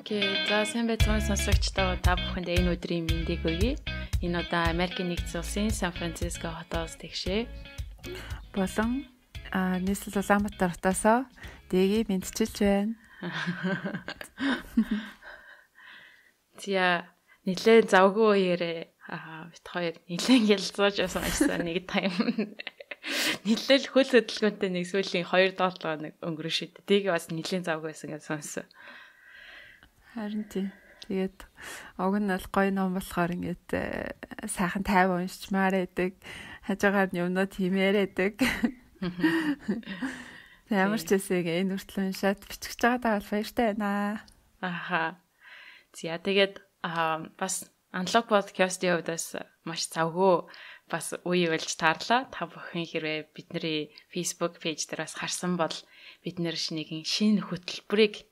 Окей, за сайн байцгаана сонсогчдоо та бүхэнд энэ өдрийн мэндийг хүргэе. Энэ удаа Америкийн нэгдсэн улсын Сан Франциско хотоос тэгшээ. Болон нийслэл Улаанбаатар хотоосоо дэгийг мэдчилж байна. Зя нэлээд завгүй үеэрээ бит хоёр нэлээд ялцууж байсан нэг тайм. Нэлээд хөл хөдөлгөөнтэй нэг сүүлийн 2-7 хоног өнгөрөн шид. Дэгийг бас нэлээд завгүй байсан гэж сонссон. Харин тийм. Тэгээд уг нь бол гоё ном болохоор ингээд сайхан тайван уншчмаар байдаг. Хажуугаар нь юмнууд химээрээдэг. Ямар ч үсэг энэ хүртэл уншаад бичих жагаадаа бол баяртай байна. Аха. За тэгээд бас Unlock podcast-ийн хувьдаас маш завгүй бас үе болж таарлаа. Та бүхэн хэрвээ бидний Facebook page дээр бас харсан бол бид нэр шинэ хөтөлбөрийг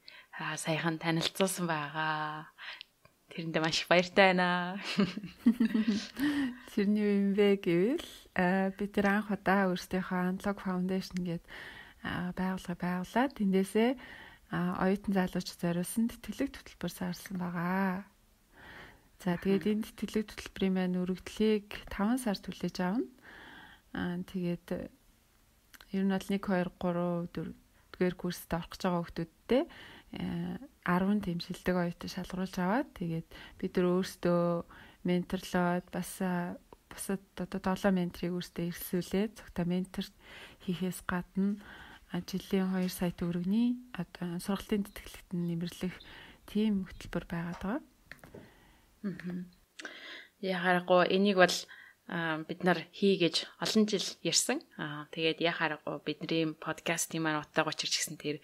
саяхан танилцуулсан байгаа. Тэрэндээ маш их баяртай байна. Тэрний юу юм бэ гэвэл бид тэр анх удаа өөрсдийнхөө Unlock Foundation гэдэг байгууллага байгуулад тэндээсээ оюутан залуучууд зориулсан тэтгэлэг хөтөлбөр саарсан байгаа. За тэгээд энэ тэтгэлэг хөтөлбөрийн маань өргөдлийг 5 сар түлээж авна. Тэгээд ер нь бол 1 2 3 4 дэх курст орох гэж байгаа хүмүүстээ 10 тийм шилдэг оюутан шалгаруулж аваад тэгээд бид нар өөрсдөө менторлоод бас бусад одоо 7 менторыг өөрсдөө ирсүүлээд цогтой ментор хийхээс гадна жилийн 2 сая төгрөгийн одоо сургалтын тэтгэлэгт нэмэрлэх тийм хөтөлбөр байгаад байгаа. Яхаарахгүй энийг бол бид нар хийгээж олон жил ярьсан. Тэгээд яхаарахгүй бидний подкастын маань утга учирч гисэн тэр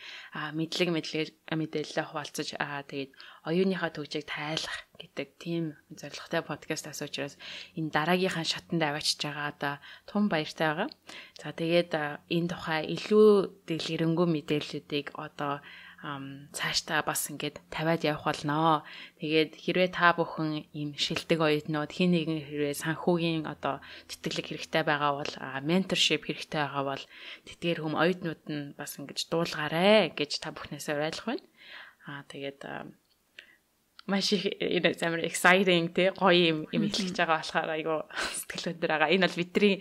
мэдээлэлээ хуваалцаж тэгээд оюуныхаа төгжийг тайлах гэдэг тийм зорилготой подкастаас учраас энэ дараагийнхаа шатанд аваачиж байгаа тун баяртай байгаа. За тэгээд энэ тухай илүү дэлгэрэнгүй мэдээллүүдийг одоо цаашдаа бас ингээд тавиад явах болно. Тэгээд хэрвээ та бүхэн ийм шилдэг оюутнууд хин нэгэн хэрвээ санхүүгийн одоо тэтгэлэг хэрэгтэй байгаа бол менторшип хэрэгтэй байгаа бол тэдгээр хүм оюутнууд нь бас ингэж дуулгаарэ гэж та бүхнээсээ уриалгах байна. Тэгээд маш их энэ амар exciting те гоё юм хэлчихэж байгаа болохоор айгу сэтгэл өндөр байгаа. Энэ бол бидний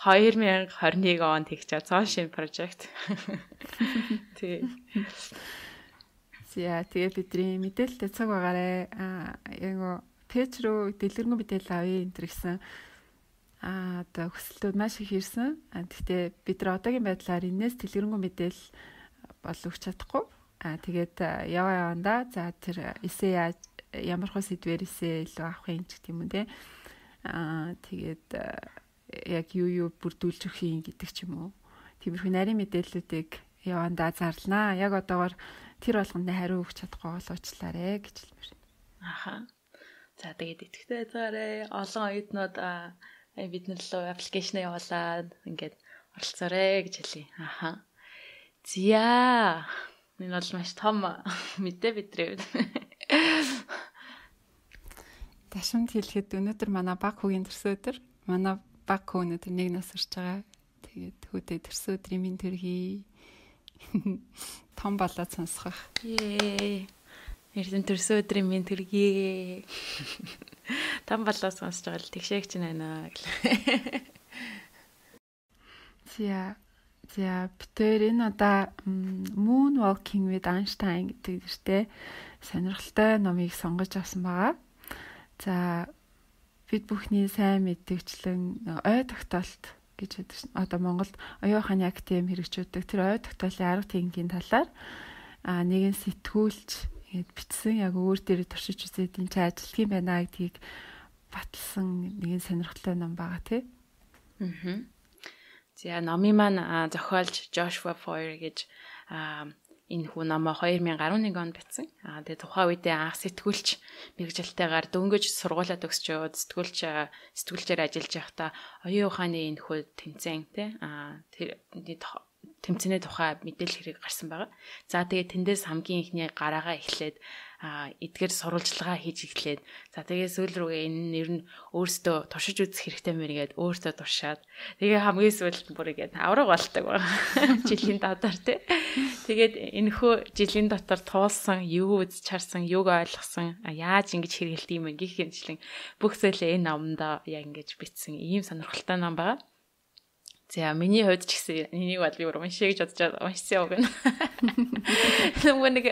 2021 онд хийх цааш шин project. Тэг. За тэгээ бидний мэдээлэлтэй цаг байгаарэ яг пэйж рүү дэлгэрэнгүй мэдээлэл авъя энэ гэсэн одоо хүсэлтүүд маш их ирсэн. Гэхдээ бид нар одоогийн байдлаар энэс дэлгэрэнгүй мэдээлэл бол өгч чадахгүй. Тэгээд явандаа за тэр эсэ яаж ямар хөө сэдвэр эсэ илүү авах юм ч гэх юм те. Тэгээд яг юу бүрдүүлж өгөх юм гэдэг ч юм уу. Тиймэрхүү нарийн мэдээллүүдийг явандаа зарлнаа. Яг одоогоор тэр болгонд хариу өгч чадахгүй бол уучлаарай гэж хэлмээр. Аха. За тэгээд итгэвтэй байцгаарай. Олон оюутнууд бид нар лөө аппликейшн явуулаад ингээд оролцоорой гэж хэлье. Аха. Зя. Энэ бол маш том мэдээ бидрээ. Ташамд хэлэхэд өнөөдөр манай баг хүүгийн төрсөн өдөр. Манай баг хүү өнөөдөр 1 нас хүрч байгаа. Тэгээд хүүдээ төрсөн өдрийн минь төрхий. Том болоод сонсгох. Эрдэн төрсөн өдрийн минь төргий. Том болоод сонсож байгаа л тэгшээгч байна гэл. За битээр энэ удаа Moonwalking with Einstein гэдэг нэртэй сонирхолтой номыг сонгож авсан байгаа. За бид бүхний сайн мэдгэвчлэн ой тогтоолт гэж байдаг шин. Одоо Монголд оюун ухааны академи хэрэгжүүлдэг тэр ой тогтоолын арга техникийн талаар нэгэн сэтгүүлч ингэж бичсэн яг өөр дээр туршиж үзээд энэ ч ажилтг юм байна гэдгийг баталсан нэгэн сонирхолтой ном байгаа тий. За номын маань зохиолч Joshua Foer гэж энэ хүн номоо 2011 онд бичсэн. Тэгээ тухайн үедээ анх сэтгүүлч мэргэжилтэйгээр дөнгөж сургуулаа төгсчөөд сэтгүүлчээр ажиллаж байхдаа оюун ухааны энэ хүү тэмцээн тий тэмцээний тухай мэдээлэл хэрэг гарсан байгаа. За тэгээд тэндээс хамгийн ихний гараагаа эхлээд эдгээр сурвалжлагаа хийж эхлээд за тэгээд сүүл рүүгээ энэ нэр нь өөртөө туршиж үзэх хэрэгтэй мэргээд өөртөө туршаад тэгээ хамгийн сүүлд бүр игээд авраг болдог байгаа. Жилийн дотор тий. Тэгээд энэхүү жилийн дотор туулсан, юу үзэж харсан, юуг ойлгосон, яаж ингэж хэрэгэлдэг юм гэх юмчлэн бүх зүйлээ энэ номдоо яг ингэж бичсэн ийм сонирхолтой ном байгаа. За миний хувьд ч гэсэн энийг бол би уншиж гэж бодож уншсан юм байна. Нөгөө нэг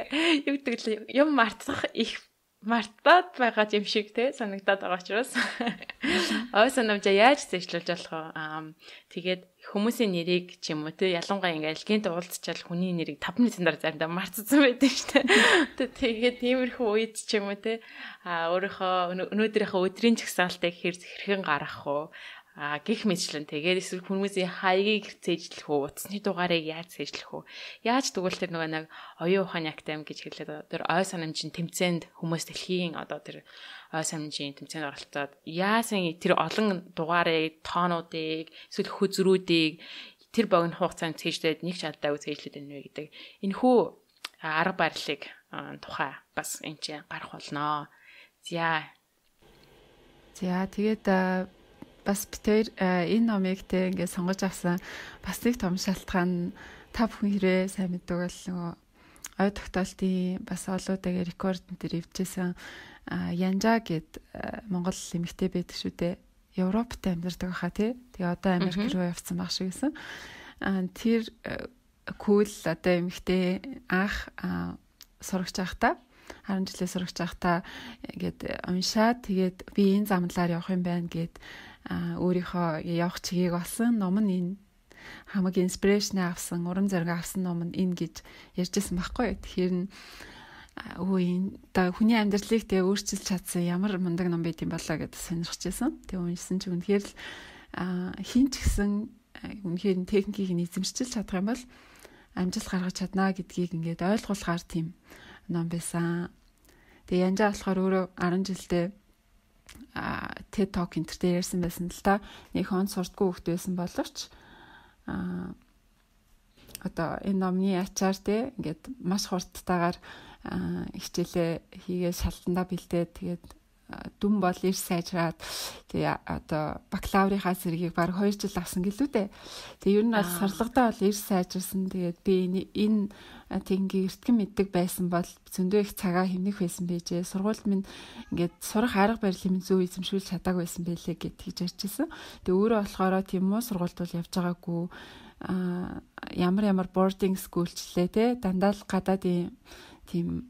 юу гэдэг л юм мартах их мартаад байгаа юм шиг те санагдаад байгаа учраас ой санамжаа яаж зэжлүүлж болох вэ? Тэгээд хүмүүсийн нэрийг ч юм уу те ялангуяа ингээл гинт уулзчаал хүний нэрийг 5 минутын дараа заримдаа мартсан байдаг шүү дээ. Тэгээд тиймэрхүү үед ч юм уу те өөрийнхөө өнөөдрийнхөө өдрийн жагсаалтыг хэрхэн гаргах вэ? Гэх мэтчлэн тэгээд эсвэл хүмүүсийн хаягийг цээжлэх үү, утасны дугаарыг яаж цээжлэх үү? Яаж тэгвэл тэр нөгөө нэг оюун ухааны актем гэж хэлээд тэр ой санамжийн тэмцээнд хүмүүс дэлхийн одоо тэр ой санамжийн тэмцээнд оролцоод яасан тэр олон дугаарыг, тоонуудыг, эсвэл хөзрүүдийг тэр богино хугацаанд цээжлээд нэг ч алдаагүй цээжлээд байна вэ гэдэг. Энэхүү арга барилыг тухай бас энэ чинь гарах болноо. За тэгээд бас битээр энэ номыг те ингээд сонгож авсан бас нэг том шалтгаан та бүхэн хэрэг сайн мэддэг бол нөгөө ой тогтоолтын бас олуудагийн рекорд дээр ивжсэн Янжа гэд Монгол эмэгтэй байдаг шүү дээ. Европт амьдардаг хаа тий. Тэгээ одоо Америк руу явцсан баг шиг гэсэн. Тэр кул одоо эмэгтэй анх сурагч байхдаа 10 жилээ сурагч байхдаа ингээд уншаад тэгээд би энэ замналаар явах юм байна гэд өөрийнхөө явах чигийг олсон ном нь энэ хамаг инспирэшн авсан урам зориг авсан ном нь энэ гэж ярьжсэн байхгүй. Тэгэхээр та хүний амьдралыг тэгээ өөрчилж чадсан ямар мундаг ном байт юм болоо гэдээ сонирхчихсан. Тэгээ уншсан чи үнэхээр л хин ч гэсэн үнэхээр техникийг эзэмшиж чадах юм бол амжилт гаргаж чадна гэдгийг ингээд ойлгуулгаар тийм ном байсан. Тэгээ Янжаа болохоор өөрөө 10 жилдээ TED Talk энэ төр ярьсан байсан л та. Нэг хон сурдгүй хөлт байсан боловч одоо энэ номны ачаар те ингээд маш хурдтайгаар хичээлээ хийгээд шалтандаа бэлдээд тэгээд дүн бол ирж сайжраад тэгээ одоо бакалаврынхаа зэргийг баг 2 жил авсан гэлүү дээ. Тэгээ ер нь бол сарлагдаа бол ирж сайжирсан. Тэгээд би энэ тэнгийн эртгэн мэддэг байсан бол зөндөө их цагаа хэмнэх байсан байжээ. Сургуульд минь ингээд сурах арга барилын минь зөв эзэмшүүлж чадаагүй байсан байлээ гэд хийж ярьжсэн. Тэгээ өөрөө болохоор тийм үү сургуульд бол явж байгаагүй ямар boarding schoolчлээ те дандаа л гадаадын тийм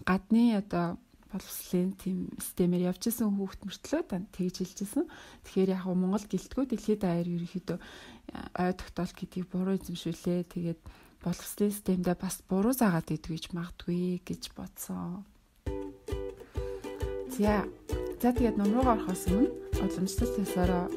гадны одоо боловсролын тийм системээр явж исэн хүүхд мөртлөө тэгж хэлжсэн. Тэгэхээр яг Монгол гэлтгүү дэлхийд даяар ерөнхийдөө ой тогтоол гэдгийг буруу эзэмшүүлээ. Тэгээд боловсролын системдээ бас буруу заагаад идэв гэж магадгүй гэж бодсон. За тэгээд ном руу орохоос өмнө уламжлалт ёсороо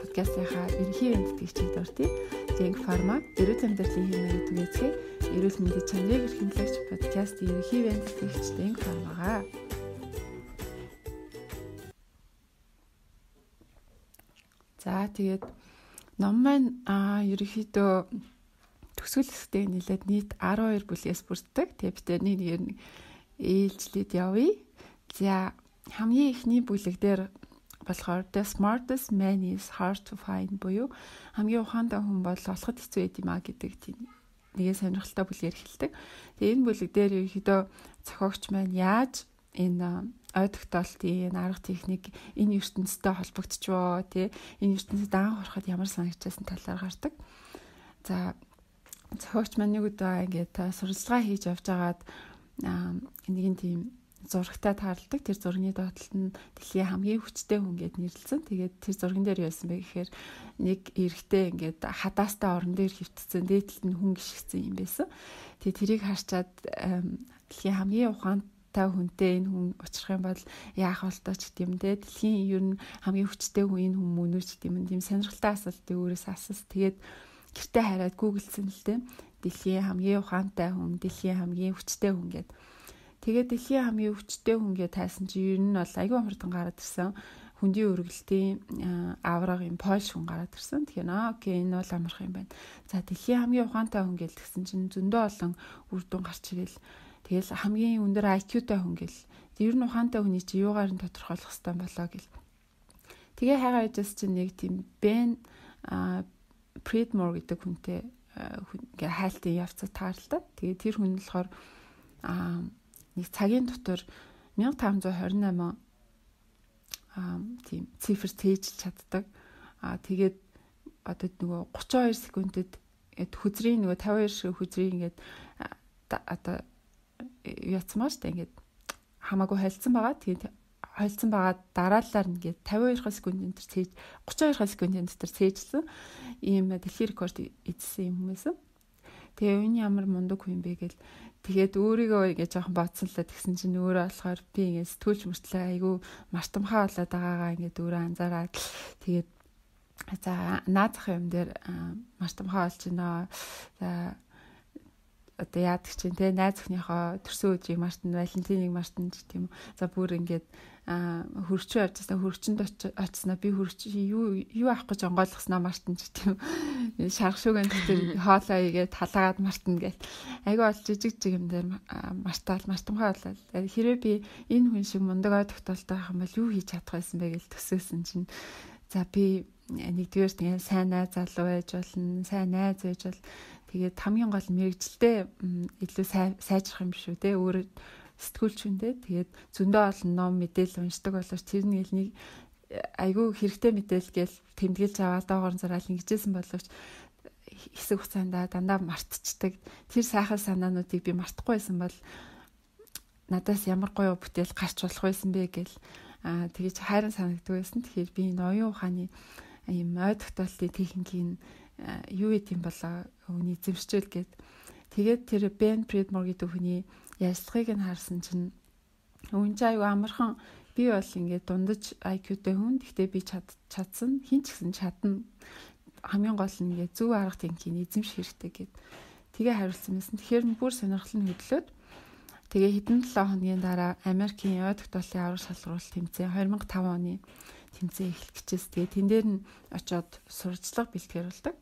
подкастынхаа ерөнхий вендтгэгчид дуртай Link Pharma эрүүл амьдралын хэмнээ түгээцгээ эрүүл мэндийн чанарыг эрхэмлэгч подкаст ерөнхий вендтгэгч Link Pharma-гаа. За тэгээд ном маань ерөнхийдөө төгсгөл хэсэгтээ нэлээд нийт 12 бүлгээс бүрддэг. Тэгээд бид нэг ээлжлээд явъя. За хамгийн ихний бүлэг дээр болохоор The Smartest Man is Hard to Find буюу хамгийн ухаантай хүн бол олоход хэцүү байд юм а гэдэг тийм нэгэн сонирхолтой бүлгээр эхэлдэг. Тэгээ энэ бүлэг дээр ерөнхийдөө зохиогч маань яаж энэ ой тогтоолтын энэ арга техник энэ ертөнцтэй холбогдчихвоо тий энэ ертөнцид анх ороход ямар санагдчихсан талаар гардаг. За зохиогч маань нэг удаа ингээд суралцгаа хийж явж байгаад нэгэн тийм зурагтай таарладаг. Тэр зургийн доотлолт нь дэлхийн хамгийн хүчтэй хүн гэд нэрлэлсэн. Тэгээд тэр зурган дээр яасан бэ гэхээр нэг эрэгтэй ингээд хадаастай орон дээр хөвтцэн дээдлэлт нь хүн гიშгцэн юм байсан. Тэгээд тэрийг харчаад дэлхийн хамгийн ухаантай хүнтэй энэ хүн очих юм бол яах болтоо ч гэдэм те. Дэлхийн ер нь хамгийн хүчтэй хүн энэ хүн мөн үү ч гэдэм тийм сонирхолтой асуултыг өөрөөс асуусан. Тэгээд гэртээ хараад гуглдсан л те. Дэлхийн хамгийн ухаантай хүн, дэлхийн хамгийн хүчтэй хүн гэдэг. Тэгээд дэлхийн хамгийн өвчтэй хүн гэж тайсан чи ер нь бол аягүй хурдан гараад ирсэн. хүндийн үргэлтийн аврагийн Польш хүн гараад ирсэн. Тэгэхээр окей энэ бол амарх юм байна. За дэлхийн хамгийн ухаантай хүн гэл тэгсэн чинь зөндөө олон үр дүн гарч ирэл. Тэгэл хамгийн өндөр IQ-тай хүн гэл. Ер нь ухаантай хүний чи юугаар нь тодорхойлох хэвээр болоо гэл. Тэгээ хайгаа яжс чинь нэг тийм Ben Pridmore гэдэг хүнтэй ингээ хайлтын явцад тааралтай. Тэгээ тэр хүн болохоор нэг цагийн дотор 1528 тийм цифр цээжилж чаддаг. Тэгээд одоо нөгөө 32 секундэд хүзрийн нөгөө 52 шиг хүзрийг ингээд одоо яцмаа штэ ингээд хамаагүй холцсон байгаа. Тэгээд холцсон байгаа дараалалаар ингээд 52 секундын дотор цээж 32 секундын дотор цээжсэн ийм дэлхийн рекорд эзсэн юм хүмүүсээ. Тэгээ энэ ямар мундаг хүн бэ гэл тэгээд өөрийгөө ингэ жоохон бодсон л тэгсэн чинь өөрөө болохоор би ингэ сэтгүүлч мөртлөө айгүй мартамхаа болоод байгаагаа ингэ өөрөө анзаараад тэгээд за наадах юм дээр мартамхаа болж байна. За одоо яадаг чинь те найз охиныхоо төрсөн өдрийг мартна, Валентиныг мартна гэх юм. За бүр ингээд хөрчөө явжсаа хөрчөнд очсноо би хөрч юу авах гэж онгойлгосноо мартна гэх юм. Шарх шүүгэн дээр хоолоо игээд талаагаад мартна гэх. Айгүй бол жижиг юм дээр мартамхаа болол. Хэрвээ би энэ хүн шиг мундаг ой тогтоолтой байх юм бол юу хийж чадах байсан бэ гэж төсөөсөн чинь за би нэгдүгээр тэгээ сайн найз залуу байж болно, сайн найз байж бол тэгээд хамгийн гол мэрэгжилтэй илүү сайжрах юм шүү те өөрөө сэтгүүлч хүндээ тэгээд зөндөө олон ном мэдээлэл уншдаг боловч тэр нэг айгүй хэрэгтэй мэдээлэл гээл тэмдэглэж аваад доогоор зараал ингэжсэн боловч хэсэг хугацаанд дандаа мартчихдаг. Тэр сайхан санаануудыг би мартахгүй байсан бол надаас ямар гоё бүтээл гарч болох байсан бэ гэл тэгэж хайран санагддаг байсан. Тэгэхээр би энэ оюун ухааны ийм ой тогтоолтын техникийн юу гэдэм болоо хүний эзэмшил гээд тэгээд тэр Ben Pridmore гэдэг хүний ярилцлагыг нь харсан чинь үнэн аюу амархан би бол ингээд дундаж IQ-тэй хүн. Гэхдээ би чадсан хин ч гэсэн чадна. Хамгийн гол нь ингээд зөв арга техникийн эзэмших хэрэгтэй гээд тэгээ хариулсан байсан. Тэгэхээр бүр сонирхол нь хөдлөөд тэгээ хэдэн 7 хоногийн дараа Америкийн ой тогтоолтын аврах шалгаруулалт тэмцээн 2005 оны тэмцээн эхлэх гэжээс тэгээ тэн дээр нь очиод сурчлага бэлтгэрүүлдэг.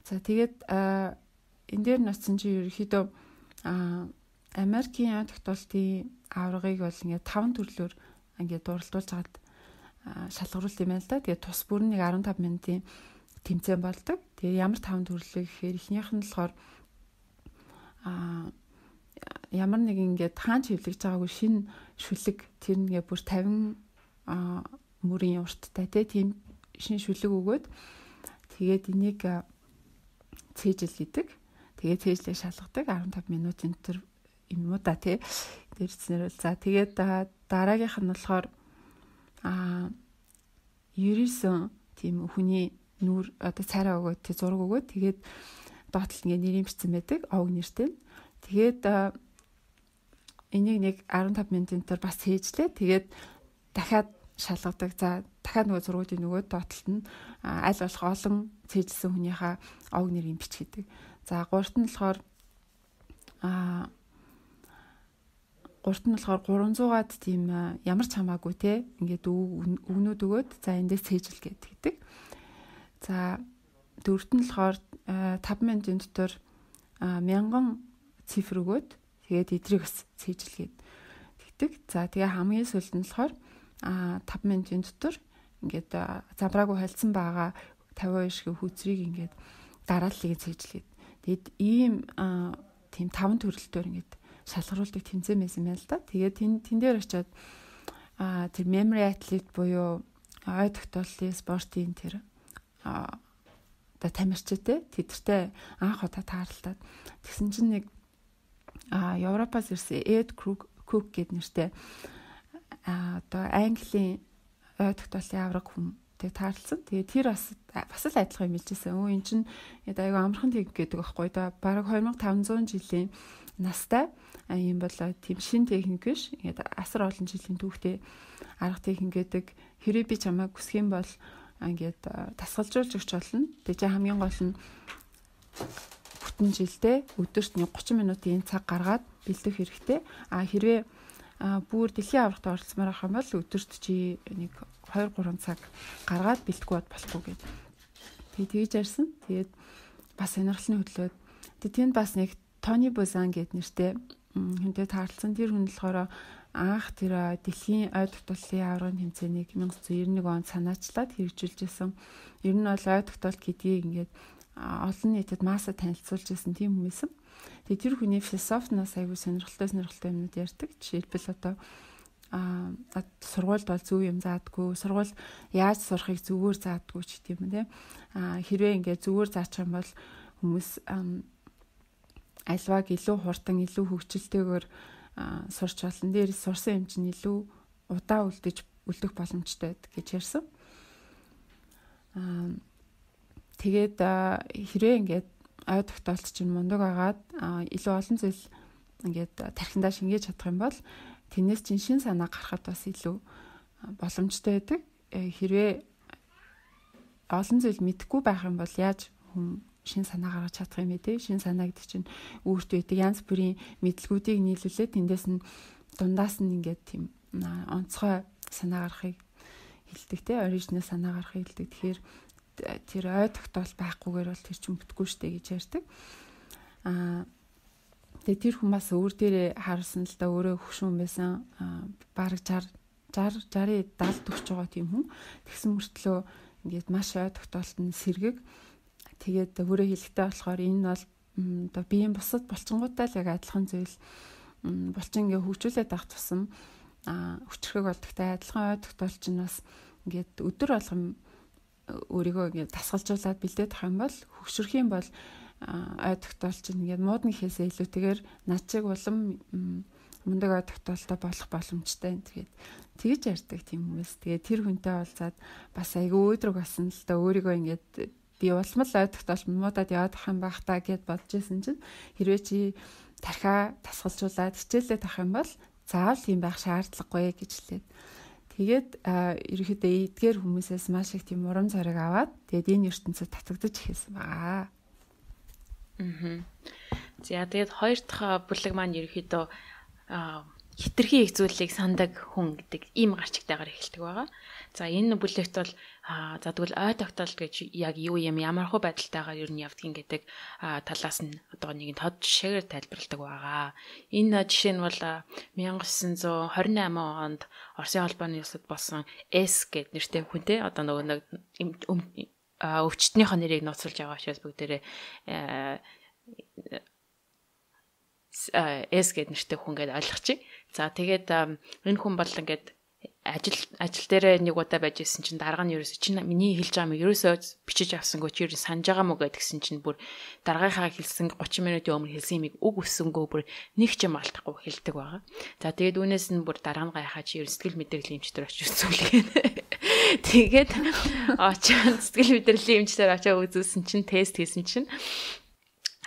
За тэгээд энэ дээр нь очсон чинь ерөөхдөө Америкийн ой тогтоолтын аврагыг бол ингээд 5 төрлөөр ингээд дуралдуулж хагаад шалгаруулт юм байна л да. Тэгээд тус бүр нэг 15 минутын тэмцээн болдог. Тэгээд ямар 5 төрлөө гэхээр эхнийх нь болохоор ямар нэг ингээд хаан чивлэгж байгаагүй шинэ шүлэг тэр нэгэ бүр 50 мөрийн урттай тийм шинэ шүлэг өгөөд тэгээд энийг цээжил гэдэг. Тэгээд цээжлээ шалгадаг 15 минутын дотор юм уу да тий. Дэрснэр бол за тэгээд дараагийнх нь болохоор 99 тийм хүний нүур одоо царай өгөөд тий зураг өгөөд тэгээд доотлол ингээ нэрийн бичсэн байдаг овг нэртэй. Тэгээд энийг нэг 15 минутын дотор бас цээжлээ. Тэгээд дахиад шалгадаг. За дахиад нөгөө зургуудын нөгөө доотлолт нь аль болох олон цээжилсэн хүнийхээ овг нэрийг бичгэдэг. За гуравт нь болохоор 300-аад тийм ямар ч хамаагүй те ингээд өгнүүд өгөөд за эндээс цээжил гэдэг. За дөрөвт нь болохоор 5 минутын дотор 1000 цифр өгөөд тэгээд эдрийг бас цээжилгээд тэгдэг. За тэгээ хамгийн сүүлд нь болохоор 5 минутын дотор ингээд замбраагүй холцсон байгаа 52 шиг хүзрийг ингээд дарааллыг цээжилгээд тэгээд ийм тийм 5 төрөлтөөр ингээд шалгаруулдаг тэмцээн байсан юм байна л да. Тэгээд тэн дээр очиод тэр memory athlete буюу ой тогтооллын спортын тэр одоо тамирчтай тэдэртэй анх удаа тааралдаад тэгсэн чинь нэг Европоос ирсэн Ed Cook гэдэг нэртэй одоо Английн ой тогтооллын авраг хүнтэй таарлсан. Тэгээд тэр бас л адилхан юм хэлжсэн. Өө эн чинь айгүй амархан тэг гэдэг байхгүй да. Бараг 2500 жилийн настай юм болоо тийм шин техник биш. Ингээд асар олон жилийн түүхтэй арга техник гэдэг. Хэрэг би чамайг хүсэх юм бол ингээд тасгалжуулж өгч болно. Тэгээ чи хамгийн гол нь бүтэн жилдээ өдөрт 30 минутын цаг гаргаад бэлдэх хэрэгтэй. Хэрвээ бүр дэлхийн аврагт оролцмоор авах юм бол өдөрт чи нэг 2-3 цаг гаргаад бэлтгүй бод болохгүй гэд. Тэгээд тэгж ярьсан. Тэгээд бас сонирхолтой хөдлөөд тэгээд тэнд бас нэг Тони Бузан гэд нэртэй хүнтэй таарлцсан. Тэр хүн болохоор анх тэр дэлхийн ой тогтоолын аврагын тэмцээнийг 1991 онд санаачлаад хэрэгжүүлж исэн. Ер нь бол ой тогтоолт гэдгийг ингээд олон нийтэд масса танилцуулж исэн тийм хүмүүс юм. Тэгээд тэр хүний философноос аягүй сонирхолтой юмнууд ярьдаг. Жишээлбэл одоо сургуульд бол зөв юм заадаггүй, сургууль яаж сурахыг зүгээр заадаггүй ч гэдэм юм те. Хэрвээ ингээд зүгээр заачих юм бол хүмүүс альваг илүү хурдан, илүү хөгжилтэйгээр сурч болно. Дээрээс сурсан юм чинь илүү удаа үлдэх боломжтой гэж ярьсан. Тэгээд хэрвээ ингээд ой тогтоолт чинь мундаг агаад илүү олон зүйл ингээд тархиндаа шингээж чадах юм бол тэрнээс чинь шин санаа гарахад бас илүү боломжтой байдаг. Хэрвээ олон зүйл мэдэхгүй байх юм бол яаж хүн шин санаа гаргаж чадах юм бэ те? Шин санаа гэдэг чинь өөртөө байдаг янз бүрийн мэдлгүүдийг нийлүүлээд тэндээс нь дундаас нь ингээд тийм онцгой санаа гарахыг хэлдэг те, оригинал санаа гарахыг хэлдэг. Тэгэхээр тэр ой тогтоол байхгүйгээр бол тэр чинь бүтггүй штэ гэж ярьдаг. Тэгээ тэр хүн бас өөр дээрээ харсан л да, өөрөө хөшүүн байсан. Бараг 60 70 40 байгаа тийм хүн. Тэгсэн мөртлөө ингээд маш ой тогтоолтод сэргэг. Тэгээд өөрөө хэлэхтэй болохоор энэ бол одоо биеийн бусад булчингуудтай л яг адилхан зүйл. Булчин ингээ хөгжүүлээд авах тусам хүчрхэг болдогтай адилхан ой тогтоолч нь бас ингээд өдөр болгон өөрийгөө ингээд дасгалжуулаад бэлдээд авах юм бол хөгшрөх юм бол ой тогтоолч нь ингээд муудны гэхээсээ илүүтэйгээр над чиг улам мундаг ой тогтоолтой болох боломжтой. Тэгээд тэгж ярьдаг тийм хүмүүс. Тэгээд тэр хүнтэй уулзаад бас айгүй өөдрөг басан л да, өөрийгөө ингээд би улмал ой тогтоолт муудаад яваад ах юм байх та гэд бодож исэн чинь хэрвээ чи тархиа дасгалжуулаад хичээлээ тавих юм бол заавал тийм байх шаардлагагүй гэж хэлээд. Тэгээд ерөөхдөө эдгээр хүмүүсээс маш их тийм урам зориг аваад тэгээд энэ ертөнцид татагдаж ихсэн байгаа. За тэгээд хоёр дахь бүлэг маань ерөөхдөө хитрхи их зүйлийг сандаг хүн гэдэг ийм гарчигтайгаар эхэлдэг байгаа. За энэ бүлэгт бол за тэгвэл ой тогтоолт гэж яг юу юм, ямар хөө байдалтайгаар ер нь явдгийг гэдэг талаас нь одоо нэг тод жишээгээр тайлбарладаг байгаа. Энэ жишээ нь бол 1928 онд Оросын холбооны улсад болсон S гэдэг нэртэй хүнтэй одоо нэг өвчтнийхөө нэрийг нууцлж байгаа учраас бүгдээрээ S гэдэг нэртэй хүн гэдээ ойлгочих. За тэгээд энэ хүн бол ингээд ажил дээр нэг удаа байж исэн чинь дарга нь ерөөсө чинь миний хэлж байгаа юм ерөөсөө бичиж авсангүй чи ерөөс санаж байгаа мó гэдгсэн чинь бүр даргийнхаа хэлсэн 30 минутын өмнө хэлсэн юмыг үг өссөнгөө бүр нэг ч юм алдахгүй хэлдэг байгаа. За тэгээд үүнээс нь бүр дарга нь гайхаа чи ер сэтгэл мэдрэлийн эмчтэр очиж үзүүлгэн. Тэгээд очоод сэтгэл мэдрэлийн эмчтэр очиж үзүүлсэн чинь тест хийсэн чинь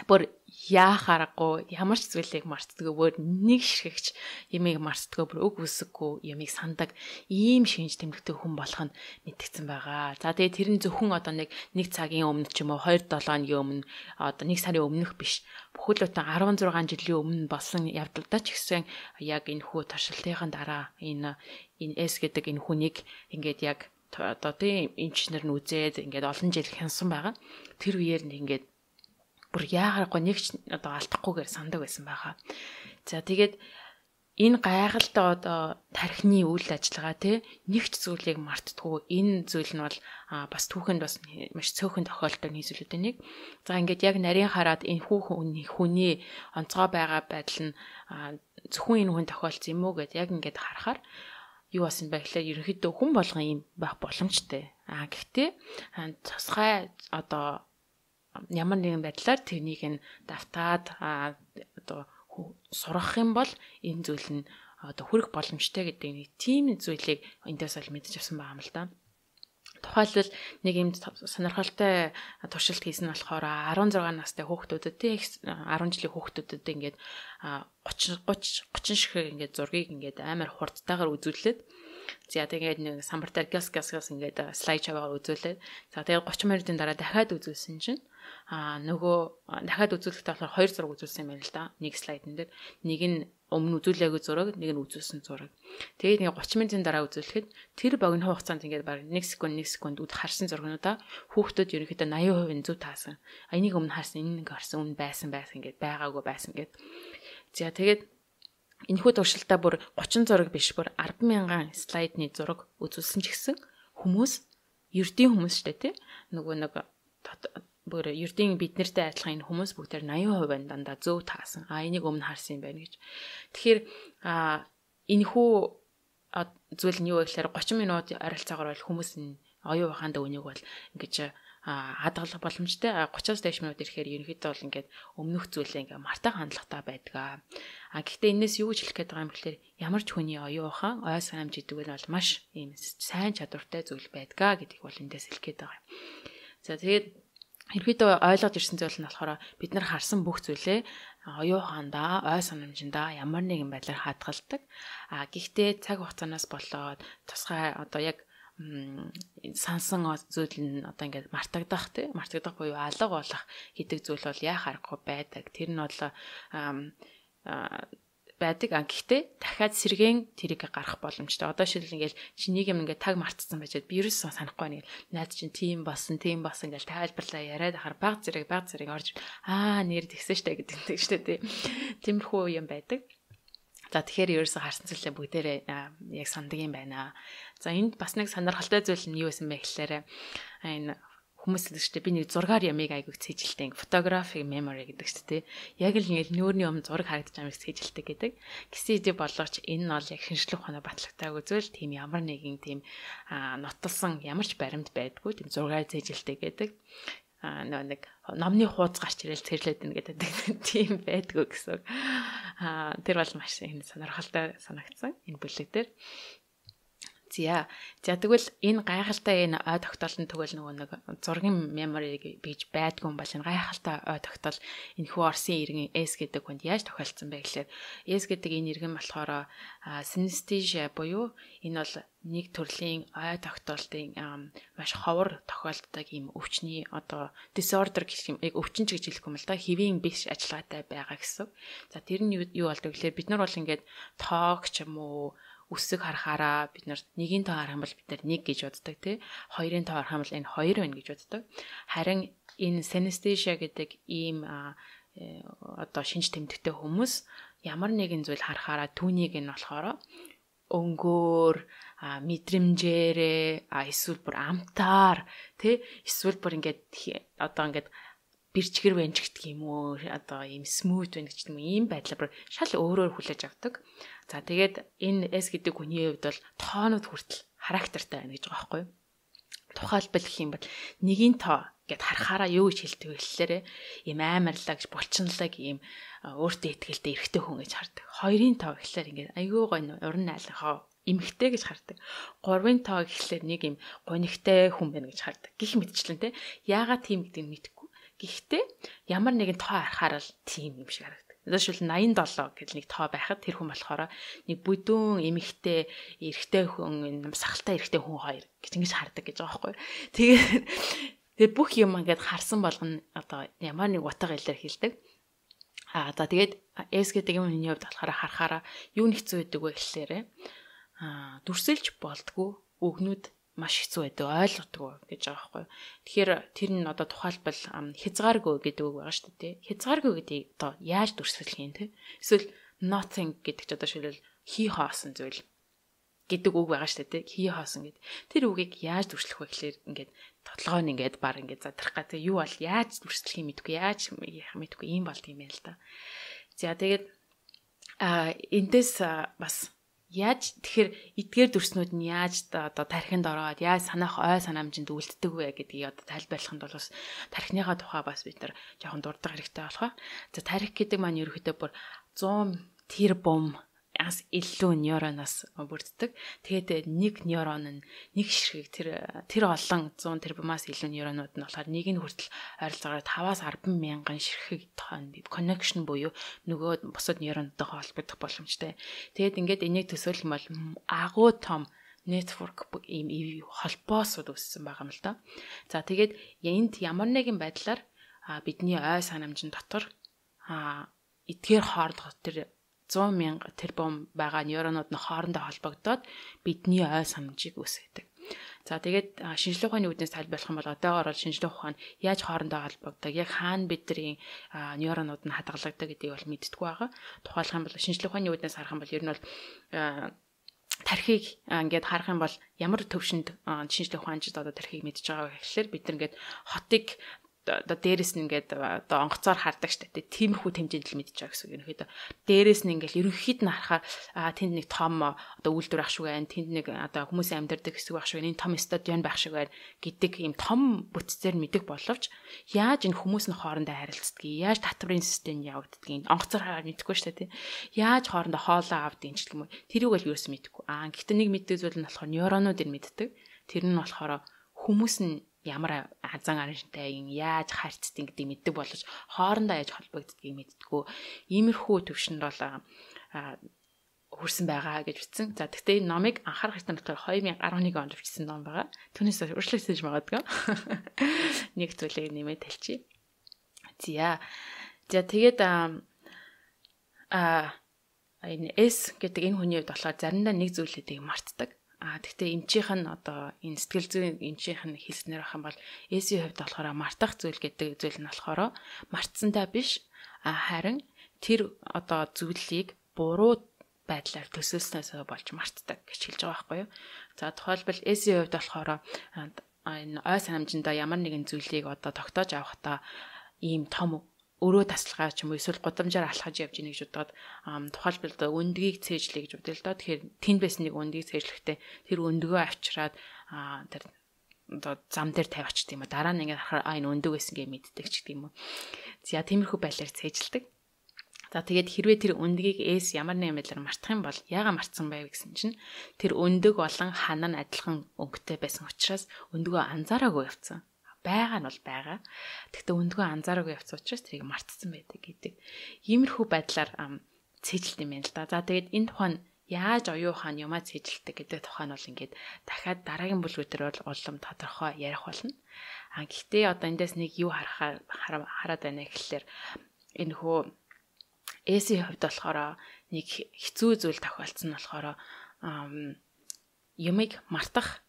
бүр яахаарахгүй ямар ч зүйлийг мартдаггүй, бүр нэг ширхэгч ямиг мартдаггүй, бүр үг үсэггүй ямиг сандаг ийм шинж тэмдэгтэй хүн болох нь мэдгдсэн байгаа. За тэгээд тэр нь зөвхөн одоо нэг цагийн өмнө ч юм уу 2-7 хоногийн өмнө одоо 1 сарын өмнөх биш. Бүхэлдээ 16 жилийн өмнө болсон явдалдаа ч гэсэн яг энэ хүү туршилтын дараа энэ S гэдэг энэ хүнийг ингээд яг одоо тийм инженер нь үзээд ингээд олон жил хянсан байгаа. Тэр үеэр нь ингээд бүр яагарахгүй нэг ч одоо алдахгүйгээр сандаг байсан байгаа. За тэгээд энэ гайхалтай одоо тархины үйл ажиллагаа тий нэг ч зүйлийг мартдаггүй. Энэ зүйл нь бол бас түүхэнд бас маш цөөхөн тохиолдол нийслүүлдэг нэг. За ингээд яг нарийн хараад энэ хүний онцгой байгаа байдал нь зөвхөн энэ хүн тохиолдсон юм уу гэд яг ингээд харахаар юу басан бэ гэхлээр ерөнхийдөө хүн болгон юм байх боломжтой. Гэхдээ тусгай одоо ямар нэгэн байдлаар тэрнийг нь давтаад одоо сурах юм бол энэ зүйл нь одоо хүрэх боломжтой гэдэг нэг тийм зүйлийг эндээс бол мэдэж авсан байгаа юм л да. Тухайлбал нэг юм сонирхолтой туршилт хийсэн нь болохоор 16 настай хүүхдүүдэд тий 10 жилийн хүүхдүүдэд ингээд 30 шиг ингээд зургийг ингээд амар хурдтайгаар үзүүлээд за тэгээд нэг самбартаар газ ингээд слайд шаваагаар үзүүлээд за тэгээд 30 минутын дараа дахиад үзүүлсэн чинь нөгөө дахиад үзүүлэхдээ болохоор 2 зураг үзүүлсэн юм байна л да. Нэг слайдн дээр нэг нь өмнө үзүүлээгүй зураг, нэг нь үзүүлсэн зураг. Тэгээд ингээ 30 минутын дараа үзүүлэхэд тэр богино хугацаанд ингээ баг 1 секунд харсан зургуудаа хүүхдүүд ерөнхийдөө 80% зөв таасан. Энийг өмнө харсан, энэ ингээ харсан, өмнө байсан ингээд байгаагүй байсан гэд. За тэгээд энэхүү туршилтаа бүр 30 зураг биш бүр 10,000 слайдны зураг үзүүлсэн ч гэсэн хүмүүс ердийн хүмүүс шүү дээ тий. Нөгөө нэг бүр ердийн бид нартай адилхан энэ хүмүүс бүгдээр 80% дандаа зөв таасан. Энийг өмнө харсан юм байна гэж. Тэгэхээр энэхүү зүйл нь юу вэ гэхээр 30 минут ойролцоогоор бол хүмүүс оюун ухаанд үнийг бол ингэж хадгалах боломжтой. 30-аас дээш минут ирэхээр ерөнхийдөө бол ингээд өмнөх зүйлээ ингээд мартай хандлагатай байдаг. Гэхдээ энэс юу гэж хэлэх гээд байгаа юм бэлээ ямар ч хүний оюун ухаан, ой санамж гэдэг нь бол маш ийм сайн чадвартай зүйл байдаг гэдгийг бол эндээс хэлэх гээд байгаа юм. За тэгээд ерөнхийдөө ойлгож ирсэн зүйл нь болохоор бид нар харсан бүх зүйлээ оюун ухаандаа, ой санамжиндаа ямар нэгэн байдлаар хадгалдаг. Гэхдээ цаг хугацаанаас болоод тусгай одоо яг сансан зүйл нь одоо ингээд мартагдах буюу алга болох гэдэг зүйл бол яа харахгүй байдаг. Тэр нь бол байдаг. Гэхдээ дахиад сэргэн тэрийг гарах боломжтой. Одоо шил ингээл чи нэг юм ингээд таг мартсан байж би ерөөсөө санахгүй нэг найз чинь тийм болсон ингээл тайлбарлаа яриад ахаар баг зэрэг орж нэр тэгсэн штэ гэдэг штэ тиймэрхүү юм байдаг. За тэгэхээр ерөөсөө харсан зүйлээ бүгдээрээ яг санддаг юм байна. За энд бас нэг сонирхолтой зүйл нь юу байсан бэ гэхээр энэ хүмүүс л шүү дээ би нэг зургаар ямиг айгүйг цээжилдэг фотографи memory гэдэг шүү дээ. Яг л ингээл нүүрний өмнө зураг харагдаж байгааг цээжилдэг гэдэг. Гэсэн хэдий боловч энэ нь бол яг шинжлэх ухааны батлагтайг үзвэл тийм ямар нэгэн тийм нотолсон ямар ч баримт байдгүй тийм зургаар цээжилдэг гэдэг. Нэг номны хуудас гарч ирэл цэрлээд ин гэдэг тийм байдгүй гэсэн. Тэр бол маш сонирхолтой санагдсан энэ бүлэг дээр. За тэгвэл энэ гайхалтай энэ ой тогтоолтын тэгвэл нөгөө нэг зургийн memory гэж байдгүй юм бол энэ гайхалтай ой тогтоол энэ хүү Орсын иргэн S гэдэг хүнд яаж тохиолдсон бэ гэхээр S гэдэг энэ иргэн болохоор synesthesia буюу энэ бол нэг төрлийн ой тогтоолтын маш ховор тохиолддог юм өвчний одоо disorder гэх юм яг өвчин ч гэж хэлэх юм л да хэвийн биш ажиллагаатай байгаа гэсэн. За тэр нь юу болдог гэхээр бид нар бол ингээд тоог ч юм уу үсэг харахаараа бид нар нэгийн тоо харах юм бол бид нар 1 гэж боддог тий. 2-ын тоо харах юм бол энэ 2 байна гэж боддог. Харин энэ synesthesia гэдэг ийм одоо шинж тэмдэгтэй хүмүүс ямар нэгэн зүйл харахаараа түүнийг нь болохоор өнгөөр мэдрэмжээрээ эсвэл бүр амтаар тий эсвэл бүр ингээд одоо ингээд бэрчгэр вэнжигдэх юм уу одоо ийм смут байна гэж юм ийм байдлаар бүр шал өөрөөр хүлээж авдаг. За тэгээд энэ S гэдэг хүний хувьд бол тоонууд хүртэл характертай байна гэж байгаа байхгүй юу? Тухайлбал гэх юм бол нэгийн тоо гэд харахаараа юу гэж хэлдэг вэ гэхлээрэ ийм амарлаг булчинлаг ийм өөртөө ихтэй эрэгтэй хүн гэж хардаг. 2-ын тоо гэхлээр ингээд айгүй гоё уран найлахаа эмхтэй гэж хардаг. 3-ын тоо гэхлээр нэг ийм гонигтай хүн байна гэж хардаг. Гэх мэтчлэн те яагаад тийм гэдэг нь мэдэхгүй. Гэхдээ ямар нэгэн тоо харахаар л тийм юм шиг харагдав. Жишээл 87 гэж нэг тоо байхад тэр хүн болохоор нэг бүдүүн эмэгтэй эрэгтэй хүн сахалтай эрэгтэй хүн хоёр гэж ингэж хардаг гэж байгаа байхгүй. Тэгээд бүх юм ингээд харсан болгоно одоо ямар нэг утга илэр хэлдэг. За тэгээд S гэдэг юм хүний хувьд болохоор харахаараа юу нэгцүү байдаг вэ гэхлээрэ дүрсэлж болдгоо өгнүүд маш хэцүү байдаг ойлгодгоо гэж байгаа байхгүй. Тэгэхээр тэр нь одоо тухайлбал хязгааргүй гэдэг үг байгаа шүү дээ. Хязгааргүй гэдэг одоо яаж дүрсэлэх юм те? Эсвэл nothing гэдэг ч одоо шилбэл хий хоосон зүйл гэдэг үг байгаа шүү дээ. Хий хоосон гэдэг. Тэр үгийг яаж дүрслэх вэ гэхээр ингээд тодлогоо нь ингээд баг ингээд задрах гэдэг юу бол яаж дүрслэх юм мэдгүй яаж мэдгүй юм болд юм байна л да. За тэгээд эндээс бас яаж тэгэхээр эдгээр дүрснүүд нь яаж одоо тархинд ороод яаж санаах ой санамжинд үлддэг вэ гэдгийг одоо тайлбарлахын тулд бас тархиныхаа тухай бас бид нар жоохон дурддаг хэрэгтэй болох. За тархи гэдэг маань ерөөхдөө бүр 100 тэрбум ас илүү нейроноос бүрддэг. Тэгээд нэг нейрон нь нэг ширхэг тэр олон 100 тэрбумаас илүү нейронууд нь болохоор нэг нь хүртэл ойролцоогоор 5-аас 10 мянган ширхэг connection буюу нөгөө бусад нейронуудтай холбогдох боломжтой. Тэгээд ингээд энийг төсөөлөх юм бол агуу том network ийм холбоосууд үүссэн байгаа юм л да. За тэгээд энд ямар нэгэн байдлаар бидний ой санамжин дотор эдгээр хоорондох тэр 100,000 тэрбум байгаа нейронууд нь хоорондоо холбогдоод бидний ой санамжийг үүсгэдэг. За тэгээд шинжлэх ухааны үүднээс тайлбарлах юм бол одоогоор бол шинжлэх ухаан яаж хоорондоо холбогддог, яг хаана бидний нейронууд нь хадгалагддаг гэдгийг бол мэддэггүй байгаа. Тухайлах юм бол шинжлэх ухааны үүднээс харах юм бол ер нь бол тархийг ингээд харах юм бол ямар төвшөнд шинжлэх ухаанчид одоо тархийг мэдж байгаа вэ гэхэлэр бид нар ингээд хотыг одоо дээрэс нь ингээд одоо онгоцоор хардаг штэ. Тиймэрхүү хэмжээнд л мэдж байгаа гэсэн үг. Ерөнхийдөө дээрэс нь ингээд ерөнхийд нь харахаар тэнд нэг том одоо үйлдвэр ах шиг байна. Тэнд нэг одоо хүмүүсийн амьдардаг хэсэг байх шиг байна. Энэ том стадион байх шиг байна гэдэг ийм том бүтцээр мэдэх боловч яаж энэ хүмүүс нь хоорондоо харилцдгийг, яаж татврын систем явагддгийг онгоцоор хараад мэдэхгүй штэ тий. Яаж хоорондоо хоолоо авдгийг ч гэх юм уу. Тэрийг бол юусэн мэдэхгүй. Гэхдээ нэг мэддэг зүйл нь болохоор нейронууд нь мэддэг. Тэр нь болохоор хүмүүс нь ямар азан араншинтай яаж харьцдаг гэдэг мэддэг боловч хоорондоо яаж холбогддгийг мэддэггүй. Иймэрхүү төвшөнд бол хүрсэн байгаа гэж бичсэн. За тэгтээ энэ номыг анхаарах хэрэгтэй болохоор 2011 онд бичсэн ном байгаа. Түүнээс өөрчлөгдөж магадгүй. Нэг зүйлийг нэмээд талчи. За тэгээд энэ S гэдэг энэ хүний хувьд болохоор заримдаа нэг зүйлүүдийг мартдаг. Тэгтээ эмчийнх нь одоо энэ сэтгэл зүйн эмчийнх нь хэлснээр ах юм бол S-ийн хувьд болохоор мартах зүйл гэдэг зүйл нь болохоор мартсантай биш харин тэр одоо зүйлийг буруу байдлаар төсөөлснөөс болж мартдаг гэж хэлж байгаа байхгүй юу. За тухайлбал S-ийн хувьд болохоор энэ ой санамжиндаа ямар нэгэн зүйлийг одоо тогтоож авахдаа ийм том өрөө тасалгаа ч юм уу эсвэл гудамжаар алхаж явж ийнэ гэж бодоод тухайлбал өндгийг цээжлэе гэж бодъё л доо. Тэгэхээр тэнд байсан нэг өндгийг цээжлэхдээ тэр өндгөө авчираад тэр одоо зам дээр тавиач тийм үү. Дараа нь ингээд харахаар энэ өндөг байсан гэж мэддэг ч гэдэг юм уу. За тиймэрхүү байдлаар цээжилдэг. За тэгээд хэрвээ тэр өндгийг S ямар нэгэн байдлаар мартах юм бол яагаад мартсан байв гэсэн чинь тэр өндөг болон хана нь адилхан өнгөтэй байсан учраас өндгөө анзаараагүй явцсан. Байгаа нь бол байгаа. Тэгтээ өндгөө анзаараагүй явц учраас тэрийг мартсан байдаг гэдэг. Иймэрхүү байдлаар цээжилт юм байна л да. За тэгээд энэ тухайн яаж оюун ухаан юмаа цээжилдэг гэдэг тухайн бол ингээд дахиад дараагийн бүлгүүдээр бол улам тодорхой ярих болно. Гэхдээ одоо эндээс нэг юу хараад байна гэхэлэр энэ хөө S-ийн хувьд болохоор нэг хэцүү зүйл тохиолдсон нь болохоор юмыг мартах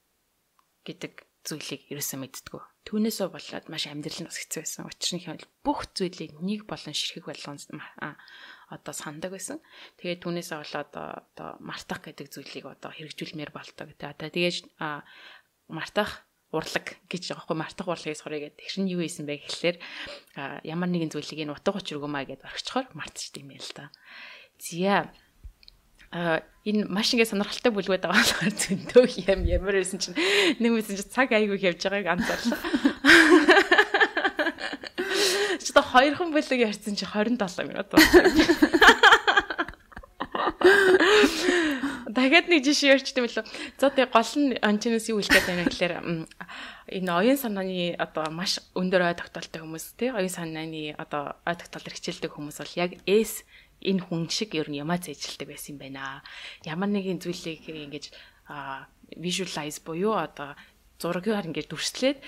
гэдэг зүйлийг ерөөсөө мэддэггүй. Түүнээсээ болоод маш амьдрал нь бас хэцүү байсан. Учир нь хэл бүх зүйлийг нэг болон ширхэг болгон одоо сандаг байсан. Тэгээд түүнээсээ болоод одоо мартах гэдэг зүйлийг одоо хэрэгжүүлмээр болдог. Тэгээд мартах урлаг гэж байгаа хгүй. Мартах урлагийг сурыг гэдэг. Тэр нь юу ийсэн бэ гэхэлэр ямар нэгэн зүйлийг энэ утга учир өгөөмаа гэдээ орхичхоор мартчихдаг юм л да. Зя энэ маш ингэ сонирхолтой бүлгүүд байгаа болохоор зөндөөх юм ямар байсан чинь нэг мэдсэн чинь цаг айгүй явж байгааг анзаарлаа. Чи та хоёрхан бүлэг ярьсан чи 27 минут болсон. Дахиад нэг жишээ ярьчихдээ мөлөө. За тэгээ гол нь анчнаас юу хэлэх гээд байна гэхээр энэ оюун санааны одоо маш өндөр ой тогтоолтой хүмүүс тий оюун санааны одоо ой тогтоолоор хичээлдэг хүмүүс бол яг S энэ хүн шиг ер нь ямаа зэжилдэг байсан юм байна. Ямар нэгэн зүйлийг ингэж visualize буюу одоо зургаар ингэж дүрслээд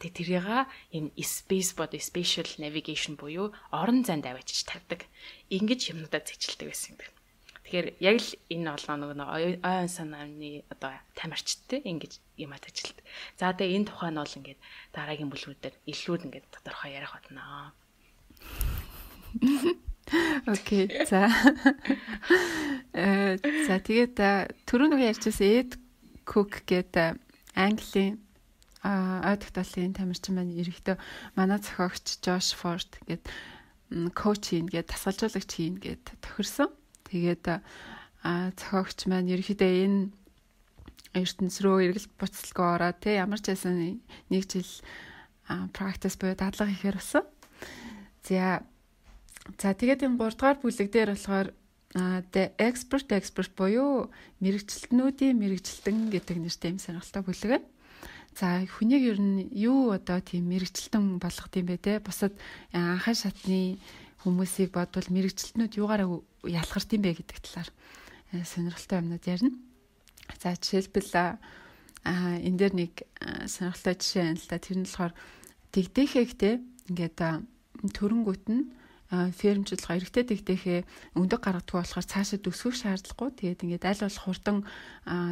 тэрийг энэ space body spatial navigation буюу орон зайд авчиж тавьдаг. Ингэж юмудаа зэжилдэг байсан юм байна. Тэгэхээр яг л энэ болгоо нэг оюун санааны одоо тамирчтай ингэж юмаа зэжилдэг. За тэгээ энэ тухай нь бол ингэж дараагийн бүлгүүдээр илүү ингэж тодорхой ярих болно. Окей. За тэгээд түрүүн нэг ярьчихсан Эд Кук гэдэг Английн ой тогтоолын тамирчин маань ерөнхийдөө манай зохиогч Жош Форд гэдэг коуч хийн гэдэг тасгалжуулагч хийн гэдэг тохирсон. Тэгээд зохиогч маань ерөнхийдөө энэ ертөнц рүү эргэл буцалгүй ороод ямар ч байсан нэг жил практис буюу дадлага хийхээр болсон. За тэгээд энэ 3 дугаар бүлэг дээр болохоор the expert буюу мэрэгчлэтнүүдийн мэрэгчлэн гэдэг нэртэй юм сонирхолтой бүлэг байна. За хүнийг ер нь юу одоо тийм мэрэгчлэн болгох юм бэ те? Бусад анхаа шатны хүмүүсийг бодвол мэрэгчлэтнүүд юугаараа ялгарт юм бэ гэдэг талаар сонирхолтой юмнууд ярина. За жишээлбэл энэ дээр нэг сонирхолтой жишээ байна л да. Тэр нь болохоор тэгдэхэгтэй ингээд төрөнгөт нь фермчлага эрэгтэй дэгдэхээ өндөг гаргадаггүй болохоор цаашаа өсгөх шаардлагагүй. Тэгээд ингээд аль болох хурдан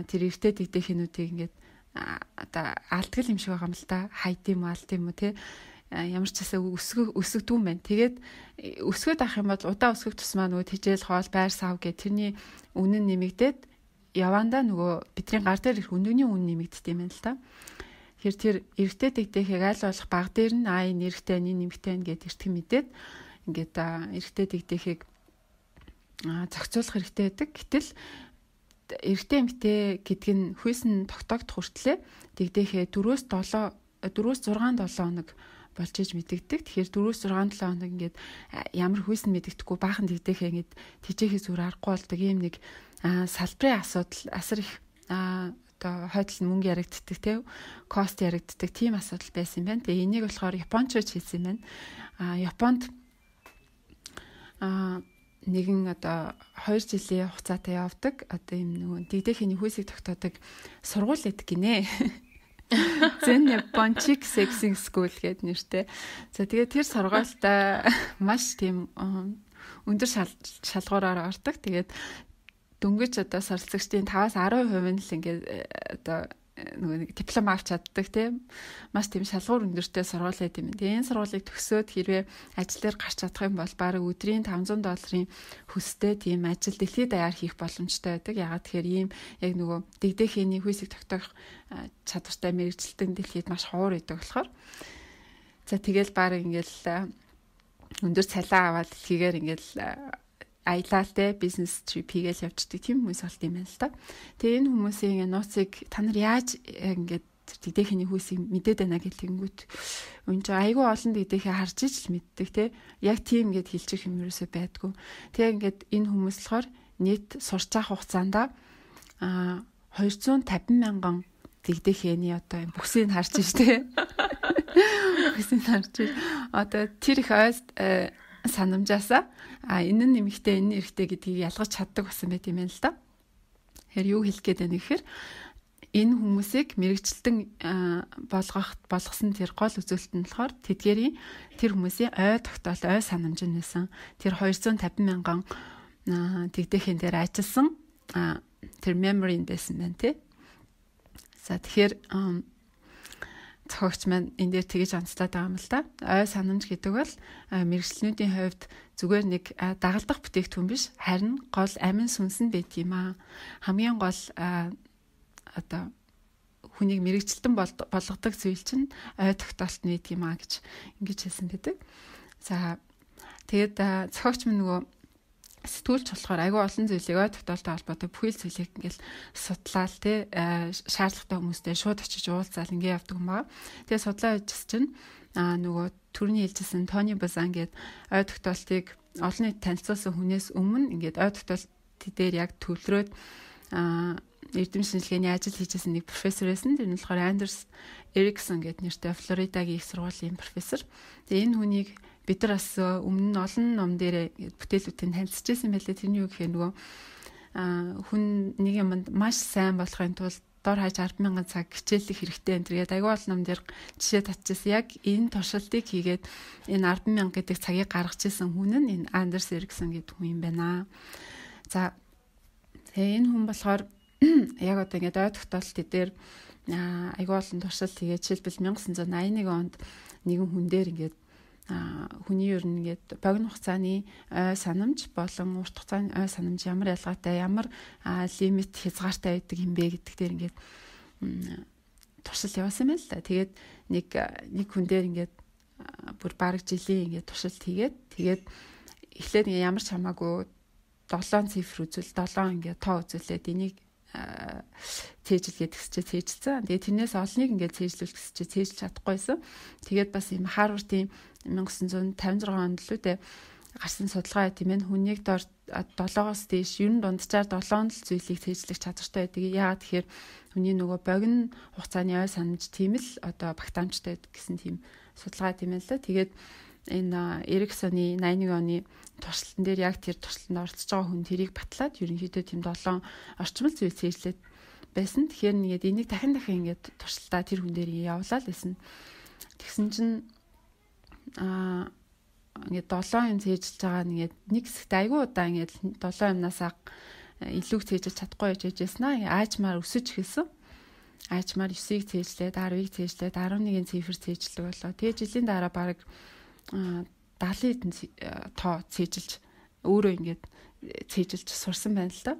тэр эрэгтэй дэгдэхэнүүдийг ингээд одоо алдгал юм шиг байгаа юм л да. Хайд юм алд юм уу те. Ямар ч хэсэг өсгдүү юм байна. Тэгээд өсгöd авах юм бол удаа өсгөх тусмаа нөгөө тижэл хоол байр сав гэх тэрний үнэн нэмэгдээд явандаа нөгөө бидний гар дээр ирэх өндөгний үн нэмэгддэг юм байна л да. Тэр эрэгтэй дэгдэхийг аль болох баг дээр нь энэ эрэгтэй энэ нэмэгтэй гэд эртхэн мэдээд ингээд эрэгтэй дэгдэхийг зохицуулах хэрэгтэй байдаг. Гэтэл эрэгтэй эмэгтэй гэдг нь хүйсэн тогтоогдох хүртлээр дэгдэхээ 4-6 хоног болж иж мэдэгдэг. Тэгэхээр 4-6-7 хоног ингээд ямар хүйсэн мэдэгдэхгүй баахан дэгдэхээ ингээд тижээхээс үр аргагүй болдог юм нэг салбарын асуудал асар их одоо хойдол мөнгө яригддаг те кост яригддаг тийм асуудал байсан юм байна. Тэгээ энийг болохоор Японч хийсэн юм байна. Японд нэгэн одоо 2 жилийн хугацаатай явдаг одоо юм нөгөө дэгдэхний хүйсийг тогтоодог сургууль гэдэг гинэ. Зэн Япончик сексинг скул гэдэг нэртэй. За тэгээд тэр сургуультай маш тийм өндөр шалгуураар ордог. Тэгээд дөнгөж одоо суралцагчдын 5-10% нь л ингээд одоо нэг диплом авч чаддаг тийм маш тийм шалгуур өндөртэй сургууль байт юм. Тэгээ энэ сургуулийг төгсөөд хэрвээ ажил дээр гарч чадах юм бол бараг өдрийн $500 хөстэй тийм ажил дэлхийд даяар хийх боломжтой байдаг. Ягаад тэгэхээр ийм яг нөгөө дэгдэхээний хүйсийг тогтоох чадвартай мэрэгчлэлтэн дэлхийд маш ховор байдаг болохоор за тэгэл бараг ингээл өндөр цалин аваад дэлхийгээр ингээл аялалтай бизнес trip хийгээл явждаг тийм хүмүүс болт юм байна л та. Тэгээ энэ хүмүүсийн нууцыг та нар яаж ингээд дэгдэхний хүйсийг мэдээд байна гэхлэнгүүт энэ чинь айгүй олон дэгдэхээ харж иж л мэддэг те. Яг тийм ингээд хэлчих юм ерөөсөй байдгүй. Тэгээ ингээд энэ хүмүүс болохоор нийт сурч авах хугацаанд 250,000 дэгдэхээний одоо бүсийг харж иж те. Бүсийг харж иж одоо тэр их санамжаасаа энэ нь нэмэгтэй энэ эрэгтэй гэдгийг ялгаж чаддаг болсон байт юм байна л да. Тэгэхээр юу хэлэх гээд байна гэхээр энэ хүмүүсийг мэрэгчлэн болгосон тэр гол үзүүлэлт нь болохоор тэдгээрийн тэр хүмүүсийн ой тогтоол ой санамж нь байсан. Тэр 250,000 дэгдэхин дээр ажилласан тэр memory байсан байна тий. За тэгэхээр зохиогч маань энэ дээр тэгэж онцлоод байгаа юм л да. Ой санамж гэдэг бол мэрэгчлэнүүдийн хувьд зүгээр нэг дагалдах бүтээгдэхүүн биш, харин гол амин сүнс нь байт юм аа. Хамгийн гол одоо хүнийг мэрэгчлэн болгодог зүйл чинь ой тогтоолт нь байт юм аа гэж ингэж хэлсэн байдаг. За тэгээд зохиогч маань нөгөө сэтгүүлч болохоор айгүй олон зүйлийг ой тогтоолтой холбоотой бүхэл зүйлийг ингээл судлаал те шаардлагатай хүмүүстэй шууд очиж уулзаал ингээ явдаг юм байна. Тэгээ судлаа хийжсэн чинь нөгөө түрүүний хэлжсэн Тони Базан гээд ой тогтоолтыг олон нийт танилцуулсан хүнээс өмнө ингээд ой тогтоолт дээр яг төвлөрөөд эрдэм шинжилгээний ажил хийжсэн нэг профессор байсан. Тэр нь болохоор Андерс Эриксон гээд нэртэй Флоридагийн их сургуулийн профессор. Тэгээ энэ хүнийг бид нар бас өмнө нь олон ном дээр бүтээлүүдийг танилцчихсан байлээ. Тэрний юу гэхээр нөгөө хүн нэг юмд маш сайн болохын тулд дор хаяж 10,000 цаг хичээлэх хэрэгтэй энэ тэгээд аягүй олон ном дээр жишээ татчихсан. Яг энэ туршилтыг хийгээд энэ 10,000 гэдэг цагийг гаргаж ирсэн хүн нь энэ Андерс Эриксон гэдэг хүн юм байна. За тэгээ энэ хүн болохоор яг одоо ингээд ой тогтоолт дээр аягүй олон туршилт хийгээд жишээлбэл 1981 онд нэгэн хүн дээр ингээд хүний ер нь ингээд богино хугацааны ой санамж болон урт хугацааны ой санамж ямар ялгаатай, ямар лимит хязгаартай байдаг юм бэ гэдэг дээр ингээд туршилт явуулсан байна л да. Тэгээд нэг хүн дээр ингээд бүр бараг жилийн ингээд туршилт тэгээд эхлээд ингээд ямар ч хамаагүй 7 цифр үзвэл 7 ингээд тоо үзүүлээд энийг цээжилгээд гэсчээ цээжилсэн. Тэгээд тэрнээс олныг ингээд цээжлүүлэх гэсчээ цээжилж чадахгүйсэн. Тэгээд бас юм Харвардын 1956 онд л үү гарсан судалгаа тийм ээ хүнийг дор 7-оос дээш ер нь дунджаар 7 зүйлийг цээжлэх чадвартай байдаг. Яагаад тэгэхээр хүний нөгөө богино хугацааны ой санамж тийм л одоо багтаамжтай гэсэн тийм судалгаа тийм ээ л. Тэгээд энэ Эриксоны 81 оны туршилтан дээр яг тэр туршилтанд оролцож байгаа хүн тэрийг батлаад ерөнхийдөө тийм 7 орчмол зүйл цээжлээд байсан. Тэгэхээр нэгээд энийг дахин ингээд туршилтаа тэр хүн дээр явуулаад байсан. Тэгсэн чинь ингээд 7 юм цээжилж байгаа ингээд нэг хэсэгт айгүй удаа ингээд 7 юмнасаа илүү цээжилж чадахгүй байж байжснаа. Аажмаар өсөж эхэлсэн. Аажмаар 9-ийг цээжлээд 10-ыг цээжлээд 11-ийн цифр цээжлэг болоо. Тэгээ жилийн дараа баг 70-ийн тоо цээжилж өөрөө ингээд цээжилж сурсан байна л да.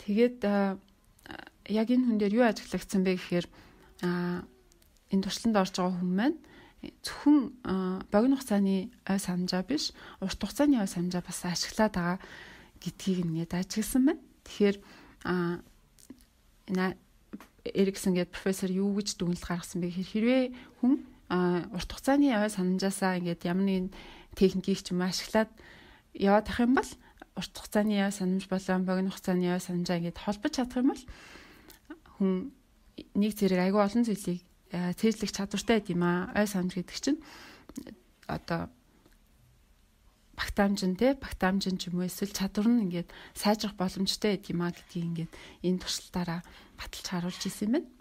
Тэгээд яг энэ хүн дээр юу ажиглагдсан бэ гэхээр энэ туршилтанд орж байгаа хүн маань зөвхөн богино хугацааны ой санамжаа биш, урт хугацааны ой санамжаа бас ашиглаад байгаа гэдгийг ингээд ажигласан байна. Тэгэхээр Эриксон гэдэг профессор юу гэж дүгнэлт гаргасан бэ гэхээр хэрвээ хүн урт хугацааны ой санамжаасаа ингээд ямар нэгэн техникийг ч юм ашиглаад яваад ах юм бол урт хугацааны ой санамж болон богино хугацааны ой санамжаа ингээд холбож чадах юм бол хүн нэг зэрэг айгүй олон зүйлийг цээжлэх чадвартай гэдэг юм аа. Ой санамж гэдэг чинь одоо багтаамжин ч юм уу эсвэл чадвар нь ингээд сайжрах боломжтой гэдэг юм аа гэдгийг ингээд энэ туршилтаараа баталж харуулж ирсэн юм байна.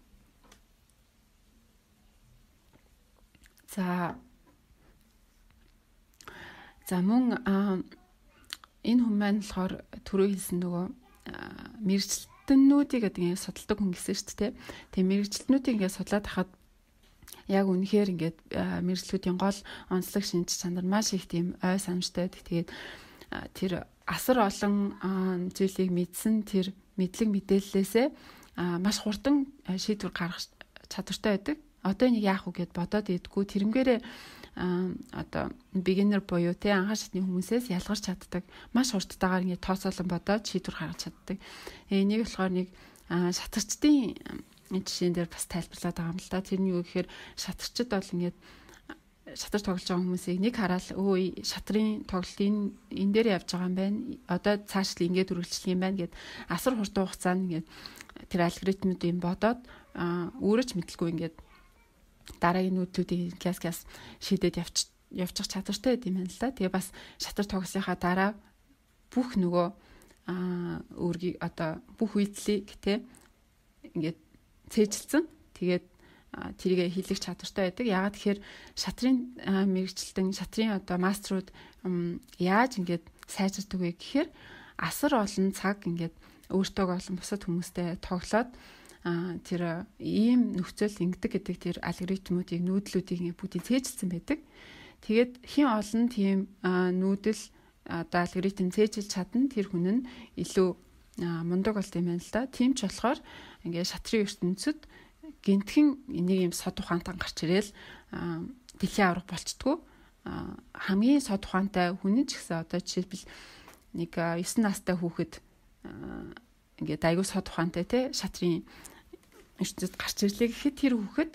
За мөн энэ хүн маань болохоор түрүү хэлсэн нөгөө мэрэгчлэнүүдийг ингээд судалдаг хүн гэсэн шүү дээ. Тэгээ мэрэгчлэнүүдийг ингээд судлаад хахад яг үнэхээр ингээд мэрэгчлүүдийн гол онцлог шинж чанар маш их тийм ой санамжтай. Тэгээд тэр асар олон зүйлийг мэдсэн тэр мэдлэг мэдээллээсээ маш хурдан шийдвэр гаргах чадвартай байдаг. Одоо энийг яах вэ гэд бодоод идэггүй тэрнгээрээ одоо beginner буюу те анхаар шатны хүмүүсээс ялгарч чаддаг маш хурдтайгаар ингээд тооцоолон бодоод шийдвэр гаргаж чаддаг. Энийг болохоор нэг шатарчдын жишээн дээр бас тайлбарлаад байгаа юм л да. Тэр нь юу гэхээр шатарчд бол ингээд шатар тоглож байгаа хүмүүсийг нэг хараад өө шатрын тоглолт энэ дээр явж байгаа юм байна. Одоо цааш л ингээд үргэлжлэх юм байна гэд асар хурдан хугацаанд ингээд тэр алгоритмуудыг бодоод өөрөж мэдлгүй ингээд дараагийн нүүдлүүдийг класс шийдээд явчих чадвартай гэдэм юм л да. Тэгээ бас шатар тоглосныхаа дараа бүх нөгөө өөргийг одоо бүх үйлдэлийг те ингээд цээжилсэн. Тэгээд тэрийг хийлгэх чадвартай байдаг. Яагаад тэгэхээр шатрын мэрэгчлэн шатрын одоо мастерууд яаж ингээд сайжирдаг вэ гэхээр асар олон цаг ингээд өөртөө олон бусад хүмүүстэй тоглоод тэр ийм нөхцөл ингэдэг гэдэг тэр алгоритмуудыг нүүдлүүдийг бүгдийг цээжилсэн байдаг. Тэгээд хин олон тийм нүүдэл одоо алгоритм цээжилж чадна тэр хүн нь илүү мундаг болт юм байна л да. Тийм ч болохоор ингээд шатрын ертөнцид гинтхэн энийг юм сод ухаантай гарч ирээл дэлхийн аврах болчдгоо хамгийн сод ухаантай хүн ч гэсэн одоо жишээлбэл нэг 9 настай хүүхэд ингээд аягүй сод ухаантай те шатрын ертөнцид гарч ирлээ гэхэд тэр хүүхэд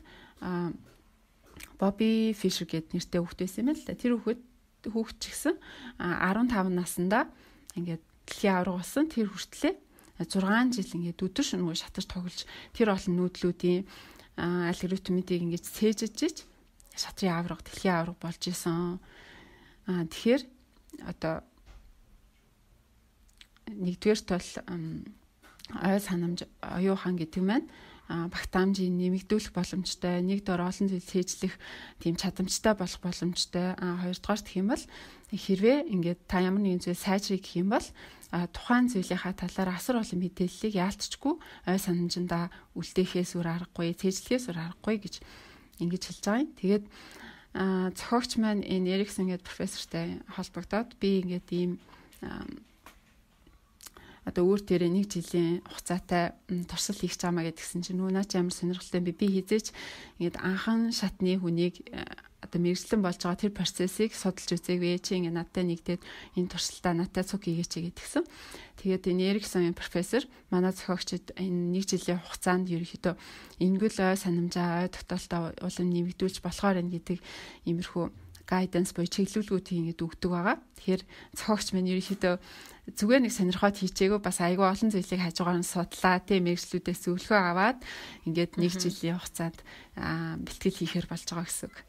Бобби Фишер гэдэг нэртэй хүүхэд байсан юм л да. Тэр хүүхэд ч гэсэн 15 наснда ингээд дэлхийн авраг болсон. Тэр хүртлээ 6 жил ингээд өдөр шөнөгүй шатар тоглож тэр олон нүүдлүүдийн алгоритмуудыг ингээд цээжиж шатрын авраг дэлхийн авраг болж исэн. Тэгэхээр одоо нэгдүгээр тол ой санамж оюухан гэдэг маань багтаамжийг нэмэгдүүлэх боломжтой, нэг дор олон зүйл цээжлэх тийм чадамжтай болох боломжтой. Хоёрдугаар гэх юм бол хэрвээ ингээд та ямар нэгэн зүйл сайжрыг гэх юм бол тухайн зүйлийнхаа талаар асар олон мэдээллийг яалтчгүй ой санамжиндаа үлдээхээс үр аргагүй, цээжлэхээс үр аргагүй гэж ингэж хэлж байгаа юм. Тэгээд зохиогч маань энэ Эриксон гэдэг профессортай холбогдоод би ингээд ийм одоо өөр төрөө нэг жилийн хугацаатай туршилт хийх чамаа гэдгсэн чинь наа чи ямар сонирхолтой би хизээч ингээд анхан шатны хүнийг одоо мэрэгчлэн болж байгаа тэр процессыг судалж үзээгүй чи ингээд надтай нэгдээд энэ туршилтаа надтай цуг хийгээч гэдгсэн. Тэгээд энэ Эриксон профессор манай зохиогчид энэ нэг жилийн хугацаанд ерөнхийдөө энгүүл ой санамжаа ой тогтоолтоо улам нэмэгдүүлж болохоор энэ гэдэг иймэрхүү гайданс буюу чиглүүлгүүдийг ингээд өгдөг байгаа. Тэгэхээр зохиогч маань ерөнхийдөө зүгээр нэг сонирхоод хийчихээгүй бас айгүй олон зүйлийг хажуугаар нь судлаа тийм мэрэгчлүүдээс зөвлөгөө аваад ингээд нэг жилийн хугацаанд бэлтгэл хийхээр болж байгаа гэсэн үг.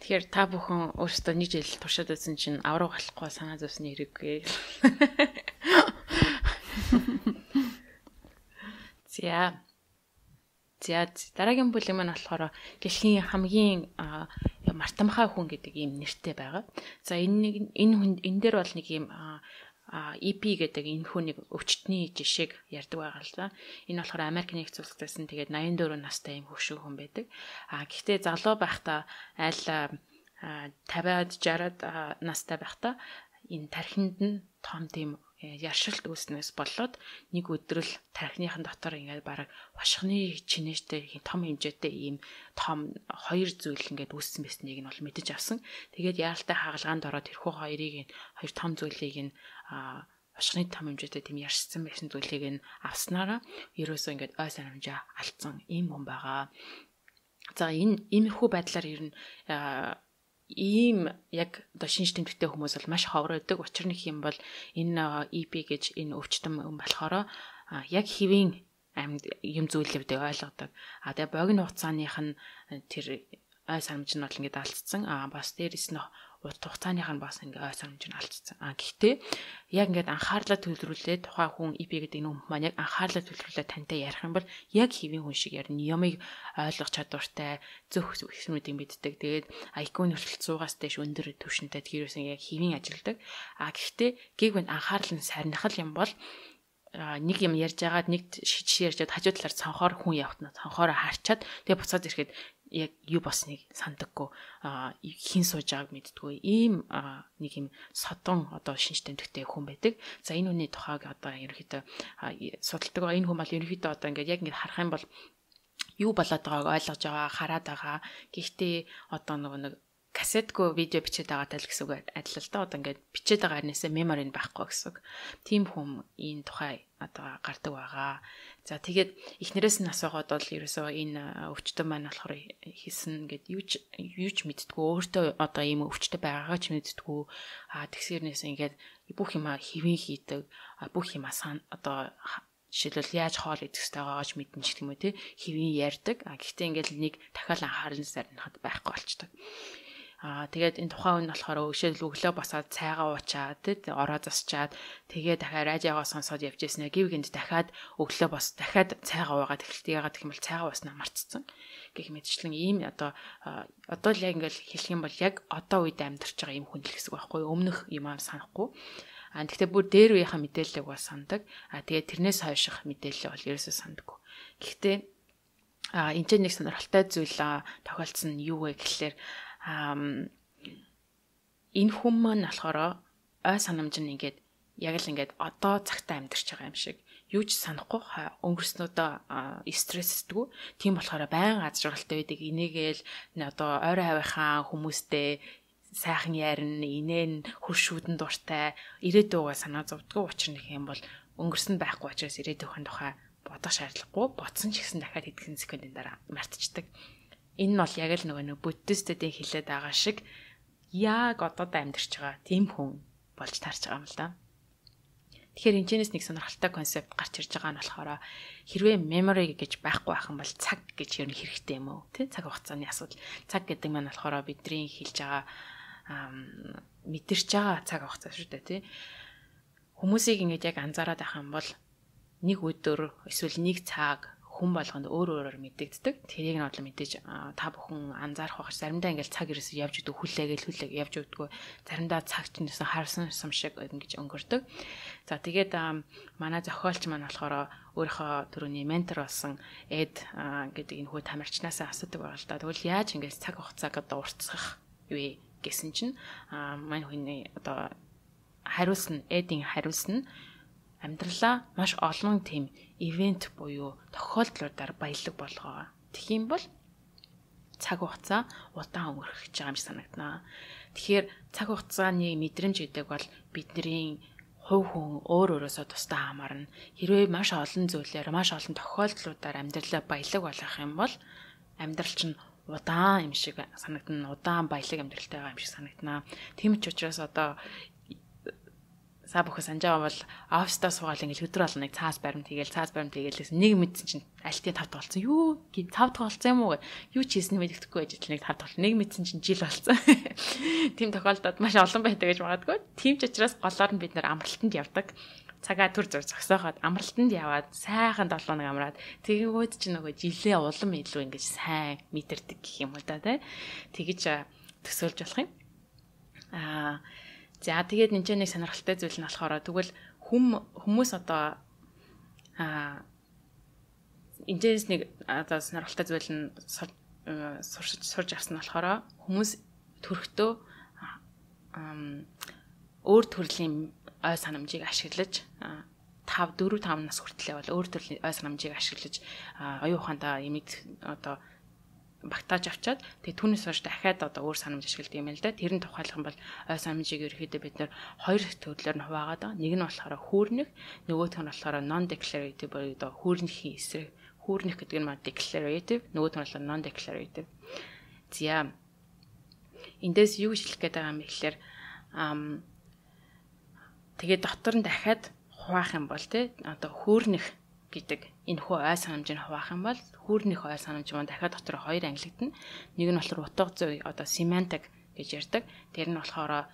Тэгэхээр та бүхэн өөрсдөө нэг жил туршаад үзсэн чинь авраг болохгүй санаа зовсны хэрэггүй. За дараагийн бүлэг маань болохоор дэлхийн хамгийн Мартамхай хүн гэдэг ийм нэртэй байгаа. За энэ дээр бол нэг ийм EP гэдэг энэ хүнийг өвчтний жишээг ярьдаг байгаа л да. Энэ болохоор Америк нэгдсэн улсаас нь тэгээд 84 настай ийм хөвшин хүн байдаг. Гэхдээ залуу байхдаа айл 50-аад 60-аад настай байхдаа энэ тархинд нь том тийм яршилт үүснээс болоод нэг өдрөл тархиныхан дотор ингээд бараг хошхны чинээштэй том хэмжээтэй ийм том хоёр зүйл ингээд үүссэн байсныг нь бол мэдэж авсан. Тэгээд яаралтай хагалгаанд ороод тэрхүү хоёр том зүйлийг нь хошхны том хэмжээтэй тийм яршсан байсан зүйлийг нь авснараа ерөөсөө ингээд ой санамжаа алдсан ийм хүн байгаа. За иймэрхүү байдлаар ер нь ийм яг одоо шинж тэмдэгтэй хүмүүс бол маш ховор байдаг. Учир нь юм бол энэ EP гэж энэ өвчтөн болохоор яг хэвийн амьд юм зүйлүүдийг ойлгодог. Тэгээ богино хугацааных нь тэр ой санамж нь бол ингээд алдсан. Бас дээрэс нь урт хугацааных нь бас ингээд ой санамж нь алдсан. Гэхдээ яг ингээд анхаарлаа төвлөрүүлээд тухайн хүн EP гэдэг энэ хүн маань яг анхаарлаа төвлөрүүлээд тантай ярих юм бол яг хэвийн хүн шиг ярина. Юмыг ойлгох чадвартай, зөв хэсгүүдийг мэддэг. Тэгээд IQ-ны хүртэл 100-аас дээш өндөр түвшинтэй тэрөөсөн яг хэвийн ажилдаг. Гэхдээ гэгвэнд анхаарал нь сарнихал юм бол нэг юм ярьж байгаад нэг жишээ ярьж байгаад хажуу талаар цонхоор хүн явахна. Цонхоороо харчаад тэгээ буцаад ирэхэд яг юу босныг сандаггүй хин сууж байгааг мэддэггүй ийм нэг юм содон одоо шинж тэмдэгтэй хүн байдаг. За энэ хүний тухайг одоо ерөнхийдөө судалдаг. Энэ хүн бол ерөнхийдөө одоо ингээд яг ингээд харах юм бол юу болоод байгааг ойлгож байгаа, хараад байгаа. Гэхдээ одоо нэг кассетгүй видео бичээд байгаатай л гэсэн үг адил л да. Одоо ингээд бичээд байгаа харнасаа мемори нь байхгүй гэсэн үг. Тийм хүн энэ тухай одоо гардаг байгаа. За тэгээд эхнэрээс нь асуугаад бол ерөөсөө энэ өвчтөн маань болохоор хийсэн ингээд юу ч мэддэггүй. Өөртөө одоо ийм өвчтөй байгаагаа ч мэддэггүй. Тэгсэрнээс ингээд бүх юма хэвэн хийдэг. Бүх юма одоо жишээлбэл яаж хоол идэх ёстой байгаач мэдэн ч юм уу тий хэвэн ярьдаг. Гэхдээ ингээд нэг дахиад анхаарал сарнахад байхгүй болчдөг. Тэгээд энэ тухайн хүн болохоор өглөө босоод цайгаа уучаад тий ороо засчаад тэгээ дахиад радиогоо сонсоод явж ирсэн. Гівгэнд дахиад өглөө дахиад цайгаа уугаад эхэлдэг. Ягаад гэх юм бол цайгаа ууснаа мартцсан гэх мэтчлэн ийм одоо л яг ингээл хэлэх юм бол яг одоо үед амьдарч байгаа ийм хүн л гэсэн үг байхгүй юу? Өмнөх юм аа санахгүй. Тэгтээ бүр дээр үеийнхаа мэдээллийг бол сандаг. Тэгээд тэрнээс хойших мэдээлэл бол ерөөсөө сандаггүй. Гэхдээ энэ ч нэг сонирхолтой зүйл тохиолдсон нь юу вэ гэхлээр энэ хүн маань болохоор ой санамж нь ингээд яг л ингээд одоо цагтаа амьдарч байгаа юм шиг юу ч санахгүй өнгөрснөдөө стрессдэггүй. Тийм болохоор байнга аз жаргалтай байдаг. Энийгээл одоо ойрын хавийнхаа хүмүүстэй сайхан ярина, инээн хуршүүдэн дуртай ирээдүйгээ санаа зовдгоо. Учир нь юм бол өнгөрсөн байхгүй учраас ирээдүйн тухай бодох шаардлагагүй. Бодсон ч гэсэн дахиад хэдхэн секундын дараа мартчихдаг. Энэ нь бол яг л нөгөө буддистуудын хэлээд байгаа шиг яг одоо амьдарч байгаа тийм хүн болж таарч байгаа юм л да. Тэгэхээр энэчнээс нэг сонирхолтой концепт гарч ирж байгаа нь болохоор хэрвээ memory гэж байхгүй байх юм бол цаг гэж ер нь хэрэгтэй юм уу? Тэ цаг хугацааны асуудал. Цаг гэдэг маань болохоор бидний хэлж байгаа мэдэрч байгаа цаг хугацаа шүү дээ, тий. Хүмүүсийг ингэж яг анзаараад байх юм бол нэг өдөр эсвэл нэг цаг хүн болгонд өөрөөр мэдэгддэг. Тэрийг нь бодлоо мэдээж та бүхэн анзаарах байх. Заримдаа ингээл цаг ерөөсөө явж идэв хүлээгээл явж өгдөггүй. Заримдаа цаг ч нэсэн харсан сум шиг ингэж өнгөрдөг. За тэгээд манай зохиолч маань болохоор өөрийнхөө түрүүний ментор болсон Эд гэдэг энэ хүү тамирчнаасаа асуудаг байгаа л да. Тэгвэл яаж ингэж цаг хугацааг одоо уртсах вэ гэсэн чинь манай хүний одоо Эдийн хариулсан нь амьдралаа маш олон тийм ивент буюу тохиолдлуудаар баялаг болгоо. Тэгэх юм бол цаг хугацаа удаан өнгөрөх гэж байгаа юм шиг санагдана. Тэгэхээр цаг хугацааны мэдрэмж гэдэг бол бидний хувь хүн өөрөөсөө тусдаа хамаарна. Хэрвээ маш олон зүйлээр, маш олон тохиолдлуудаар амьдралаа баялаг болгох юм бол амьдрал чинь удаан юм шиг санагдана. Удаан баялаг амьдралтай байгаа юм шиг санагдана. Тийм ч учраас одоо саа бүхэн санджаа бол оффистаа суугаад ингээл өдөр болго нэг цаас баримт хийгээл нэг мэдсэн чинь альтын 5 дахь болсон. Юу гээ 5 дахь болсон юм уу? Юу ч хийсэн мэддэхгүй байж нэг 5 дахь нэг мэдсэн чинь жил болсон. Тийм тохиолдолд маш олон байдаг гэж магадгүй. Тийм ч учраас голоор нь бид нэр амралтанд явдаг. Цагаа төр зур зогсоохоод амралтанд яваад сайхан 7 хоног амраад тэгэнгүүт чинь нөгөө жилээ улам илүү ингэж сайн мэдэрдэг гэх юм уу да тий. Тэгэж төсөөлж болох юм. За тэгээд энэ нэг сонирхолтой зүйл нь болохоор тэгвэл хүмүүс одоо энэс нэг одоо сонирхолтой зүйл нь сурч авсан нь болохоор хүмүүс төрөхдөө өөр төрлийн ой санамжийг ашиглаж 4-5 нас хүртлэе бол өөр төрлийн ой санамжийг ашиглаж оюун ухаандаа имийг одоо багтааж авчаад тэгээ түүнээс хойш дахиад одоо өөр санамж ашигладаг юм л да. Тэр нь тухайлах юм бол ой санамжийг ерөөхдөө бид нэр хоёр төрлөөр нь хуваагаад байгаа. Нэг нь болохоор хүүрнэх, нөгөөх нь болохоор non declarative буюу одоо хүүрнэхийн эсрэг. Хүүрнэх гэдэг нь маань declarative, нөгөөх нь болохоор non declarative. За эндээс юу хэлэх гээд байгаа юм бэ гэхээр тэгээ дотор нь дахиад хуваах юм бол тий одоо хүүрнэх гэдэг энэ хөө ой санамжийг хуваах юм бол хүүрнэх ой санамж маань дахиад дотор хоёр ангилагдана. Нэг нь болохоор утга зүй одоо semantic гэж ярьдаг. Тэр нь болохоор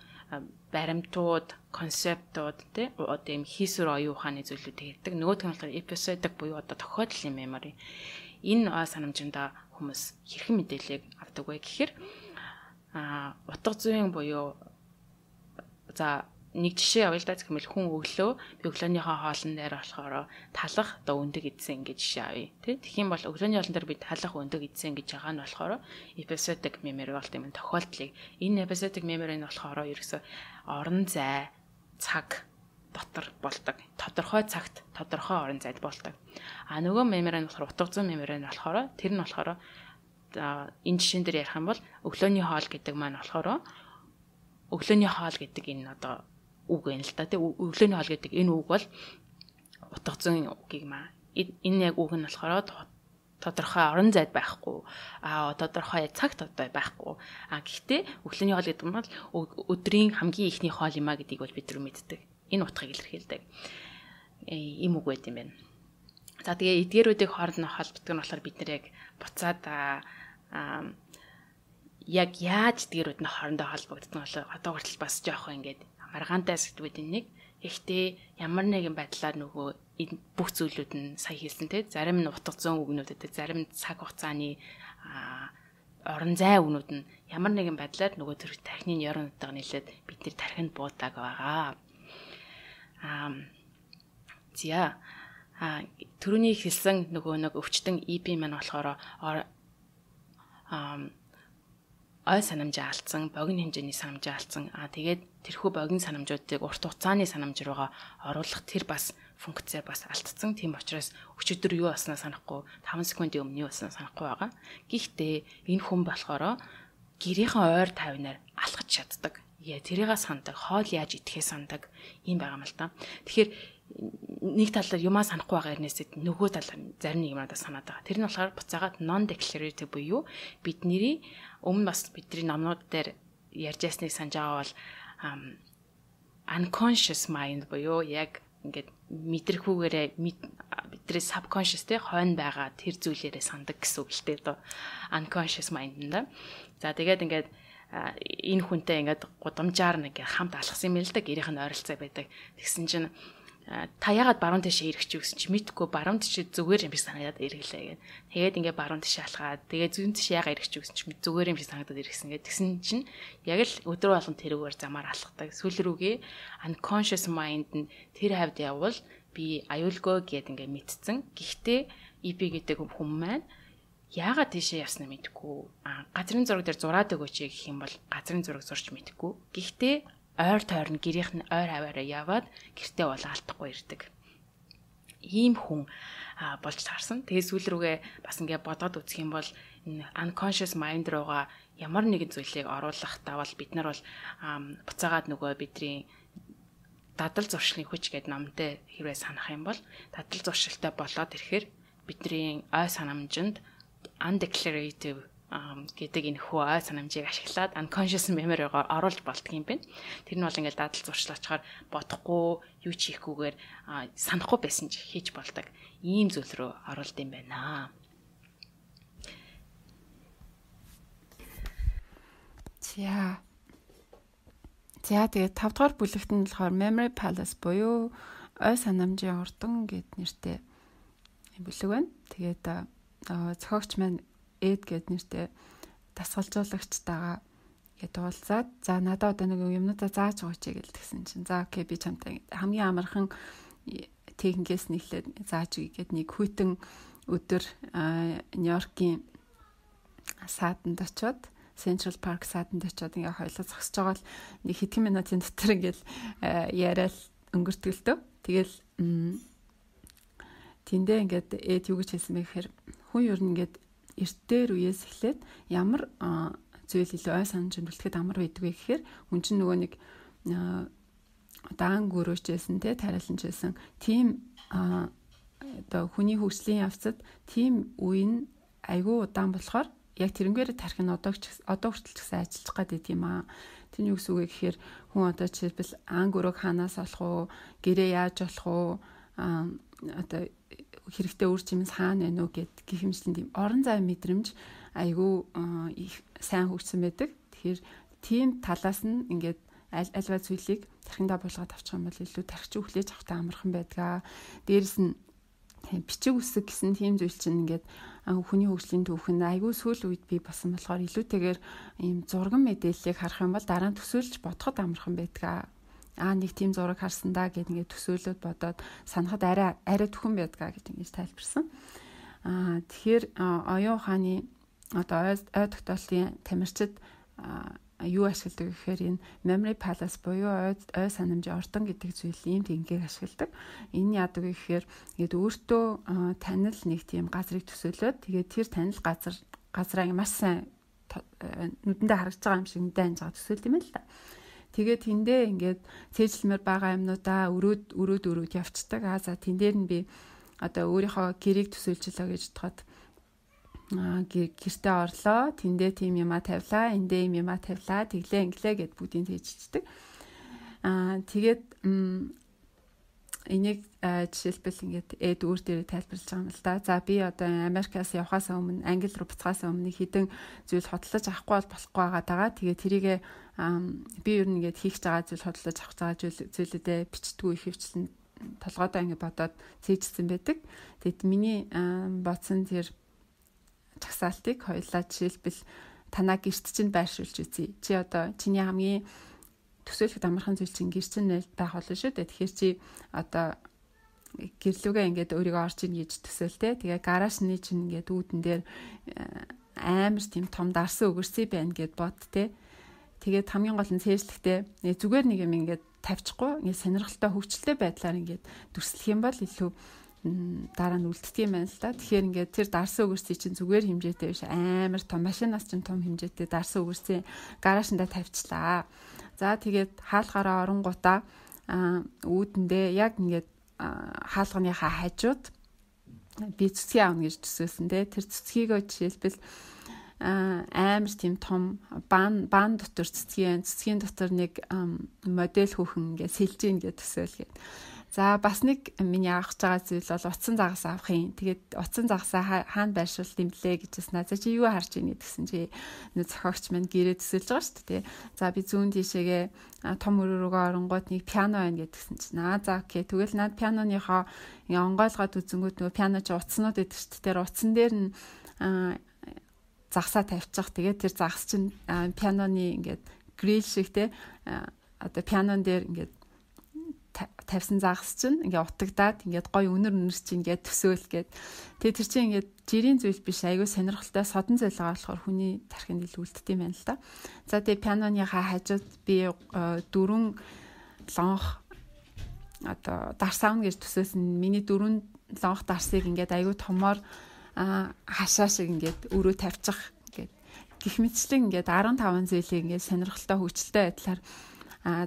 баримтууд, концептууд тий одоо юм хийсвэр оюун ухааны зүйлүүдийг ярьдаг. Нөгөөх нь болохоор episodic буюу одоо тохиолдлын memory. Энэ ой санамжиндаа хүмүүс хэрхэн мэдээллийг авдаг вэ гэхээр утга зүйн буюу за нэг жишээ явъя л да гэхмэл хүн өглөө би өглөөнийхөө хоолн дээр болохоор талах одоо өндөг идсэн гэж жишээ авъя тий тэгэх юм бол өглөөний хоолн дээр би талах өндөг идсэн гэж байгаа нь болохоор episodic memory болт юм тохиолдлыг энэ episodic memory нь болохоор ерөөсө орон зай цаг дотор болдог тодорхой цагт тодорхой орон зайд болдог нөгөө memory нь болохоор утга зүйн memory нь болохоор тэр нь болохоор энэ жишээн дээр ярих юм бол өглөөний хоол гэдэг маань болохоор өглөөний хоол гэдэг энэ одоо үг юм л та тий өглөөний хоол гэдэг энэ үг бол утга зүйн үгийг маа энэ яг үг нь болохоор тодорхой орон зайд байхгүй тодорхой цагт одоо байхгүй гэхдээ өглөөний хоол гэдэг нь бол өдрийн хамгийн ихний хоол юм а гэдгийг бол бид нар мэддэг энэ утгыг илэрхийлдэг ийм үг байт юм байна. За тэгээ эдгээрүүдийг хооронд нь холбогддог нь болохоор бид нар яг буцаад яг яаж эдгээрүүд нь хоорондоо холбогддог нь болохоор одоо хүртэл бас жоохон ингээд маргаантай сэдвүүд нэг ихтэй ямар нэгэн байдлаар нөгөө бүх зүйлүүд нь сая хэлсэн те зарим нь утга зүйн үгнүүдэд зарим цаг хугацааны орон зай үгнүүд нь ямар нэгэн байдлаар нөгөө төр тархины нейронуудаа нийлээд бидний тархинд буудаг байгаа. За түрүүний хэлсэн нөгөө нэг өвчтөн EP маань болохоор ой санамжаа алдсан, богино хэмжээний санамжаа алдсан. Тэгээд тэрхүү богино санамжуудыг урт хугацааны санамж руугаа оруулах тэр бас функцээ бас алдсан. Тийм учраас өчигдөр юу болсноо санахгүй, 5 секундын өмнө юу болсноо санахгүй байгаа. Гэхдээ энэ хүн болохоор гэрийнхэн ойр тайвнаар алхаж чаддаг. Тэрийгээ сандаг, хоол яаж идэхээ сандаг юм байгаа юм л та. Тэгэхээр нэг талаар юмаа санахгүй байгаа хэрнээсээ нөгөө талаар зарим нэг юмудаа санаад байгаа. Тэр нь болохоор буцаагаад non declarative буюу бидний өмнө бас бидний номнууд дээр ярьж байсныг санаж байгаа бол unconscious mind буюу яг ингээд мэдрэхүүгээрээ бидний subconscious те хойно байгаа тэр зүйлээрээ сандаг гэсэн үг л дээ доо unconscious mind нь да. За тэгээд ингээд энэ хүнтэй ингээд гудамжаар нэг хамт алхсан юм л да гэрийнх нь ойролцоо байдаг. Тэгсэн чинь та ягаад баруун тишээ эргэж юу гэсэн чи мэдгүй баруун тишээ зүгээр юм шиг санагдаад эргэлээ гэх. Тэгээд ингээд баруун тишээ алхаад тэгээд зүүн тишээ ягаад эргэж юу гэсэн чи зүгээр юм шиг санагдаад эргэсэн гэх. Тэгсэн чинь яг л өдрөө болгон тэрүүгээр замаар алхдаг. Сүүл рүүгээ unconscious mind нь тэр хавьд явбал би аюулгүй гэд ингээд мэдсэн. Гэхдээ EP гэдэг хүн маань яагаад тийшээ явснаа мэдгүй. Газрын зураг дээр зураад өгөөч гэх юм бол газрын зураг зурч мэдгүй. Гэхдээ ойр тойрон гэрийнх нь ойр хаваараа яваад гэртээ бол алдахгүй ирдэг. Ийм хүн болж таарсан. Тэгээ сүүл рүүгээ бас ингээд бодоод үзэх юм бол энэ unconscious mind руугаа ямар нэгэн зүйлийг оруулах давал бид нар бол буцаагаад нөгөө бидний дадал зуршлын хүч гэдэг номтой хэрвээ санах юм бол дадал зуршилтай болоод ирэхээр бидний ой санамжинд undeclarative гэдэг энэ хөө ой санамжийг ашиглаад unconscious memory-гоор оруулж болдго юм байна. Тэр нь бол ингээд дадал зуршлаачаар бодохгүй, юу ч хийхгүйгээр санахгүй байсан ч хийж болдог. Ийм зүйл рүү оруулд юм байна. За тэгээд 5 дугаар бүлэгт нь болохоор memory palace буюу ой санамжийн урдан гэд нэртэй бүлэг байна. Тэгээд зохиогч маань Эд гэд нэртэй дасгалжуулагчтайгаа ингээд уулзаад за надад одоо нэг юмнуудаа зааж өгөөч гэсэн чинь за окей би чамтай хамгийн амархан техникээс нэхлээд зааж өгье гэд нэг хүйтэн өдөр Нью-Йоркийн саатанд очиод Central Park саатанд очиод ингээ хоёлоо зогсож байгаа л нэг хэдхэн минутын дотор ингээл яриад өнгөртгөлтөө. Тэгэл тэндээ ингээд юу гэж хэлсэн бэ гэхээр хүн ер нь ингээд эрт дээр үеэс эхлээд ямар зүйл илүү ой санаж үлдэхэд амар байдаг вэ гэхээр хүн чинь нөгөө нэг даан гөрөөчсэн те тариаланчсэн тийм одоо хүний хөгжлийн явцад тийм үе нь айгүй удаан болохоор яг тэрнгээр тарих нь одоо хүртэл ч гэсэн ажиллаж гадаг юм аа. Тэр юу гэсэн үг вэ гэхээр хүн одоо жишээлбэл ан гөрөөг хаанаас олох уу, гэрээ яаж олох уу, одоо хэрэгтэй үр жимс хаана байна уу гэх юмчлэн тийм орон зайн мэдрэмж айгүй их сайн хөгжсөн байдаг. Тэгэхээр тийм талаас нь ингээд альва зүйлийг тархиндаа буулгаад авчих юм бол илүү тархич хүлээж авахтай амархан байдгаа. Дээрэс нь бичиг үсэг гэсэн тийм зүйл чинь ингээд хүний хөгжлийн түүхэнд айгүй сүүл үед би басан болохоор илүүтэйгээр ийм зурган мэдээллийг харах юм бол дараа нь төсөөлж бодоход амархан байдгаа. Нэг тийм зураг харсан да гэд ингээд төсөөлөд бодоод санахад арай төхөн байдгаа гэж ингэж тайлбарсан. Тэгэхээр оюун ухааны одоо ой тогтоолтын тамирчид юу ашигладаг гэхээр энэ memory palace буюу ой санамжийн ордон гэдэг зүйл ийм техникийг ашигладаг. Энэ яадаг вэ гэхээр ингээд өөртөө танил нэг тийм газрыг төсөөлөөд тэгээд тэр танил газраа маш сайн нүдэндээ харагдж байгаа юм шиг нүдэн анж байгаа төсөөлт юм л та. Тэгээд тэндээ ингээд цээжлэмэр байгаа юмнуудаа өрөөд явцдаг. За тэн дээр нь би одоо өөрийнхөө гэрийг төсөөлчлөө гэж бодоход гэртээ орлоо, тэндээ тийм юма тавилаа, эндээ юм юма тавилаа, тэглээ инглээ гэд бүгдийг тэгжчихдэг. Тэгээд энийг жишээлбэл ингээд эд өөр дээр тайлбарлаж байгаа юм л да. За би одоо Америкаас явхаас өмнө, Англи руу буцахаас өмнө хідэн зүйл хөдөлж авахгүй бол болохгүй байгаа. Тэгээд тэрийгэ би ер нь ингээд хийх байгаа зүйл хөдөлж авах байгаа зүйлүүдээ бичдэггүй их хвчлэн толгойдоо ингээд бодоод цээжсэн байдаг. Тэгэд миний бодсон тэр чагсаалтыг хоёулаа жишээлбэл танаа гэрт чинь байршуулж үзье. Чи одоо чиний хамгийн төсөөлөхөд амархан зүйл чинь гэр чинь байх болно шүү дээ. Тэгэхээр чи одоо гэрлүүгээ ингээд өөрийгөө орж ийн гэж төсөөлтэй. Тэгээ гаражны чинь ингээд үүдэн дээр амар тийм том дарсан өгөрсөй байна гэд бод те. Тэгээд хамгийн гол нь цээжлэхтэй зүгээр нэг юм ингээд тавьчихгүй ингээд сонирхолтой хөвгчлөлтэй байдлаар ингээд дүрслэх юм бол илүү дараа нь үлддэг юм байна л да. Тэгэхээр ингээд тэр дарсан өгөрсөй чинь зүгээр хэмжээтэй биш амар том машинаас чинь том хэмжээтэй дарсан өгөрсөй гаражнда тавьчлаа. За тэгээд хаалгаараа оронгуудаа үүдэндээ яг ингээд хаалганыхаа хажууд би цэцгийг аавна гэж төсөөсөн те. Тэр цэцгийг жишээлбэл амар тийм том баан дотор цэцгийн дотор нэг модель хүүхэн ингээд сэлж ийн гэж төсөөлгээд. За бас нэг миний авах байгаа зүйл бол утсан загас авах юм. Тэгээд утсан загасаа хаана байршуулт юм блэ гэж байна. За чи юу харж ийн гэсэн чи нэг зохиогч маань гэрээ төсөөлж байгаа шүү дээ. За би зүүн тишээгээ том өрөөгөө оронгууд нэг пиано байна гэдгсэн чинь за окей. Тэгвэл над пианоныхоо онгойлгоод үзэнгүүт нөгөө пиано чи утаснууд гэдэг шүү дээ. Тэр утсан дээр нь загсаа тавьчих. Тэгээд тэр загас чинь пианоны ингээд грил шиг те одоо пианон дээр ингээд тавьсан загас чинь ингээ утагдаад ингээд гой өнөр чинь ингээд төсөөл гээд тэгээ тэр чинь ингээд жирийн зүйл биш айгүй сонирхолтой содон зүйл байгаа болохоор хүний тархинд илүү үлддэг юм байна л да. За тэгээ пианоныхаа хажууд би дөрвөн лонх одоо дарсаавна гэж төсөөсөн миний дөрвөн лонх дарсыг ингээд айгүй томоор хашаа шиг ингээд өрөө тавьчих гээд гих мэтчлэн ингээд 15 зүйлийг ингээд сонирхолтой хөгжилтэй байдлаар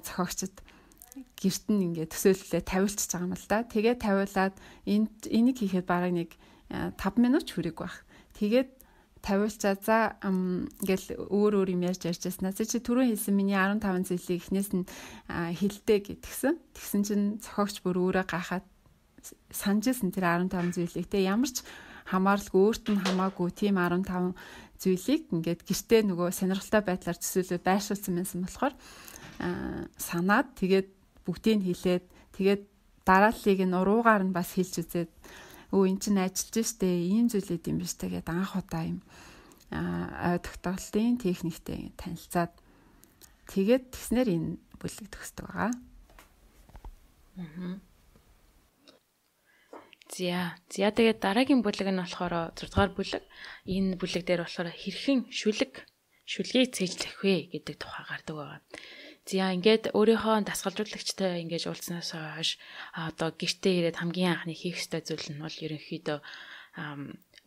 зохиогчд гэрт нь ингээд төсөөлөлөө тавиулчихж байгаа юм л да. Тэгээд тавиулаад энийг хийхэд бараг нэг 5 минут ч хүрээгүй байх. Тэгээд тавиулчаа за ингээл өөр юм ярьж яснаа. Чи түрүү хэлсэн миний 15 зүйлийг эхнээс нь хэлдэ гэдгсэн. Тэгсэн чинь зохиогч бүр өөрөө гахаад санджсэн тэр 15 зүйлийг те ямар ч хамааралгүй өөрт нь хамаагүй тийм 15 зүйлийг ингээд гэртээ нөгөө сонирхолтой байдлаар төсөөлөд байршуулсан юмсан болохоор санаад тэгээд бүгдийг хэлээд тэгээд дарааллыг нь уруугаар нь бас хэлж үзээд эн чинь ажиллаж штэ ийм зүйлүүд юм биш тэгээд анх удаа юм ой тогтоолтын техниктэй танилцаад тэгээд тэгснээр энэ бүлэг төгсдөг байгаа. За тэгээд дараагийн бүлэг нь болохоор 6 дугаар бүлэг. Энэ бүлэг дээр болохоор хэрхэн шүлгийг цээжлэх вэ гэдэг тухай гардаг байгаа. За ингээд өөрийнхөө дасгалжуулагчтай ингэж уулзсанаас хойш одоо гэртээ ирээд хамгийн анхны хийх ёстой зүйл нь бол ерөнхийдөө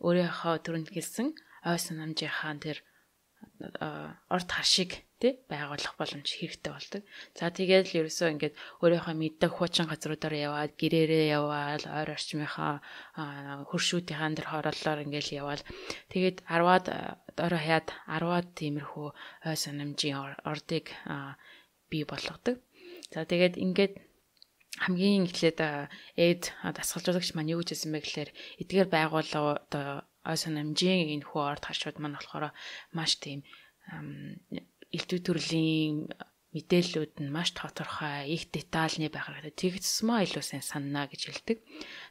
өөрийнхөө түрүүнд хэлсэн ой санамжийнхаа тэр орд харшиг тий байгуулах боломж хэрэгтэй болдог. За тэгээд л ерөөсөө ингээд өөрийнхөө мэддэг хуучин газруудаар яваад гэрээрээ яваад ойр орчмынхаа хөршүүдийнхаа тэр хорооллоор ингээд яваад тэгээд 10-аад орой хаяад 10-аад тиймэрхүү ой санамжийн ордыг бий болгодог. За тэгээд ингээд хамгийн эхлээд эд дасгалжуулагч маань юу гэж хэлсэн бэ гэхээр эдгээр байгууллага одоо ой санамжийн энэ хүү орд харшууд маань болохоор маш тийм элдв төрлийн мэдээллүүд нь маш тодорхой, их детальны байх хэрэгтэй. Тэгсмээ илүү сайн санана гэж хэлдэг.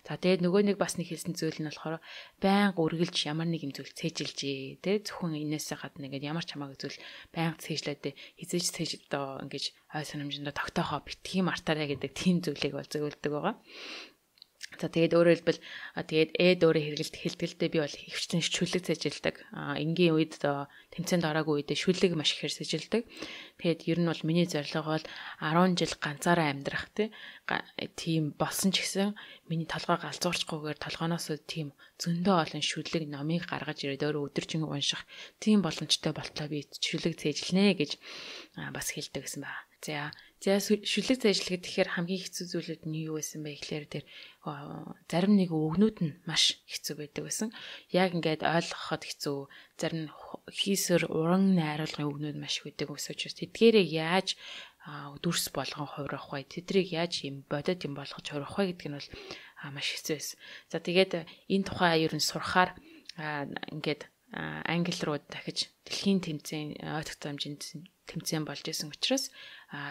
За тэгээд нөгөө нэг бас нэг хэлсэн зүйл нь болохоор байнга үргэлж ямар нэг юм зүйл цээжилжээ. Тэ зөвхөн энээсээ гадна ингээд ямар ч хамаагүй зүйл байнга цээжлээд хизээж цээж одоо ингээд ой санамжиндаа тогтоохоо битгий мартаарэ гэдэг тийм зүйлийг бол зөвлөдөг байгаа. За тэгээд өөрөөр хэлбэл тэгээд эд өөрөө хэлтгэлтэй би бол хөвчлэн шүлэг цэжилдэг. Энгийн үед тэмцээнд ороогүй үедээ шүлэг маш ихээр цэжилдэг. Тэгээд ер нь бол миний зорилго бол 10 жил ганцаараа амьдрах тийм болсон ч гэсэн миний толгой галзуурчгүйгээр толгоноос тийм зөндөө олон шүлэг номыг гаргаж ирээд өөрөө өдөржин унших тийм боломжтой болтлоо би шүлэг цэжилнэ гэж бас хэлдэг гэсэн байна. За шүлэг цэжлэхэд тэгэхээр хамгийн хэцүү зүйлүүд нь юу байсан бэ гэхээр тэр зарим нэг өгнүүд нь маш хэцүү байдаг байсан. Яг ингээд ойлгоход хэцүү. Зарим хийсэр уран найруулгын өгнүүд маш байдаг өсөж тэдгээрээ яаж дүрс болгон хувирах вэ? Тэдрийг яаж юм бодит юм болгож хувирах вэ гэдэг нь бол маш хэцүү байсан. За тэгээд энэ тухай ер нь сурахаар ингээд англи руу дахиж дэлхийн тэмцээн ой тогтоомжийн тэмцээн болж исэн учраас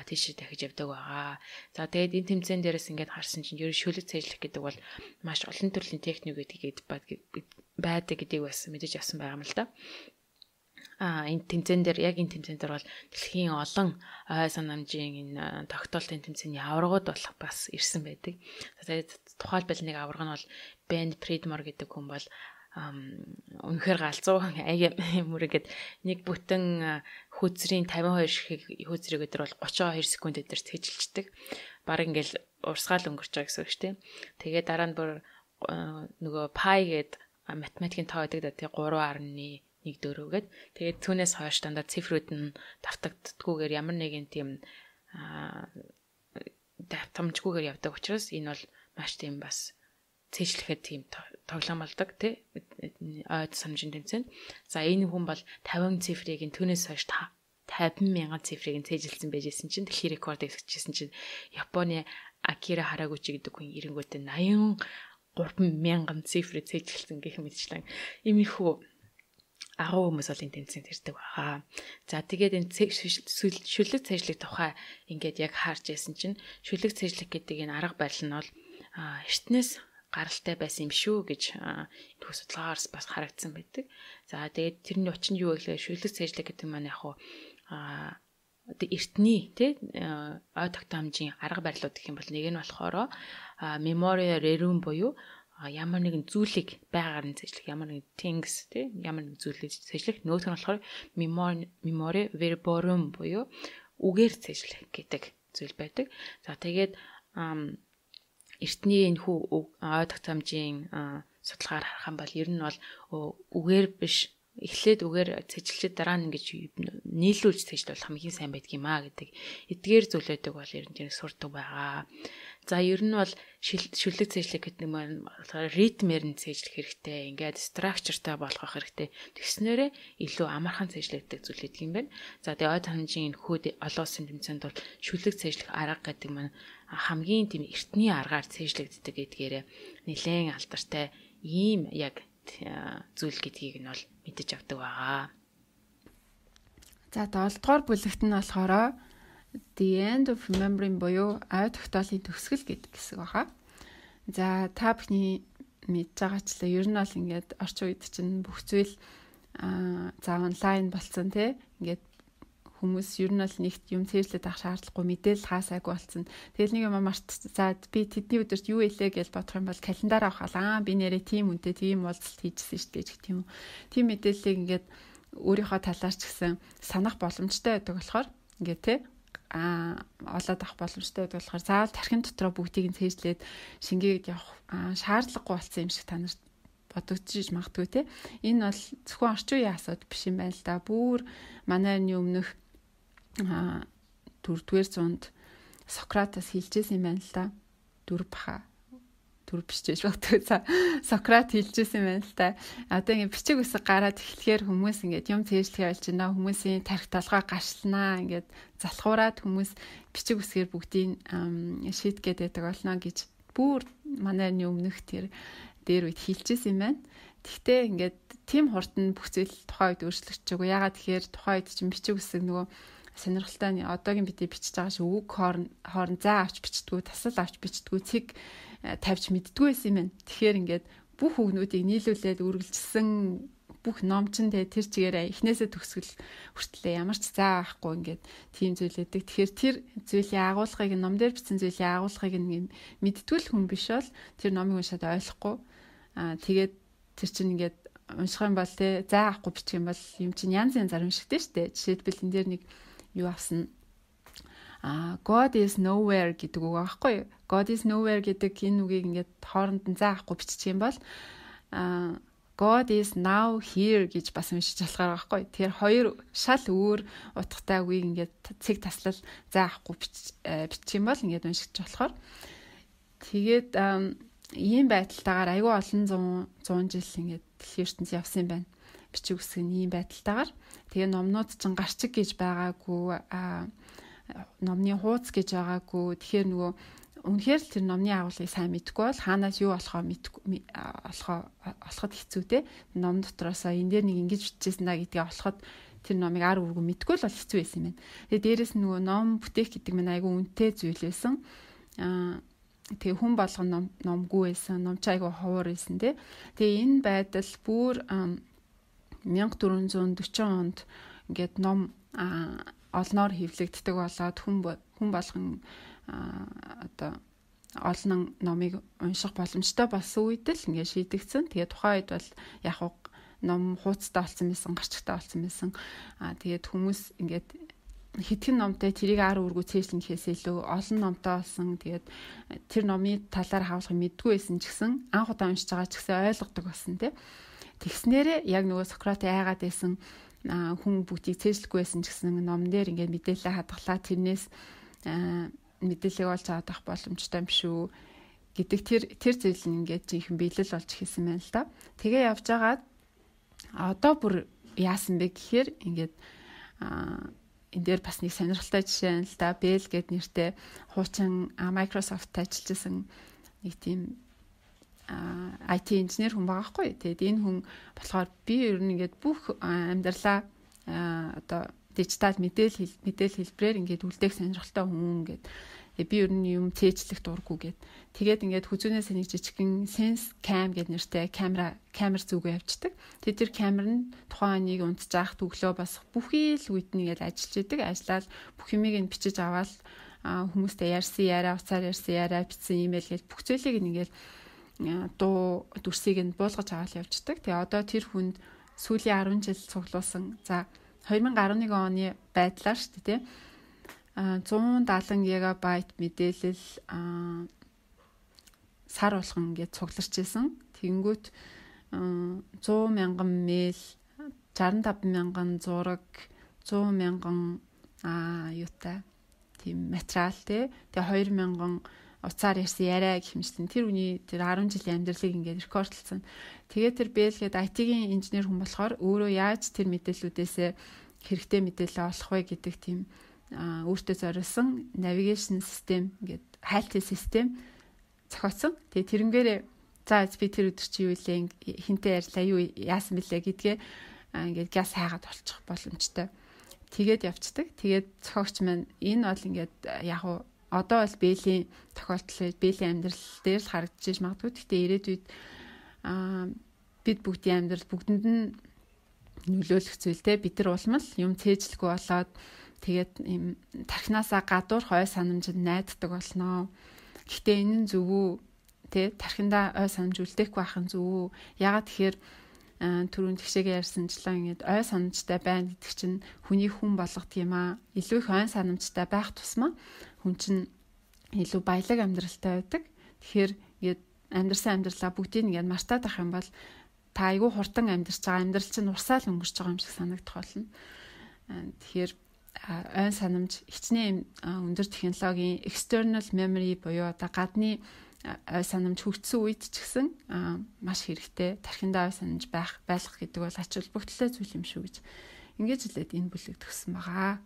тийш дахиж явдаг байгаа. За тэгээд энэ тэмцээн дээрээс ингээд харсан чинь ер нь шүлэг цэжлэх гэдэг бол маш олон төрлийн техник гэдэг байдаг гэдгийг бас мэдэж авсан байгаа юм л да. Энэ тэмцээн дээр яг энэ тэмцээн дээр бол дэлхийн олон ой санамжийн энэ тогтоолтын тэмцээний аваргууд болох бас ирсэн байдаг. Тэгээд тухайлбал нэг аварга нь бол Ben Friedmore гэдэг хүн бол үнэхээр галзуу мөрөгэд нэг бүтэн хүйцрийн 52 ширхэг хүйцрийг өдөр бол 32 секунд өдөр цэжилчдэг. Бараг ингээл урсгаал өнгөрч байгаа гэсэн үг шүү дээ. Тэгээд дараа нь бүр нөгөө пай гээд математикийн тоо гэдэг да тий 3.14 гээд тэгээд түүнээс хойш дандаа цифрүүд нь давтагддггүйгээр ямар нэгэн тийм давтамжгүйгээр явдаг учраас энэ бол маш тийм бас цэжлэхэд тийм тоглоом болдог тий ой санамжийн тэмцээн. За энэ хүн бол 50 цифрыг түүнээс хойш 50,000 цифрыг цэжилсэн байжсэн чинь дэлхийн рекорд эсгэжсэн чинь Японы Акира Харагучи гэдэг хүн эренгүүтээ 83,000 цифрыг цэжилсэн гэх мэтчлэн иймэрхүү агуу хүмүүс бол энэ тэмцээнд ирдэг байгаа. За тэгээд энэ шүлэг цэжлэх тухай ингээд яг харж яасан чинь шүлэг цэжлэх гэдэг энэ арга барил нь бол эртнээс гаралтай байсан юм шүү гэж энэ судалгаагаар бас харагдсан байдаг. За тэгээд тэрний учир нь юу вэ гэхээр шүлэг цэжлэх гэдэг маань яг хуу эртний тий ой тогтоомжийн арга барилууд гэх юм бол нэг нь болохоор memoria rerum буюу ямар нэгэн зүйлийг байгаар нь цэжлэх, ямар нэгэн things тий ямар нэгэн зүйлийг цэжлэх, нөгөөх нь болохоор memoria verborum буюу үгээр цэжлэх гэдэг зүйл байдаг. За тэгээд эртний энэ хүү ой тогтоомжийн судалгаар харах юм бол ер нь бол үгээр биш эхлээд үгээр цэжилчид дараа нь ингэж нийлүүлж цэжлэх бол хамгийн сайн байдаг юм аа гэдэг эдгээр зүйлүүдийг бол ер нь тийм сурдаг байгаа. За ер нь бол шүлэг цэжлэх гэдэг нь ритмээр нь цэжлэх хэрэгтэй. Ингээд structureтай болгох хэрэгтэй. Тэгснээрээ илүү амархан цэжлэгдэх зүйл гэдэг юм байна. За тэгээ ой тогтоомжийн хүүд олон улсын тэмцээнд бол шүлэг цэжлэх арга гэдэг нь хамгийн тийм эртний аргаар цэжлэгддэг гэдгээрээ нэлээд алдартай ийм яг зүйл гэдгийг нь бол мэдэж авдаг байгаа. За 7 дугаар бүлэгт нь болохоор the end of remembering буюу ой тогтоолын төгсгөл гэдэг хэсэг байгаа. За та бүхний мэдж байгаачлаа ер нь бол ингээд орчин үед чинь бүх зүйл за онлайн болсон тий ингээд хүмүүс ер нь бол нэгт юм цээжлээд авах шаардлагагүй мэдээлэл хаасаагүй болсон. Тэгэл нэг юм мартцаад би тэдний өдөрт юу илээ гэж бодох юм бол календар авахаа би нэрээ тийм үнтэй тийм уулзалт хийжсэн шүү дээ гэх юм уу. Тийм мэдээллийг ингээд өөрийнхөө талаар ч гэсэн санах боломжтой байдаг болохоор ингээд те олоод авах боломжтой байдаг болохоор заавал тархин дотроо бүгдийг нь цээжлээд шингээгээд явах шаардлагагүй болсон юм шиг та нарт бодогдож магадгүй те. Энэ бол зөвхөн орчин үеийн асуудал биш юм байна л да. Бүр манай өмнөх 4-р зуунд Сократаас хэлжсэн юм байна л да. 4 биш ч бодогдоо. Сократ хэлжсэн юм байна л да. Одоо ингэ бичиг үсэг гараад эхлэхээр хүмүүс ингэ юм цээжлэхээ болж байна. Хүмүүсийн тарих толгой гашлнаа. Ингэ залхуураад хүмүүс бичиг үсгээр бүгдийг шийдгээд байдаг болно гэж бүр манай өмнөх тэр дээр үед хэлчихсэн юм байна. Тэгтээ ингээд тийм хурдан бүх зүйл тухайн үед өөрчлөгдөж байгаа. Ягаад тэгэхээр тухайн үед чинь бичиг үсэг нөгөө сонирхолтой одоогийн бидний бичиж байгаа шиг үг хоорон заа авч бичдэггүй, тасал авч бичдэггүй, цэг тавьж мэддэггүй байсан юм байна. Тэгэхээр ингээд бүх үгнүүдийг нийлүүлээд үргэлжилсэн бүх ном чинь тэр чигээрээ эхнээсээ төгсгөл хүртлээ ямар ч заа авахгүй ингээд тийм зүйл өгдөг. Тэгэхээр тэр зүйлийн агуулгыг ном дээр бичсэн зүйлийн агуулгыг мэдтгүүл хүн биш бол тэр номыг уншаад ойлгохгүй. Тэгээд тэр чинь ингээд унших юм бол те заа авахгүй бичих юм бол юм чинь янз янзаар уншигдэж штэ. Жишээлбэл энэ дээр нэг юу авсан God is nowhere гэдэг үг аахгүй. God is nowhere гэдэг энэ үгийг ингээд хооронд нь заа авахгүй бичих юм бол God is now here гэж бас уншиж болохоор байхгүй. Тэгэхээр хоёр шал өөр утгатай үгийг ингээд цэг таслал заа авахгүй бичих юм бол ингээд уншиж болохоор тэгээд ийм байдалтайгаар айгүй олон 100 жил ингээд дэлхийн ертөнцийн явсан юм байна. Бичиг үсэг нь ийм байдалтайгаар. Тэгээ номнууд ч гарчиг гэж байгаагүй, номны хууц гэж байгаагүй. Тэгэхээр нөгөө үнэхээр л тэр номны агуулгыг сайн мэдэхгүй бол хаанаас юу олоход хэцүү те. Ном дотроосоо энэ дээр нэг ингэж бичижсэн да гэдгийг олоход тэр номыг ар үргэн мэдэхгүй л бол хэцүү байсан юм байна. Тэгээ дээрэс нөгөө ном бүтээх гэдэг нь айгүй үнэтэй зүйл байсан. Тэгээ хүн болгон номгүй байсан, номч айгүй ховор байсан тий. Тэгээ энэ байдал бүр 1440 онд ингээд ном олноор хэвлэгддэг болоод хүн болгон одоо олон номыг унших боломжтой болсон үед л ингээд шийдэгдсэн. Тэгээ тухайн үед бол яг ном хууцтай болсон байсан, гарчигтай болсон байсан. Тэгээд хүмүүс ингээд хитгэн номтой тэрийг ар үргүү цээжлэнхээс илүү олон номтой болсон. Тэгээд тэр номын талаар хаалгах мэдгүй байсан ч гэсэн анх удаа уншиж байгаа ч гэсэн ойлгодог болсон тий. Тэгснээрээ яг нөгөө Сократ айгаад байсан хүн бүгдийг цээжлэхгүй байсан ч гэсэн ном дээр ингээд мэдээлэл хадгалаа тэрнээс мэдээлэл олж авах боломжтой юм шүү гэдэг тэр зүйл нь ингээд жинхэнэ биелэл болж хэлсэн байна л да. Тэгээ явж байгаад одоо бүр яасан бэ гэхээр ингээд энэ дээр бас нэг сонирхолтой жишээ л да. Bell гэд нэртэй хуучин Microsoft ажиллажсэн нэг тийм IT инженер хүн байгаа хгүй. Тэгээд энэ хүн болохоор би ер нь ингээд бүх амьдралаа одоо дижитал мэдээлэл хэлбэрээр ингээд үлдээх сонирхолтой хүн ингээд би ер нь юм цээжлэх дурггүй гэд. Тэгээд ингээд хүзүүнээс нэг жижигхэн Sense Cam гэд нэртэй камер зүгөө явждаг. Тэгээд тэр камер нь тухайн нэг унтжаах төглөө бас бүхий л үйд нэгээд ажиллаж идэг. Ажиллаад бүх юмыг нь бичиж аваад хүмүүстэй ярьсан яриа, уцаар ярьсан яриа, бичсэн имэйл гэж бүх зүйлийг ингээд дуу дүрсийг нь буулгаж аваад явждаг. Тэгээ одоо тэр хүнд сүүлийн 10 жил цуглуулсан. За 2011 оны байдлаар шүү дээ, тийм 170 гигабайт мэдээлэл сар болгон ингээд цугларч исэн. Тэнгүүт 100 мянган мэйл, 65 мянган зураг, 100 мянган юутай тийм материал тий. Тэгээ 2 мянган уцаар ярьсан яриа гэх юмшин тэр үний тэр 10 жилийн амьдралыг ингээд рекордлсон. Тэгээ тэр Bell гээд IT-ийн инженер хүн болохоор өөрөө яаж тэр мэдээллүүдээс хэрэгтэй мэдээлэл олох вэ гэдэг тийм өөртөө зориулсан навигашн систем ингээд хайлтын систем зохиоцсон. Тэгээ тэрнгээрээ за би тэр өдөр чи юу илээ хинтээ ярьлаа юу яасан бэлээ гэдгээ ингээд газ хайгаад олчих боломжтой. Тэгээд явцдаг. Тэгээд зохиогч маань энэ бол ингээд яг уу одоо бол Bell-ийн тохиолдол, Bell-ийн амьдрал дээр л харагдаж магадгүй. Гэхдээ ирээдүйд бид бүгдийн амьдрал бүгдэнд нь нөлөөлөх зүйл те бид нар улмал юм цээжлэхгүй болоод Тэгээд ийм тархинасаа гадуур ой санамжид найддаг болноо. Гэхдээ энэ нь зөв үү? Тэ тархиндаа ой санамж үлдээхгүй байх нь зөв үү? Ягаад тэгэхээр түрүүн тэгшээгээ ярьсанчлаа ингээд ой санамжтай байна гэдэг чинь хүнийг хүн болгох юм аа. Илүү их ой санамжтай байх тусмаа хүн чинь илүү баялаг амьдралтай байдаг. Тэгэхээр ингээд амьдрсан амьдралаа бүгдийг ингээд мартаад ах юм бол та айгүй хурдан амьдарч байгаа амьдрал чинь урсаал өнгөрч байгаа юм шиг санагдах болно. Тэгэхээр ой санамж хичнээн өндөр технологийн external memory буюу одоо гадны ой санамж хөгжсөн үед ч гэсэн маш хэрэгтэй. Тархиндаа ой санамж байлгах гэдэг бол ач холбогдолтой зүйл юм шүү гэж ингэж хэлээд энэ бүлэг төгссөн байгаа.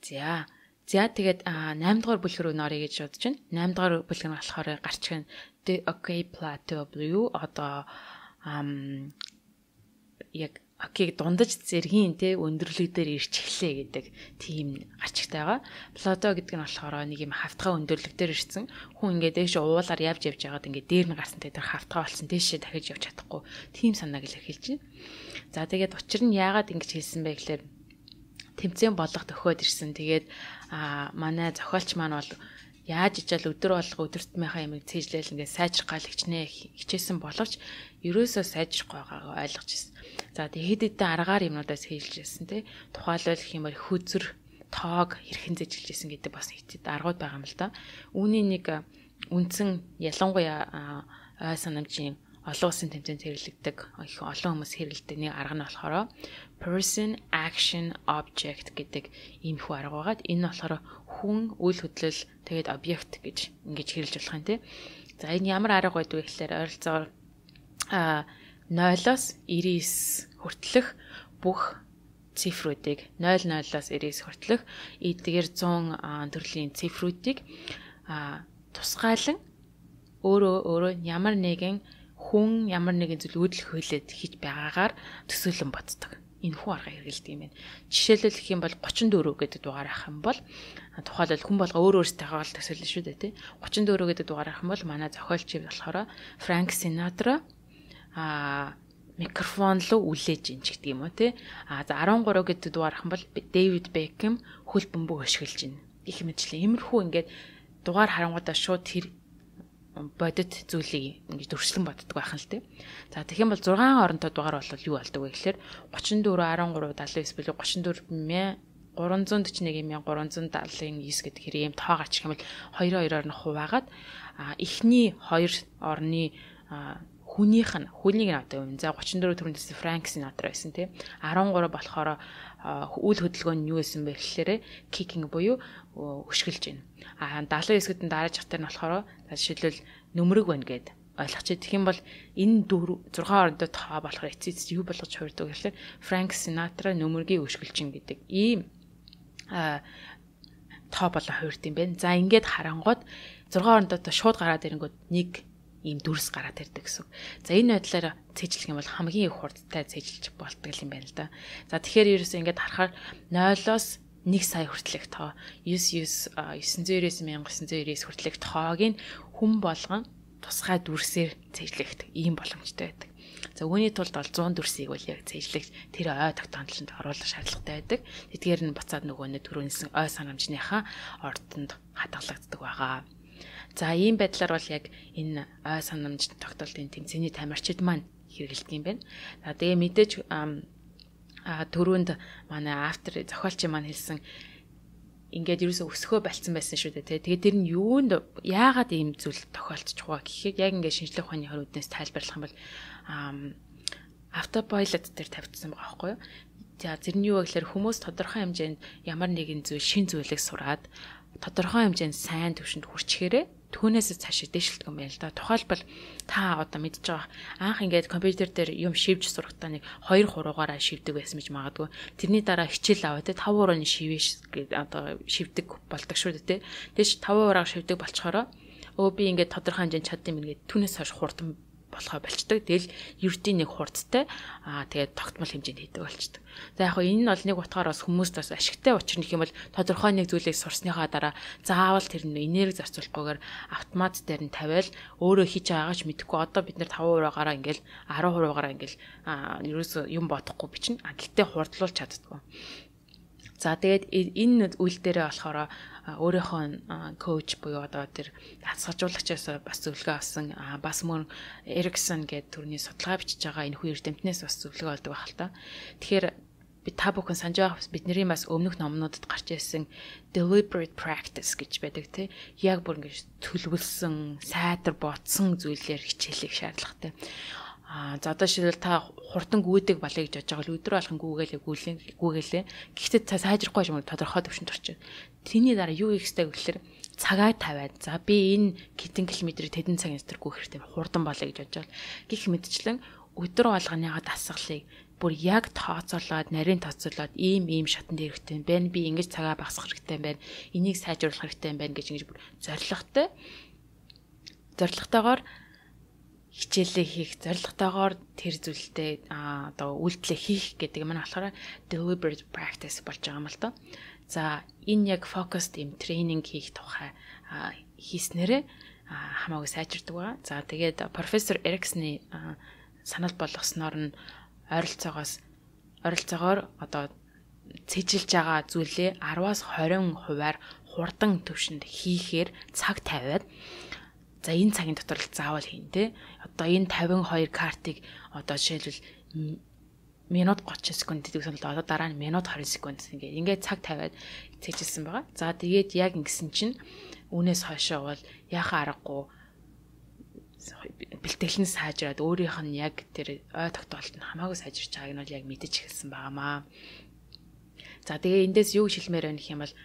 За тэгээд 8 дугаар бүлэг рүү нөрье гэж бодож байна. 8 дугаар бүлэг нь болохоор гарч ирэн the okay plateau буюу одоо яг окей дундаж зэргийн те өндөрлөг дээр ирч эхлэе гэдэг тийм гарчигтай байгаа. Плато гэдэг нь болохоор нэг юм хавтгай өндөрлөг дээр ирсэн. Хүн ингээд дээш уулаар явж байгаад ингээд дээр нь гарсан тэр хавтгай болсон дээшээ дахиж явж чадахгүй. Тийм санааг л хэлж байна. За тэгээд учир нь яагаад ингэж хэлсэн бэ гэхээр тэмцээн болгох төхөөд ирсэн. Тэгээд манай зохиолч маань бол яаж ичээл өдөр болго өдөртмийнхаа ямиг цээжлээл ингээд сайжрах гал хичээсэн боловч ерөөсөө сайжрахгүй байгаагаа ойлгож ирсэн. За тэгээд хэд хэдэн аргаар юмнуудаас хэлж ирсэн тий. Тухайлбал гэх юм бол хүзэр, тоог хэрхэн зэжилж ирсэн гэдэг бас хэд аргууд байгаа юм л да. Үүний нэг үндсэн ялангуяа ой санамжийн олон улсын тэмцээнд хэрэглэгдэг их олон хүмүүс хэрэглэдэг нэг арга нь болохоор person action object гэдэг ийм их арга байгаад энэ болохоор хүн үйл хөдлөл тэгээд объект гэж ингэж хэрэглэж болох юм тий. За энэ ямар арга байдг вэ гэхээр ойролцоогоор 0-оос 99 хүртэлх бүх цифруудыг 00-оос 99 хүртэлх эдгээр 100 төрлийн цифруудыг тусгаалan өөрөө ямар нэгэн хүн ямар нэгэн зүйл үүдэл хөөлөд хийж байгаагаар төсөөлөн боддог. Энэ хүн арга хэрэгэлдэг юм байна. Жишээлбэл гэх юм бол 34 гэдэг дугаар авах юм бол тухайлбал хүн болго өөр өөртөө л төсөөлнө шүү дээ тий. 34 гэдэг дугаар авах юм бол манай зохиолчид болохоор Frank Sinatra микрофон руу үлээж ин ч гэдэг юм уу тий. За 13 гэдэг дугаар авах юм бол David Beckham хөл бөмбөг өшгөлж ин. Их мэтлээ. Иймэрхүү ингээд дугаар харангуудаа шууд тэр бодит зүйлийг ингэж төрслөн боддог байх нь л тий. За тэгэх юм бол 6 оронтой дугаар бол юу болдог вэ гэхээр 34 13 79 буюу 34 341 379 гэдэг хэрэг юм тоо гарчих юм бол 2-2-оор нь хуваагаад эхний 2 орны хүнийг нь одоо юм. За 34 төрөндөөс Frank Sinatra байсан тий. 13 болохоор үйл хөдөлгөөн нь юу байсан бэ гэхээр kicking буюу өшгөлж байна. 79-д дарааж хатар нь болохоор жишээлбэл нөмрөг байна гэд ойлгоч. Тэгэх юм бол энэ 6 орондоо тоо болохоор эцэц юу болгож хуурдаг гэхээр Frank Sinatra нөмрөгийг өшгөлж гэдэг ийм тоо болоо хуурд юм байна. За ингээд харангууд 6 орондоо шууд гараад ирэнгүүт нэг ийм дүрс гараад ирдэг гэсэн. За энэ байдлаар цээжлэх юм бол хамгийн их хурдтай цээжилж болтго юм байна л да. За тэгэхээр ерөөсөө ингээд харахаар 0-оос 1 сая хүртэлх тоо 999 хүртэлх тоог нь хүн болгон тусгай дүрсээр цээжлэхдэг ийм боломжтой байдаг. За үүний тулд бол 100 дүрсийг бол яг цээжлэх тэр ой тогтоомжлолд оруулах шаардлагатай байдаг. Тэдгээр нь буцаад нөгөө түрүүнсэн ой санамжныхаа ордонд хадгалагддаг байгаа. За ийм байдлаар бол яг энэ ой санамж тогтоолтын тэмцээний тамирчид маань хэрэгэлдэг юм байна. За тэгээ мэдээж түрүүнд манай автор зохиолч маань хэлсэн ингээд ерөөсөө өсгөө болцсон байсан шүү дээ. Тэгээд тэр нь юунд яагаад ийм зүйл тохиолдчих вэ гэхэд яг ингээд шинжлэх ухааны хөрөднөөс тайлбарлах юм бол автопилот дээр тавьчихсан байгаа байхгүй юу? За тэр нь юу вэ гэхээр хүмүүс тодорхой хэмжээнд ямар нэгэн зүйл шин зүйлийг сураад тодорхой хэмжээнд сайн төвшөнд хүрчихээрээ түүнээс цаашаа дэвшилдэг юм байна л да. Тухайлбал та одоо мэдж байгаа анх ингээд компьютер дээр юм шивж сурахтаа нэг 2-3-аараа шивдэг байсан гэж магадгүй. Тэрний дараа хичээл аваад 5-аар нь шивэж одоо шивдэг болдог шүү дээ. Тэгэж 5-аар шивдэг болчохороо би ингээд тодорхой хэмжээнд чаддсан юм ингээд түүнээс хойш хурдан болохоо болчдөг. Тэгэл ердийн нэг хурдтай тэгээд тогтмол хэмжээнд хийдэг болчдөг. За яг энэ нь бол нэг утгаар бас хүмүүст бас ашигтай учир нь гэх юм бол тодорхой нэг зүйлийг сурсныхаа дараа заавал тэр нь энерги зарцуулахгүйгээр автомат дээр нь тавиал өөрөө хийж байгаагаа ч мэдэхгүй одоо бид нэр 5%-аараа ингээл 10%-аараа ингээл ерөөсөө юм бодохгүй бичнэ. Гэхдээ хурдлуулж чаддгүй. За тэгээд энэ үйл дээрээ болохоор өөрийнхөө коуч буюу одоо тэр хасгажуулагчаас бас зөвлөгөө авсан бас мөн Эриксон гэдэг төрний судалгаа бичиж байгаа энэ хүү эрдэмтнээс бас зөвлөгөө олдог байх л та. Тэгэхээр та бүхэн санаж байгаа бидний бас өмнөх номнуудад гарч ирсэн deliberate practice гэж байдаг тий. Яг бүр ингэж төлөвлөсөн, сайтар ботсон зүйлээр хичээлэх шаардлагатай. За одоо шилбэл та хурдан гүйдэг балыг гэж бодож байгаа л өдрөө алхан гүйгэлээ. Гэхдээ та сайжрахгүй юм тодорхой төвшөнд орчих. Тэний дараа юу хийх ёстой гэхээр цагаа тавиад за би энэ хэдэн километрийг тэдэн цагийн дотор гүйх хэрэгтэй хурдан балыг гэж бодож байгаа. Гэх мэтчлэн өдөр болгоныгаа дасгалыг бүр яг тооцоолоод нарийн тооцоолоод ийм шатанд хэрэгтэй юм байна. Би ингэж цагаа багасгах хэрэгтэй юм байна. Энийг сайжруулах хэрэгтэй юм байна гэж ингэж бүр зорилготойгоор хичээлээ хийх, зорилготойгоор тэр зүйлтэй одоо үйлдэлээ хийх гэдэг юм болохоор deliberate practice болж байгаа юм л доо. За энэ яг focused юм тренинг хийх тухай хийснээрээ хамаагүй сайжирдаг байгаа. За тэгээд профессор Эриксны санал болгосноор нь ойролцоогоор одоо цэжилж байгаа зүйлээ 10-аас 20% хурдан төвшөнд хийхээр цаг тавиад за энэ цагийн дотор л заавал хийн тэ. Одоо энэ 52 картыг одоо жишээлбэл минут 30 секунд гэдэг нь одоо дараа нь минут 20 секунд ингээд цаг тавиад цэжилсэн байгаа. За тэгээд яг ингэсэн чинь үүнээс хойшоо бол яхаа аргагүй бэлтгэл нь сайжраад өөрийнх нь яг тэр ой тогтоолт нь хамаагүй сайжирч байгааг нь бол яг мэдэж эхэлсэн байгаамаа. За тэгээ эндээс юу шилмээр байна гэх юм бол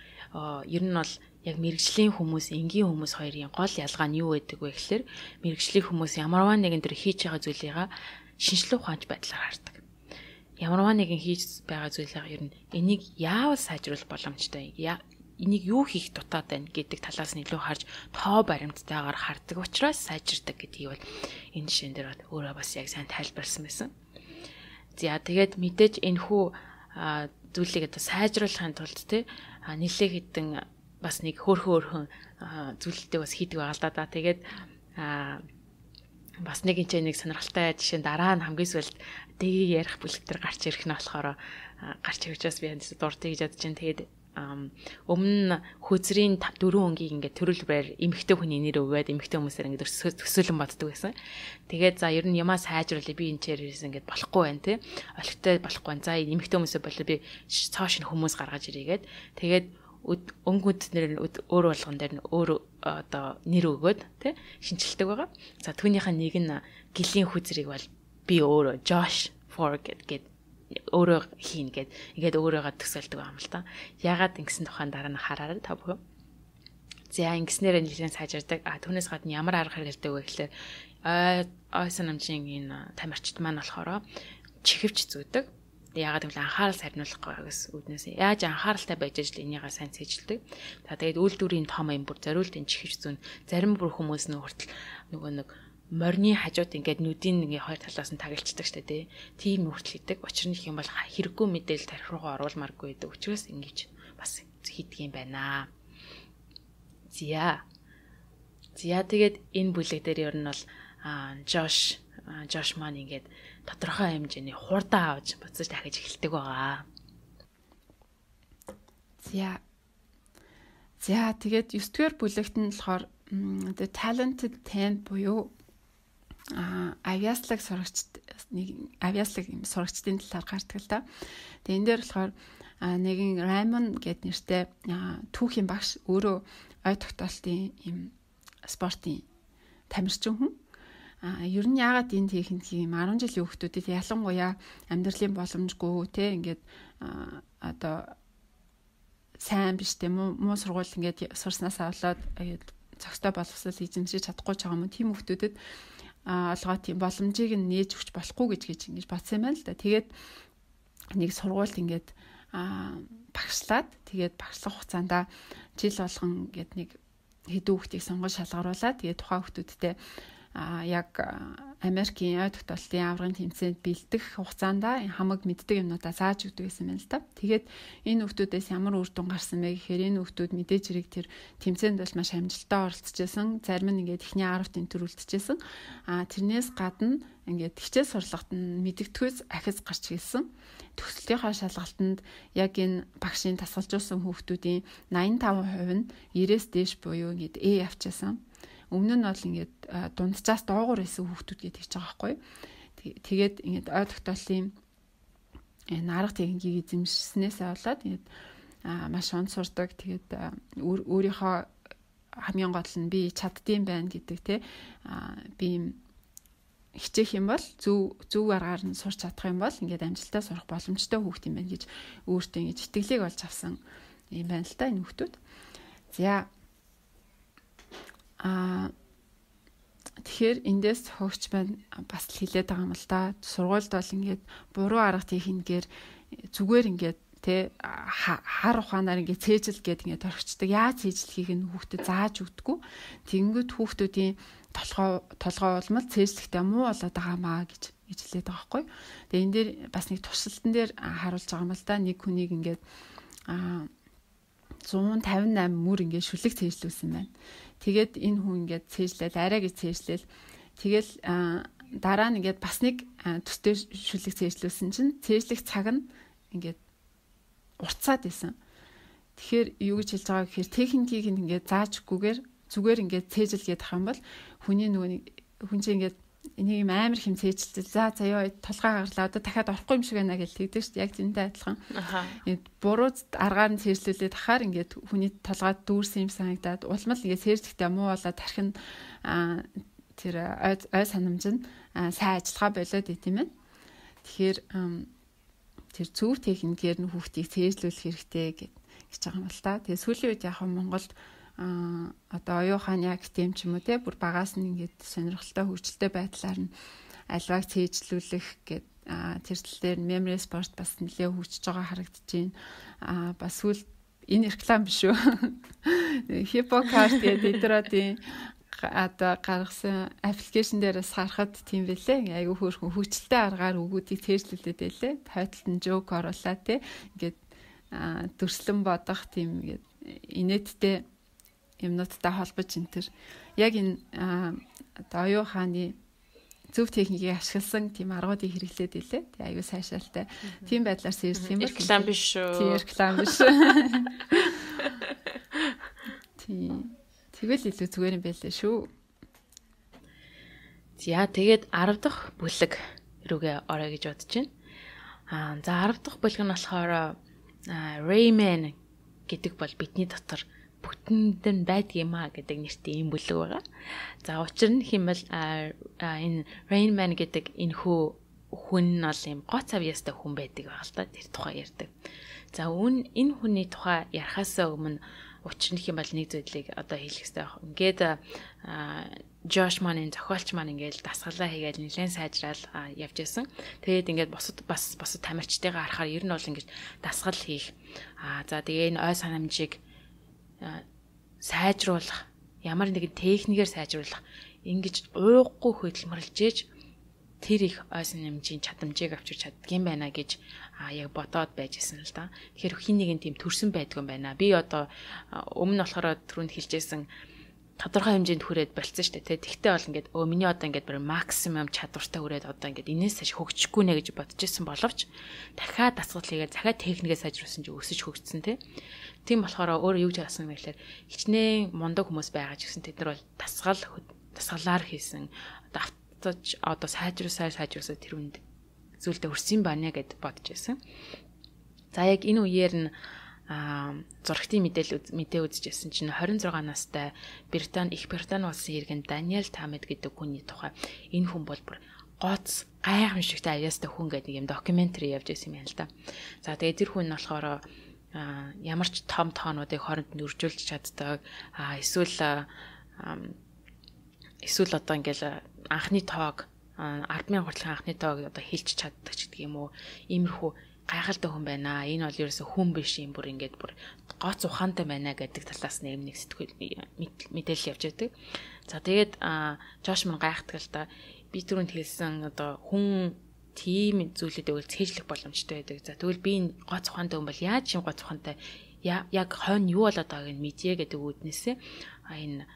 ер нь бол яг мэрэгжлийн хүмүүс, энгийн хүмүүс хоёрын гол ялгаа нь юу байдаг вэ гэхээр мэрэгжлийн хүмүүс ямарваа нэгэн төр хийж байгаа зүйлийгаа шинжлэх ухаанч байдлаар хардаг. Ямарваа нэгэн хийж байгаа зүйлийгаа ер нь энийг яавал сайжруулах боломжтой, энийг юу хийх дутаад байна гэдэг талаас нь илүү харж тоо баримттайгаар хардаг учраас сайжирдаг гэдгийг бол энэ жишээн дээр өөрөө бас яг сайн тайлбарласан байсан. За тэгээд мэдээж энэхүү зүйлийг одоо сайжруулахын тулд нэлээд хэдэн бас нэг хөөрхөн зүйлүүдээ бас хийдэг байгаа л да. Тэгээд бас нэг нэг сонирхолтой жишээ дараа нь хамгийн сүүлд дэгийг ярих бүлэгтэр гарч ирэх нь болохоор гарч ирж бас би дуртай гэж бодож байна. Тэгээд өмнө хөөцрийн 4 өнгийг ингээд төрөлбөрөөр эмэгтэй хүний нэр өгөөд эмэгтэй хүмүүсээр ингээд төсөөлөн боддог байсан. Тэгээд за ер нь ямаа сайжруулъя би энэ чирээс ингээд болохгүй байна тий. Олигтой болохгүй байна. За эмэгтэй хүмүүсээ болоо би цааш нь хүмүүс гаргаж ирээгээд тэгээд өнгөнд нэр өөр болгон дээр нь өөр одоо нэр өгөөд тий шинжилдэг байгаа. За түүнийхээ нэг нь гэлийн хүзрийг бол би өөрөө Josh Ford гэдэг өөрөө хийн ингээд өөрөөгөө төсөөлдөг юм л та. Ягаад ингэсэн тухайн дараа нь хараарай та бүхэн. За ингэснээр нэлээд сайжирдаг. Түүнээс гадна ямар арга хэрэгэлдэг вэ гэхээр ойсон намжийн энэ тамирчид маань болохоор чихвч зүүдэг. Ягаад гэвэл анхаарал сарниулах байгаас үүднээс яаж анхааралтай байж ажил энийгээ сайн цэжилдэг. За тэгээд үйлдвэрийн том юм бүр зориултын чихвч зүүн зарим бүр хүмүүс хүртэл нөгөө нэг морины хажууд ингээд нүдийн нэг хоёр талаас нь тагалцдаг штэ тий. Тийм хүртэл хийдэг. Учир нь их юм бол хэрэггүй мэдээлэл тарих руугаа оруулмааргүй гэдэг. Учираас ингэж бас хийдэг юм байна. За тэгээд энэ бүлэг дээр ер нь бол Josh маань ингээд тодорхой хэмжээний хурдан авч буцаж дахиж эхэлдэг байгаа. За тэгээд 9-р бүлэгт нь болохоор the talented 10 буюу авиаслаг сурагчдын талаар гардаг л да. Тэгээ энэ дээр болохоор нэгэн Raymond гэдэг нэртэй түүхийн багш өөрөө ой тогтоолтын юм спортын тамирчин хүн. Ер нь яагаад энд хийх юм 10 жилийн хүүхдүүдэд ялангуяа амьдралын боломжгүй те ингээд одоо сайн биш те муу сургууль ингээд сурснаасаа болоод зохистой боловсрол эзэмшиж чадахгүй ч байгаа юм. Тийм хүүхдүүдэд олгоо тийм боломжийг нээж өгч болохгүй гэж ингэж бодсон юм байна л да. Тэгээд нэг сургуульд ингээд багшлаад тэгээд багшлах хугацаанд жил болгон ингээд нэг хэдэн хүүхдийг сонгож шалгаруулад тэгээд тухайн хүүхдүүдтэй яг Америкийн ой тогтоолтын аврагын тэмцээнд бэлдэх хугацаанд хамаг мэддэг юмнуудаа зааж өгдөг гэсэн юм л та. Тэгээд энэ хүүхдүүдээс ямар үр дүн гарсан бэ гэхээр энэ хүүхдүүд мэдээж хэрэг тэр тэмцээнд бол маш амжилттай оролцож байсан. Зарим нь ингээд эхний 10-т энтер үлдчихсэн. Тэрнээс гадна ингээд хичээл сурлагт нь мэддэгтгүйс ахиц гарч ирсэн. Төгсөлтийнхаа шалгалтанд яг энэ багшийн тасгалжуулсан хүүхдүүдийн 85% нь 90-с дээш буюу ингээд A авчаасан. Өмнө нь бол ингээд дунджаас доогуур байсан хүүхдүүд гэж хэлж байгаа байхгүй. Тэгээд ингээд ой тогтоолын арга техникийг эзэмшснээсээ болоод ингээд маш он сурдаг. Тэгээд өөрийнхөө хамгийн гол нь би чаддсан байна гэдэг те би хичээх юм бол зөв аргаар нь сурч чадах юм бол ингээд амжилттай сурах боломжтой хүүхд юм байна гэж өөртөө ингэж итгэлийг олж авсан юм байна л та энэ хүүхдүүд. За тэгэхээр эндээс хөгч байна бас л хэлээд байгаа юм л да. Сургуульд бол ингээд буруу арга техникээр зүгээр ингээд тэ хар ухаанаар ингээд цээжил гээд ингээд орхичдаг. Яаж цээжлэхийг нь хүүхдэд зааж өгдөггүй. Тэгэнгүүт хүүхдүүдийн толгой улмал цээжлэхтэй муу болоод байгаамаа гэж хэлээд байгаа байхгүй. Тэгээ энэ дээр бас нэг туршилтан дээр харуулж байгаа юм л да. Нэг хүнийг ингээд 158 мөр ингээд шүлэг цээжлүүлсэн байна. Тэгээд энэ хүн ингээд цээжлээл арай гэж цээжлээл. Тэгэл дараа нь ингээд бас нэг төстэй шүлэг цээжлүүлсэн чинь цээжлэх цаг нь ингээд уртцаад байсан. Тэгэхээр юу гэж хэлж байгаа гэхээр техникийг ингээд зааж өгөхгүйгээр зүгээр ингээд цээжилгээд ах юм бол хүний хүн чинь ингээд энийг амар хэм цээжилтэл за ёо толгой гарлаа одоо дахиад орохгүй юм шиг байна гэж тэгдэг шүү дээ. Яг зэнтэй адилхан. Буруу аргаар нь цээжлүүлээд ахаар ингээд хүний толгойд дүүрсэн юм санагдаад улмал ингээд цээжлэхдээ муу болоод тархин тэр ой санамж нь сайн ажиллагаа болоод идэм юм. Тэгэхээр тэр зөв техникээр нь хүүхдийг цээжлүүлэх хэрэгтэй гэж байгаа юм л та. Тэгээ сүүлийн үед яг Монголд одоо оюухан яг тийм ч юм уу те бүр багаас нь ингээд сонирхолтой хөгжилтэй байдлаар нь альваг цээжлүүлэх гэд тэр тал дээр memory sport бас нэлээ хөгжиж байгаа харагдаж байна. Бас сүүл энэ реклам биш үү? Hippocard гэдэг эдродийн одоо гаргасан аппликейшн дээрээс харахад тийм байлээ. Айгүй хөөрхөн хөгжилтэй аргаар өгүүдийг цээжлүүлээд байлээ. Тайлтанд нь жоок оруулаад те ингээд дүрслэн бодох тийм ингээд инээдтэй юмнуудтай холбож энэ яг энэ одоо оюуханы зөв техникийг ашигласан тийм аргуудыг хэрэглээд илээ. Тэгээ аюу сайшаалтай. Тийм байдлаар сэрсэх юм бол реклам биш шүү. Тийм реклам биш. Тийм. Тэгэл илүү зүгээр юм байлээ шүү. За тэгээд 10 дахь бүлэг рүүгээ орё гэж бодож байна. За 10 дахь бүлэг нь болохоор Rayman гэдэг бол бидний дотор бүтэнд нь байдгиймаа гэдэг нэртэй юм бүлэг байгаа. За учир нь хэмээл энэ Rayman гэдэг энэ хүн нь бол юм гоц авьяастай хүн байдаг байгаа л та тэр тухай ярьдаг. За энэ хүний тухай ярахаасаа өмнө учир нь хэмээл нэг зүйлийг одоо хэлэх хэрэгтэй байна. Ингээд Josh Mann-ын зохиолч маань ингээд дасгалаа хийгээл нэлээд сайжраал явж байсан. Тэгээд ингээд бусад тамирчдыгаа харахаар ер нь бол ингээд дасгал хийх. За тэгээ энэ ой санамжийг сайжруулах, ямар нэгэн техникээр сайжруулах, ингэж ууггүй хөдөлмөрлжээж тэр их ой санамжийн чадамжийг авчирч чаддгийм байна гэж яг бодоод байжсэн л да. Тэгэхээр хин нэгэн тийм төрсөн байдгүй юм байна. Би одоо өмнө болохоор түрүүнд хэлжсэн тодорхой хэмжээнд хүрээд болцсон шүү дээ. Тэгтээ бол ингээд миний одоо ингээд бүр максимум чадвартай хүрээд одоо ингээд энээс хойш хөгжихгүй нэ гэж бодож ирсэн боловч дахиад дасгал хийгээд дахиад техникээ сайжруулсан чи өсөж хөгжсөн тийм болохоор өөрөө юу гэж асуусан юм гэхээр хичнээн мундаг хүмүүс байгаа ч гэсэн тэд нар бол дасгалаар хийсэн одоо сайжруулсаа тэр үнд зүйлдэ өрсөн байна гэд бодож байсан. За яг энэ үеэр нь зурагтын мэдээ үзчихсэн чинь 26 настай Их Британи улсын иргэн Даниэл Тамет гэдэг хүний тухай энэ хүн бол бүр гоц гайхамшигтай авьяастай хүн гэдэг юм докюментари явж байсан юм байна л да. За тэгээд тэр хүн нь болохоор ямар ч том тоонуудыг хооронд нь үржүүлж чаддаг. Эсвэл одоо ингээл анхны тоог 10,000 хүртэлх анхны тоог одоо хэлж чаддаг ч гэдэг юм уу. Иймэрхүү гайхалтай хүн байна. Энэ бол ерөөсө хүн биш юм бүр ингээд бүр гоц ухаантай байна гэдэг талаас нэг сэтгүүл мэдээлэл явж байдаг. За тэгээд Жош мань гайхдаг л та би түрүүнд хэлсэн одоо хүн тийм зүйлүүдийг бол цээжлэх боломжтой байдаг. За тэгвэл би энэ гоц ухаантай хүн бол яаж юм гоц ухаантай яг хойно юу болоод байгааг нь мэдье гэдэг үүднээсээ энэ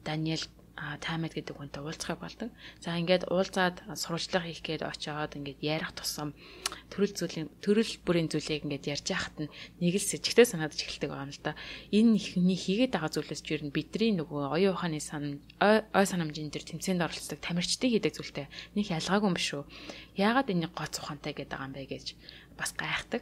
Даниэл Таймед гэдэг хүнтэй уулзах болдог. За ингээд уулзаад сурвалжлага хийх гээд очиод ингээд ярих тусам төрөл бүрийн зүйлийг ингээд ярьж яхад нь нэг л сэжигтэй санагдаж эхэлдэг байгаа юм л да. Энэ ихний хийгээд байгаа зүйлээс жир нь бидний нөгөө оюун ухааны ой санамжийн дээр тэмцээнд оролцдог тамирчдын хийдэг зүйлтэй нэг ялгаагүй юм биш үү? Яагаад энийг гоц ухаантай гэдэг юм бэ гэж бас гайхдаг.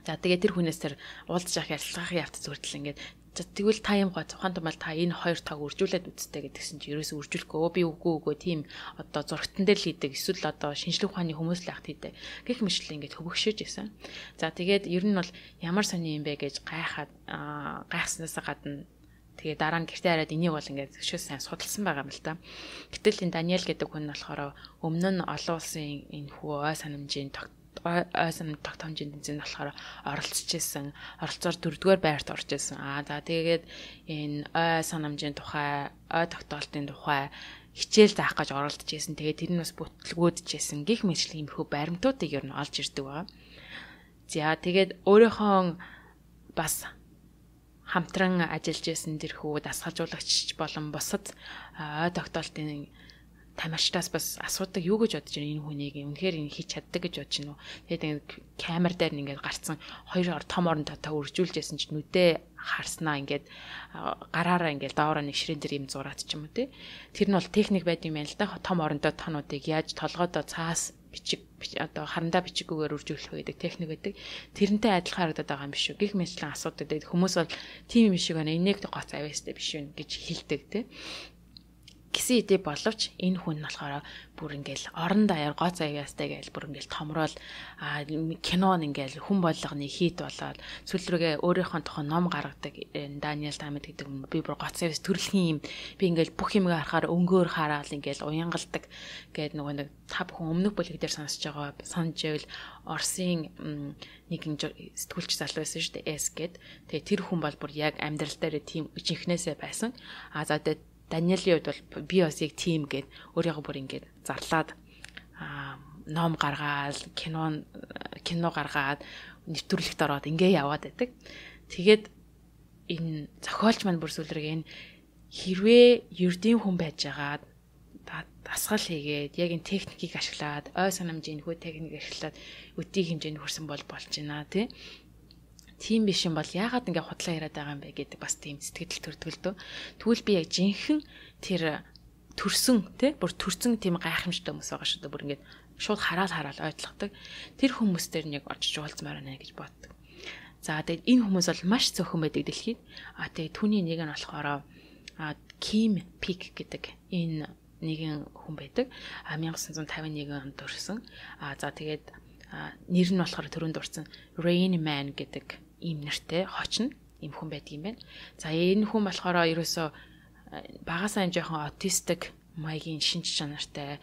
За тэгээд тэр хүнээс тэр уулзах ярилцлагын явц зүртэл ингээд тэгвэл та юм гоц ухаантай бол та энэ хоёр таг үржүүлээд үзтээ гэдгсэн чи ерөөсөө үржүүлэхгүй би үгүй тийм одоо зургатан дээр л хийдэг эсвэл одоо шинжлэх ухааны хүмүүс л ахт хийдэг гэх мэтлээ ингээд хөвгшөөж исэн. За тэгээд ер нь бол ямар сони юм бэ гэж гайхснаас гадна тэгээ дараа нь гэртээ хараад энийг бол ингээд өшөөс сайн судалсан байгаа юм л та. Гэтэл энэ Даниэл гэдэг хүн болохоор өмнө нь олон улсын энэ хүү ой санамжийн тогтоомжийн тэмцээнд болохоор оролцож исэн. Оролцоор 4-р байрт орж исэн. За тэгээд энэ ой санамжийн тухай, ой тогтоолтын тухай хичээл заах гэж оролдож исэн. Тэгээд тэр нь бас бүтлгүүдж исэн. Гэх мэтлэг юмхүү баримтуудыг ер нь олж ирдэг байгаа. За тэгээд өөрийнхөө бас хамтран ажиллаж исэн тэрхүү дасгалжуулагч болон бусад ой тогтоолтын тамирчдаас бас асуудаг юу гэж бодож байна энэ хүнийг үнэхээр энэ хийж чаддаг гэж бодож байна уу. Тэгээд камер дээр ингээд гарцсан хоёр том орон дотоо үржүүлж ясан ч нүдээ харснаа ингээд гараараа ингээд доороо нэг ширээн дээр юм зураад ч юм уу тий. Тэр нь бол техник байд юм байна л да. Том оронтой тонуудыг яаж толгойдоо цаас бичиг одоо харандаа бичигүүгээр үржүүлэх байдаг техник байдаг. Тэрнтэй адилхан харагдаад байгаа юм биш үү? Гэх мэтлэн асуудаг. Тэгээд хүмүүс бол тийм юм шиг байна. Энийг гоц авьяастай биш үү гэж хэлдэг тий. Гэсэн идэ боловч энэ хүн нь болохоор бүр ингээл орон даяар гоц авьяастай гээл бүр ингээл томрол кинон ингээл хүн болгоны хийт болоод сүүл рүүгээ өөрийнхөө тухай ном гаргадаг Даниэл Таймед гэдэг хүн би бүр гоц авьяас төрөлхийн юм би ингээл бүх юмыг харахаар өнгөөр хараад ингээл уянгалдаг гээд нөгөө нэг та бүхэн өмнөх бүлэг дээр сонсож байгаа санаж байвал Оросын нэгэн сэтгүүлч залуу байсан шүү дээ S гээд тэгээ тэр хүн бол бүр яг амьдрал дээр тийм жинхнээсээ байсан за тэгээд Даниэлийн хувьд бол би бас яг тийм гээд өөрийгөө бүр ингээд зарлаад ном гаргаад кино гаргаад нэвтрүүлэгт ороод ингээ яваад байдаг. Тэгээд энэ зохиолч маань бүр сүлрэг энэ хэрвээ ердийн хүн байж байгаад дасгал хийгээд яг энэ техникийг ашиглаад ой санамжийн хүү техник ашиглаад өдийг хэмжээнд хүрсэн болж байна тий. Тийм биш юм бол яагаад ингээ худлаа яриад байгаа юм бэ гэдэг бас тийм сэтгэл төрдгөлдөө. Тэгвэл би яг жинхэнэ тэр төрсөн тий бүр төрсөн тийм гайхамшигтай хүмүүс байгаа шүү дээ. Бүр ингээд шууд хараал ойлгодог. Тэр хүмүүс дээр нэг орж уулзмаар байна гэж боддог. За тэгээд энэ хүмүүс бол маш цөөхөн байдаг дэлхийд. Тэгээд түүний нэг нь болохоор Kim Peek гэдэг энэ нэгэн хүн байдаг. 1951 онд төрсэн. За тэгээд нэр нь болохоор түрүүнд дурсан Rain Man гэдэг ийм нэртэй хочно ийм хүн байдаг юм байна. За энэ хүн болохоор ерөөсөө багасаа жоохон аутистик маягийн шинж чанартай.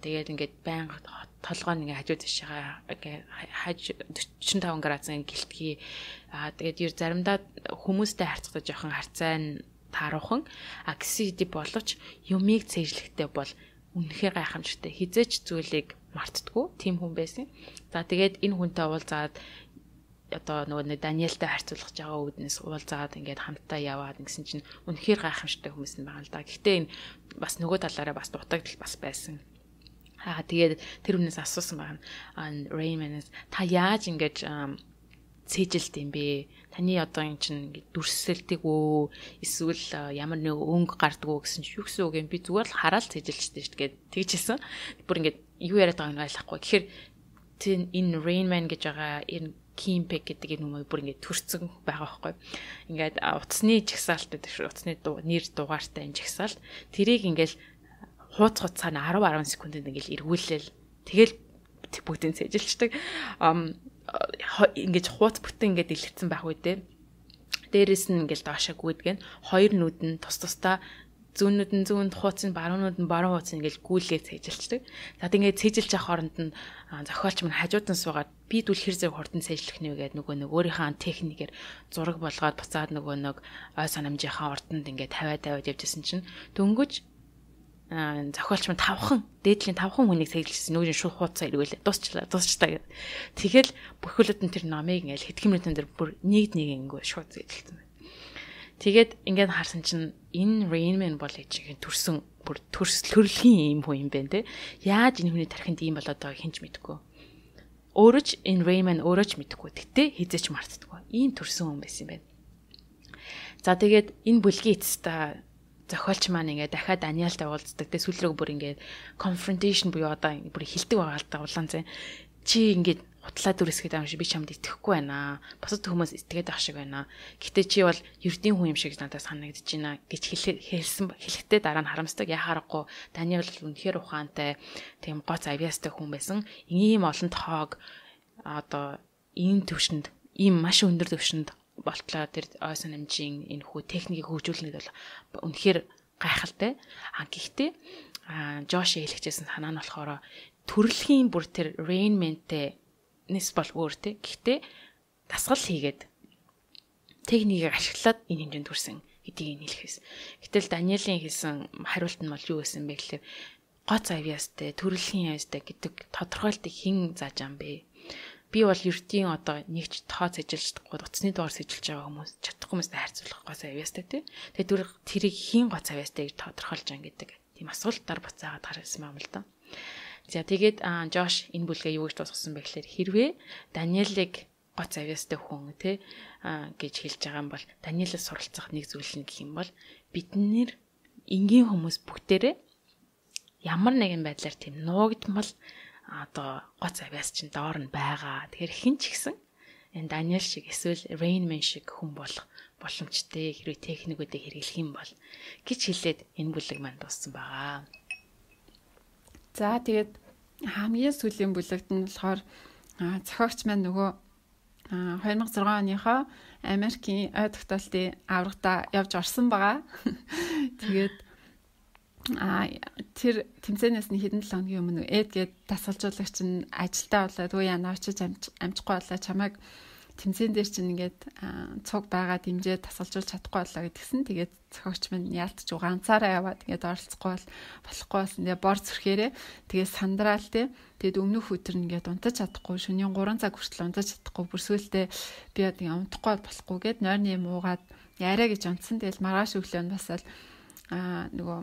Тэгээд ингээд байнга толгой нэг хажуу тишээ 45 градусын гэлтгий. Тэгээд заримдаа хүмүүстэй харьцахдаа жоохон харьцаа тааруухан агрессив боловч юмыг цээжлэхтэй бол үнэхээр гайхамшигтай. Хизээч зүйлийг мартдаггүй тийм хүн байсан. За тэгээд энэ хүнтэй уулзаад одоо нөгөө Даниэлтэй харьцуулах жагаа үүднээс уулзаад ингээд хамтдаа яваад гэсэн чинь үнэхээр гайхамшигтай хүмүүс нь байгаа л да. Гэхдээ энэ бас нөгөө талаараа бас дутагдал бас байсан. Тэгээд тэр хүнээс асуусан байна. Raymond та яаж ингэж цээжилт юм бэ? Таны одоо эн чинь дүрсэлдэг үү? Эсвэл ямар нэг өнгө гардаг уу гэсэн чинь юу гэсэн үг юм? Би зүгээр л хараад цээжилчтэй шүү дээ тэгжсэн. Бүр ингээд юу яриад байгааг нь ойлгохгүй. Тэгэхээр энэ Rainman гэж байгаа энэ Kim Peek гэдэг энэ хүмүүс бүр ингээд төрцөн байгаа байхгүй. Ингээд утасны жагсаалт гэдэг шүү. Утасны нэр дугаартай энэ жагсаалт. Тэрийг ингээд хууц цаана 10 секундэд ингээд эргүүлээл. Тэгэл бүгдийг цээжилчдэг. Ингээд хууц бүтэн ингээд дэлгэцсэн байх үү те. Дээрээс нь ингээд доошоо гүйдгэн хоёр нүд нь тус тусдаа зүүнүүд нь зүүнд хууц нь баруунууд нь баруун хууц ингээд гүйлгээ цээжилчдэг. За тэгээд цээжилж явах хооронд нь зохиолч мань хажууд нь суугаад би дүүл хэр зэрэг хурдан цээжлэх нэ гэдэг нөгөө нэг өөрийнхөө техникээр зураг болгоод буцаад нөгөө нэг ой санамжийнхаа ордонд ингээд тавиад явжсэн чинь дөнгөж зохиолч маань 5хан дээдлийн 5хан хүнийг сэлжилсэн нүүрийн шууд хуудасаа эргүүлээ. Дуусчлаа гэд. Тэгэл бүхүүлд нь тэр номыг ингээл хэдхэн минутын дээр бүр нэг ингээ шууд сэлжилсэн. Тэгээд ингээд харсан чинь энэ Rain Man бол ээжийн төрсөн бүр төрөлхийн юм хүн юм байна те. Яаж энэ хүний тархинд ийм болоод байгааг хинч мэдэхгүй. Өөрөө ч энэ Rain Man өөрөө ч мэдэхгүй. Гэтэ хизээч мартдаггүй. Ийм төрсөн хүн байсан юм байна. За тэгээд энэ бүлгийн эцэстээ зохиолч маань ингээд дахиад Даниэлтай уулздаг. Тэгээ сүүл рүү бүр ингээд confrontation буюу одоо бүр хилдэг байгаа л да улаан зэн. Чи ингээд хутлаа дүрсгээд байгаа юм шиг би чамд итгэхгүй байна. Бусад хүмүүс итгээд байх шиг байна. Гэтэ чи бол ердийн хүн юм шиг надад санагдаж байна гэж хэлэхдээ дараа нь харамсдаг. Яхаарахгүй Даниэл үнэхээр ухаантай, тийм гоц авьяастай хүн байсан. Ийм олон тоог одоо ийм төвшөнд, ийм маш өндөр төвшөнд болтлоо тэр ойсон намжийн энэ хүү техникийг хөгжүүлнэд бол үнэхээр гайхалтай. Гэхдээ Жош хэлчихсэн санаа нь болохоор төрөлхийн бүр тэр Rain Man-тэй нэс бол өөр те. Гэхдээ дасгал хийгээд техникийг ашиглаад энэ хэмжээнд хүрсэн гэдгийг хэлэхээс. Гэтэл Даниэлийн хэлсэн хариулт нь бол юу гэсэн бэ гэхэлээ гоц авьяастай, төрөлхийн авьяастай гэдэг тодорхойлтыг хэн зааж ам бэ? Би бол ертийн одоо нэгч тооц ажиллаж чадахгүй утасны доор сэжилж байгаа хүмүүс чадахгүй хүмүүстэй харьцуулах гоц авьяастай тий. Тэгээд тэрийг хэн гоц авьяастай гэж тодорхойлж байгаа гэдэг тийм асуултаар буцаагаад гаргасан юм л да. За тэгээд Жош энэ бүлгээ юу гэж дуусгасан бэ гэхээр хэрвээ Даниэлийг гоц авьяастай хүн тий гэж хэлж байгаа юм бол Даниэлээс суралцах нэг зүйл нь гэх юм бол бид нэр энгийн хүмүүс бүгдээрээ ямар нэгэн байдлаар тийм нуугдмал одоо гоц авьяас чинь доор нь байгаа. Тэгэхээр хэн ч гэсэн энэ Даниэл шиг эсвэл Rain Man шиг хүн болох боломжтой хэрвээ техникүүдийг хэрэглэх юм бол гэж хэлээд энэ бүлэг маань дууссан байгаа. За тэгээд хамгийн сүүлийн бүлэгт нь болохоор зохиогч маань нөгөө 2006 оныхоо Америкийн ой тогтоолтын аврагтаа явж орсон байгаа. Тэгээд тэр тэмцээнээс нь хэдэн 7 хоногийн өмнө гээд дасгалжуулагч нь ажилдаа болоод үе яна очиж амжихгүй болоо чамайг тэмцээн дээр чинь ингээд цуг байгаа дэмжээ дасгалжуулж чадахгүй болоо гэдгсэн. Тэгээд зохиогч минь яалтч ганцаараа яваад ингээд оролцохгүй болохгүй болсон. Тэгээ бор зүрхээрээ тэгээд сандраал те. Тэгээд өмнөх өдөр нь ингээд унтаж чадахгүй шөнийн 3 цаг хүртэл унтаж чадахгүй бүр сүултээ би одоо унтахгүй болохгүй гээд нойрны юм уугаад яриа гэж унтсан. Тэгэл маргааш өглөө нь басаад нөгөө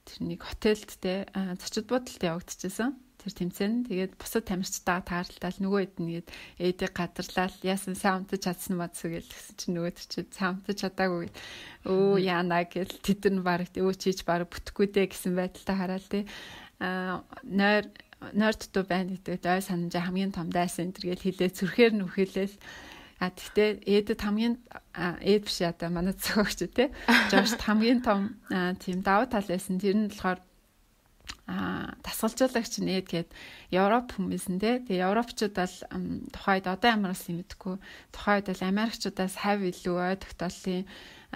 тэр нэг хотелд те зочид буудалд явагдчихсан. Тэр тэмцээн. Тэгээд бусад тамирчтайгаа тааралдаал нөгөө хэд нэгэд ээдэг гадарлал яасан сайн унтаж чадсан бацс гэсэн чинь нөгөө тэр чинь сайн унтаж чадаагүй. Өө яана гэл тэд нар баг өө чийж баг бүтэхгүй дээ гэсэн байдалтай хараад те нойр дутуу байна гэдэг ой санамжаа хамгийн том дайсан энэ гэл хилээ зүрхээр нь үхэлээл тэгтээ ээдэд хамгийн ээд биш одоо манай зохиогч те Жош хамгийн том тийм давуу тал байсан. Тэр нь болохоор дасгалжуулагч нь ээд гээд Европ хүмүүсэн те. Тэгээ европчууд бол тухайд одоо ямар юм мэдгүй. Тухайд бол Америкчуудаас хав илүү ой тогтоолын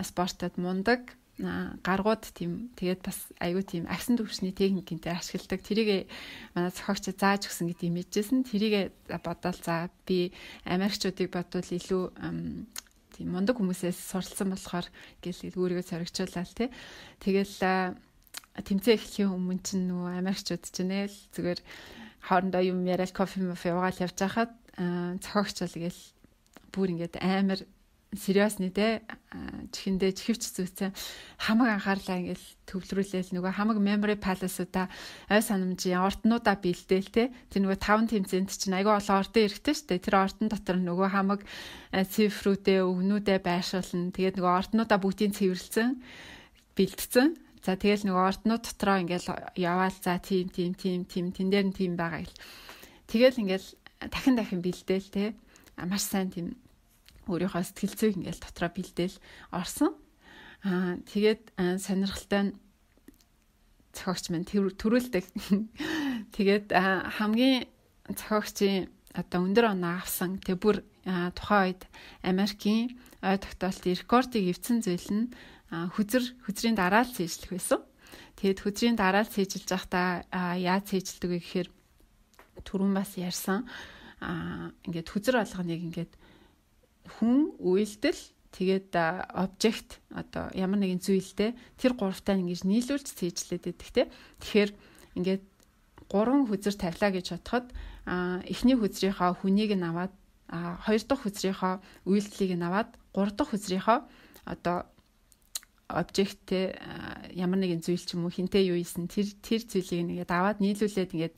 спортод мундаг гаргууд тийм тэгээд бас аюу тийм агсан төвшний техникийн дээр ашигладаг. Тэрийг манай зохиогч зааж өгсөн гэдэг юм ижсэн. Тэрийг бодоол за би Америкчуудыг бодвол илүү тийм мундаг хүмүүсээс суралцсан болохоор гэл өөрийгөө зоригчуулаад тий. Тэгэл тэмцээн эхлэхийн өмнө чинь нөгөө Америкчууд чинь л зүгээр хоорондоо юм яриад кофе уугаал явж байхад зохиогч бол гээл бүр ингээд амар сериосны те чихэндээ чихвч зүйцэн хамаг анхаарлаа ингээл төвлөрүүлээл нөгөө хамаг memory palace-уудаа ой санамжийн орднуудаа бэлдээл те тэр нөгөө 5 тэмцээнд чинь айгүй олон ордон эрэхтэй штэ тэр ордон дотор нөгөө хамаг цифрүүдээ өгнүүдээ байршуулна тэгээд нөгөө орднуудаа бүгдийг цэвэрлсэн бэлдсэн за тэгэл нөгөө орднууд дотроо ингээл яваал за тэн дээр нь тийм байгаа гэл тэгэл ингээл дахин бэлдээл те маш сайн тийм өөрийнхөө сэтгэл зүйг ингээл дотроо бэлдээл орсон. Тэгээд сонирхолтой зохиогч маань төрүүлдэг. Тэгээд хамгийн зохиогчийн одоо өндөр оноо авсан тэг бүр тухайн үед Америкийн ой тогтоолтын рекордыг эвдсэн зүйл нь хүзрийн дараа л цээжлэх байсан. Тэгээд хүзрийн дараа л цээжилж байхдаа яаж цээжилдэг вэ гэхээр түрүүн бас ярьсан. Ингээд хүзэр болгоныг ингээд хүн үйлдэл Тэгээд object одоо ямар нэгэн зүйлтэй тэр гуравтаа ингэж нийлүүлж цээжлээд байдаг те. Тэгэхээр ингээд 3 хүзэр тавилаа гэж бодоход эхний хүзрийнхаа хүнийг нь аваад 2 дахь хүзрийнхаа үйлдэлийг нь аваад 3 дахь хүзрийнхаа одоо object ямар нэгэн зүйл ч юм уу хинтээ юу ийсэн тэр зүйлийг нэгээд аваад нийлүүлээд ингээд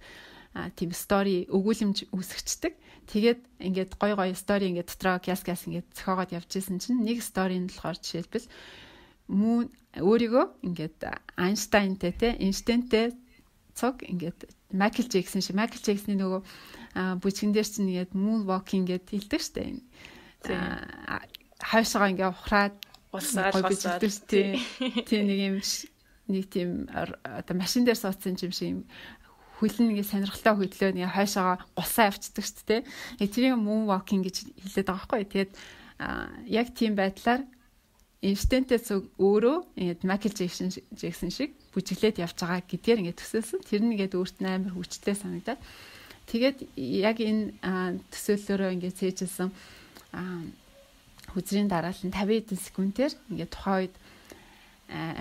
тийм story өгүүлэмж үүсгэждэг. Тэгээд ингээд гой story ингээд дотроо кяс ингээд зохиогоод явж исэн чинь нэг story нь болохоор жишээлбэл мөн өөрийгөө ингээд Einstein-тэй цог ингээд Michael Jackson-ийн нөгөө бүжгэн дээр чинь ингээд moon walking гэдэг хэлдэг штэ. Хойшоо ингээд ухраад улсаад тийм нэг тийм одоо машин дээр суудсан юм шиг хөлн нэг сонирхолтой хөдлөө нэг хойшоо гусаа авчдаг шүү дээ. Тэрийг moon walking гэж хэлээд байгаа байхгүй. Тэгээд яг тийм байдлаар Einstein-тэй өөрөө ингээд Michael Jackson шиг бүжиглээд явж байгаа гэдгээр ингээд төсөөлсөн. Тэр нь ингээд өөрт нь амар хүчтэй санагдаад. Тэгээд яг энэ төсөөллөөрөө ингээд цээжилсэн хүзрийн дараалал нь 50 хэдэн секундээр ингээд тухайн үед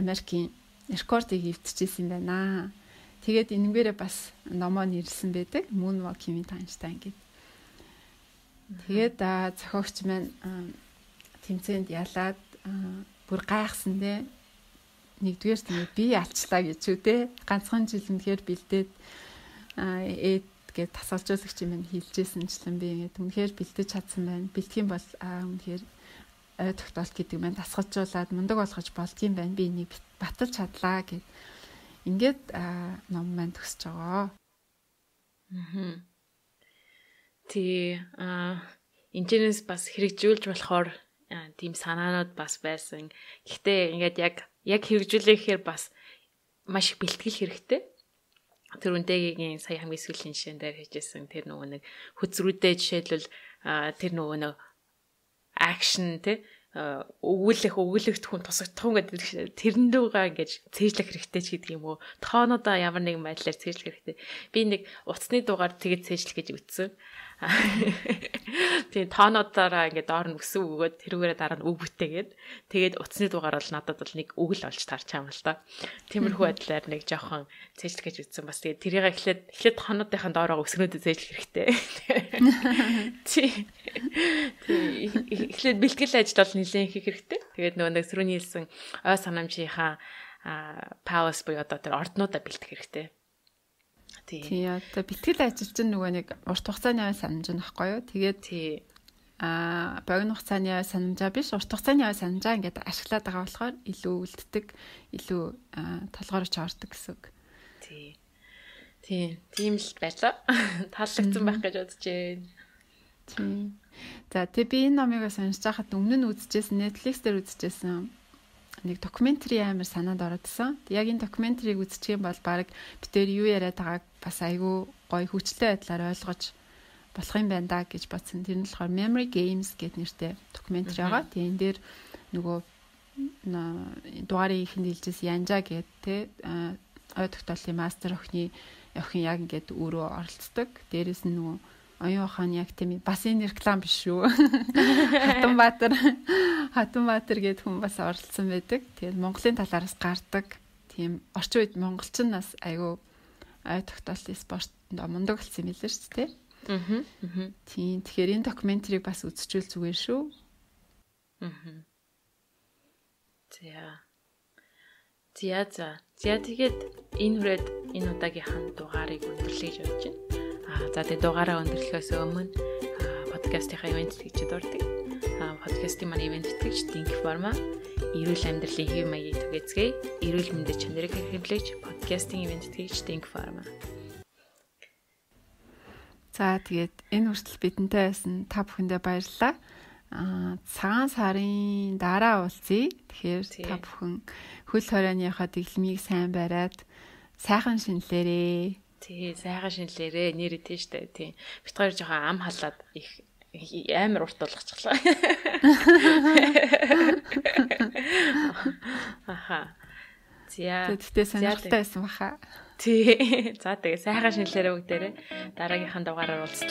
Америкийн рекордыг эвдчихсэн юм байна. Тэгээд энэгээрээ бас номоо нэрлсэн байдаг. Moonwalking with Einstein гэдэг. Тэгээд зохиогч маань тэмцээнд ялаад бүр гайхсан дээ. Нэгдүгээр тийм би алчлаа гэж үү те. Ганцхан жил үнэхээр бэлдээд гээд тасалжуулагч юм хэлжсэнчлэн би ингээд үнэхээр бэлдэж чадсан байна. Бэлтгэн бол үнэхээр ой тогтоолт гэдэг маань тасгалжуулаад мундаг болгож болдгийм байна. Би энийг баталж чадлаа гэд ингээд ном маань төгсөж байгаа. Энэс бас хэрэгжүүлж болохоор тийм санаанууд бас байсан. Гэхдээ ингээд яг хэрэгжүүлэхээр бас маш их бэлтгэл хэрэгтэй. Тэр үндэгийн сая хамгийн сүүлийн жишээн дээр хийжсэн тэр нөгөө нэг хөзрүүдээ жишээлбэл тэр нөгөө нэг акшн те өгүүлэгт хүн тусагдах гэдэг тэрэн рүүгээ ингэж цээжлэх хэрэгтэй ч гэдэг юм уу. Тоонуудаа ямар нэгэн байдлаар цээжлэх хэрэгтэй. Би нэг утасны дугаар тэгээд цээжлэх гэж ütсэн. Тэгээ тоонуудаараа ингээд доор нь өсөв өгөөд тэрүүгээрээ дараа нь үг бүтээгээд тэгээд утасны дугаар бол надад бол нэг үг л олж тарч юм л да. Тиймэрхүү байдлаар нэг жоохон цээжлэх гэж ütсэн. Бас тэгээд тэрийг эхлээд тоонуудынхаа доороо өсгөнөдөө цээжлэх хэрэгтэй. Эхлээд бэлтгэл ажил бол нэлээд хийх хэрэгтэй. Тэгээд нөгөө нэг сөрөний хэлсэн ой санамжийнхаа пауз буюу одоо тэр орднуудаа бэлтгэх хэрэгтэй. Тий, одоо бэлтгэл ажил чинь нөгөө нэг урт хугацааны ой санамж нь баггүй юу? Тэгээд богино хугацааны ой санамжаа биш, урт хугацааны ой санамжаа ингээд ашиглаад байгаа болохоор илүү үлддэг, илүү толгойрч ордог гэсэн үг. Тийм л байлаа. Таалагдсан байх гэж бодож байна. Тийм. За тэг би энэ номыг сонирч байхад өмнө нь үзчихсэн, Netflix дээр үзчихсэн нэг докюментари амар санаанд ородсон. Яг энэ докюментарийг үзчих юм бол баг битээр юу яриад байгааг бас айгүй гоё хүчтэй байдлаар ойлгож болох юм байна да гэж бодсон. Тэр нь болохоор Memory Games гэдэг нэртэй докюментари байгаа. Тэгээ энэ дээр нөгөө дугаарыг ихэнд хэлжсэн Янжа гэдэг те ой тогтоолын мастер охин яг ингээд өөрөө оролцдог. Дээрээс нь нөгөө оюун ухааны яг тийм бас энэ реклам биш шүү. Хатанбаатар гэдэг хүн бас оролцсон байдаг. Тэгээд Монголын талаараас гардаг. Тийм орчин үед монголчин нас айгүй ой тогтоолын спортод мундаг болсон юм билээ шүү дээ. Тийм тэгэхээр энэ докюментарийг бас үзчихвэл зүгээр шүү. За тэгээд энэ хүрээд энэ удаагийнхаа дугаарыг өндөрлөе гэж бодож байна. За тэгээд дугаараа өндөрлөхөөс өмнө подкастынхаа ивент тэтгэгчид ордог. Подкастын маань ивент тэтгэгч Think Pharma, эрүүл амьдралын хэв маягийг түгээцгээе. Эрүүл мэндийн чанарыг хэрэглэж подкастын ивент тэтгэгч Think Pharma. За тэгээд энэ хүртэл бидэнтэй байсан та бүхэндээ баярлалаа. Цагаан сарын дараа уулзъя. Тэгэхээр та бүхэн хөл хорионыхоо дэглэмийг сайн бариад сайхан шинэлээрээ. Тий, сайхан шинэлээрээ нэр идэв штэ. Тий. Бид хоёр жоохон ам халаад их амар урт болгочихлоо. Аха. Тэгтээ сонирхолтой байсан баха. Тий. За тэгээ сайхан шинэлээрээ бүгдээрээ дараагийнхаа дугаараар уулзлаа.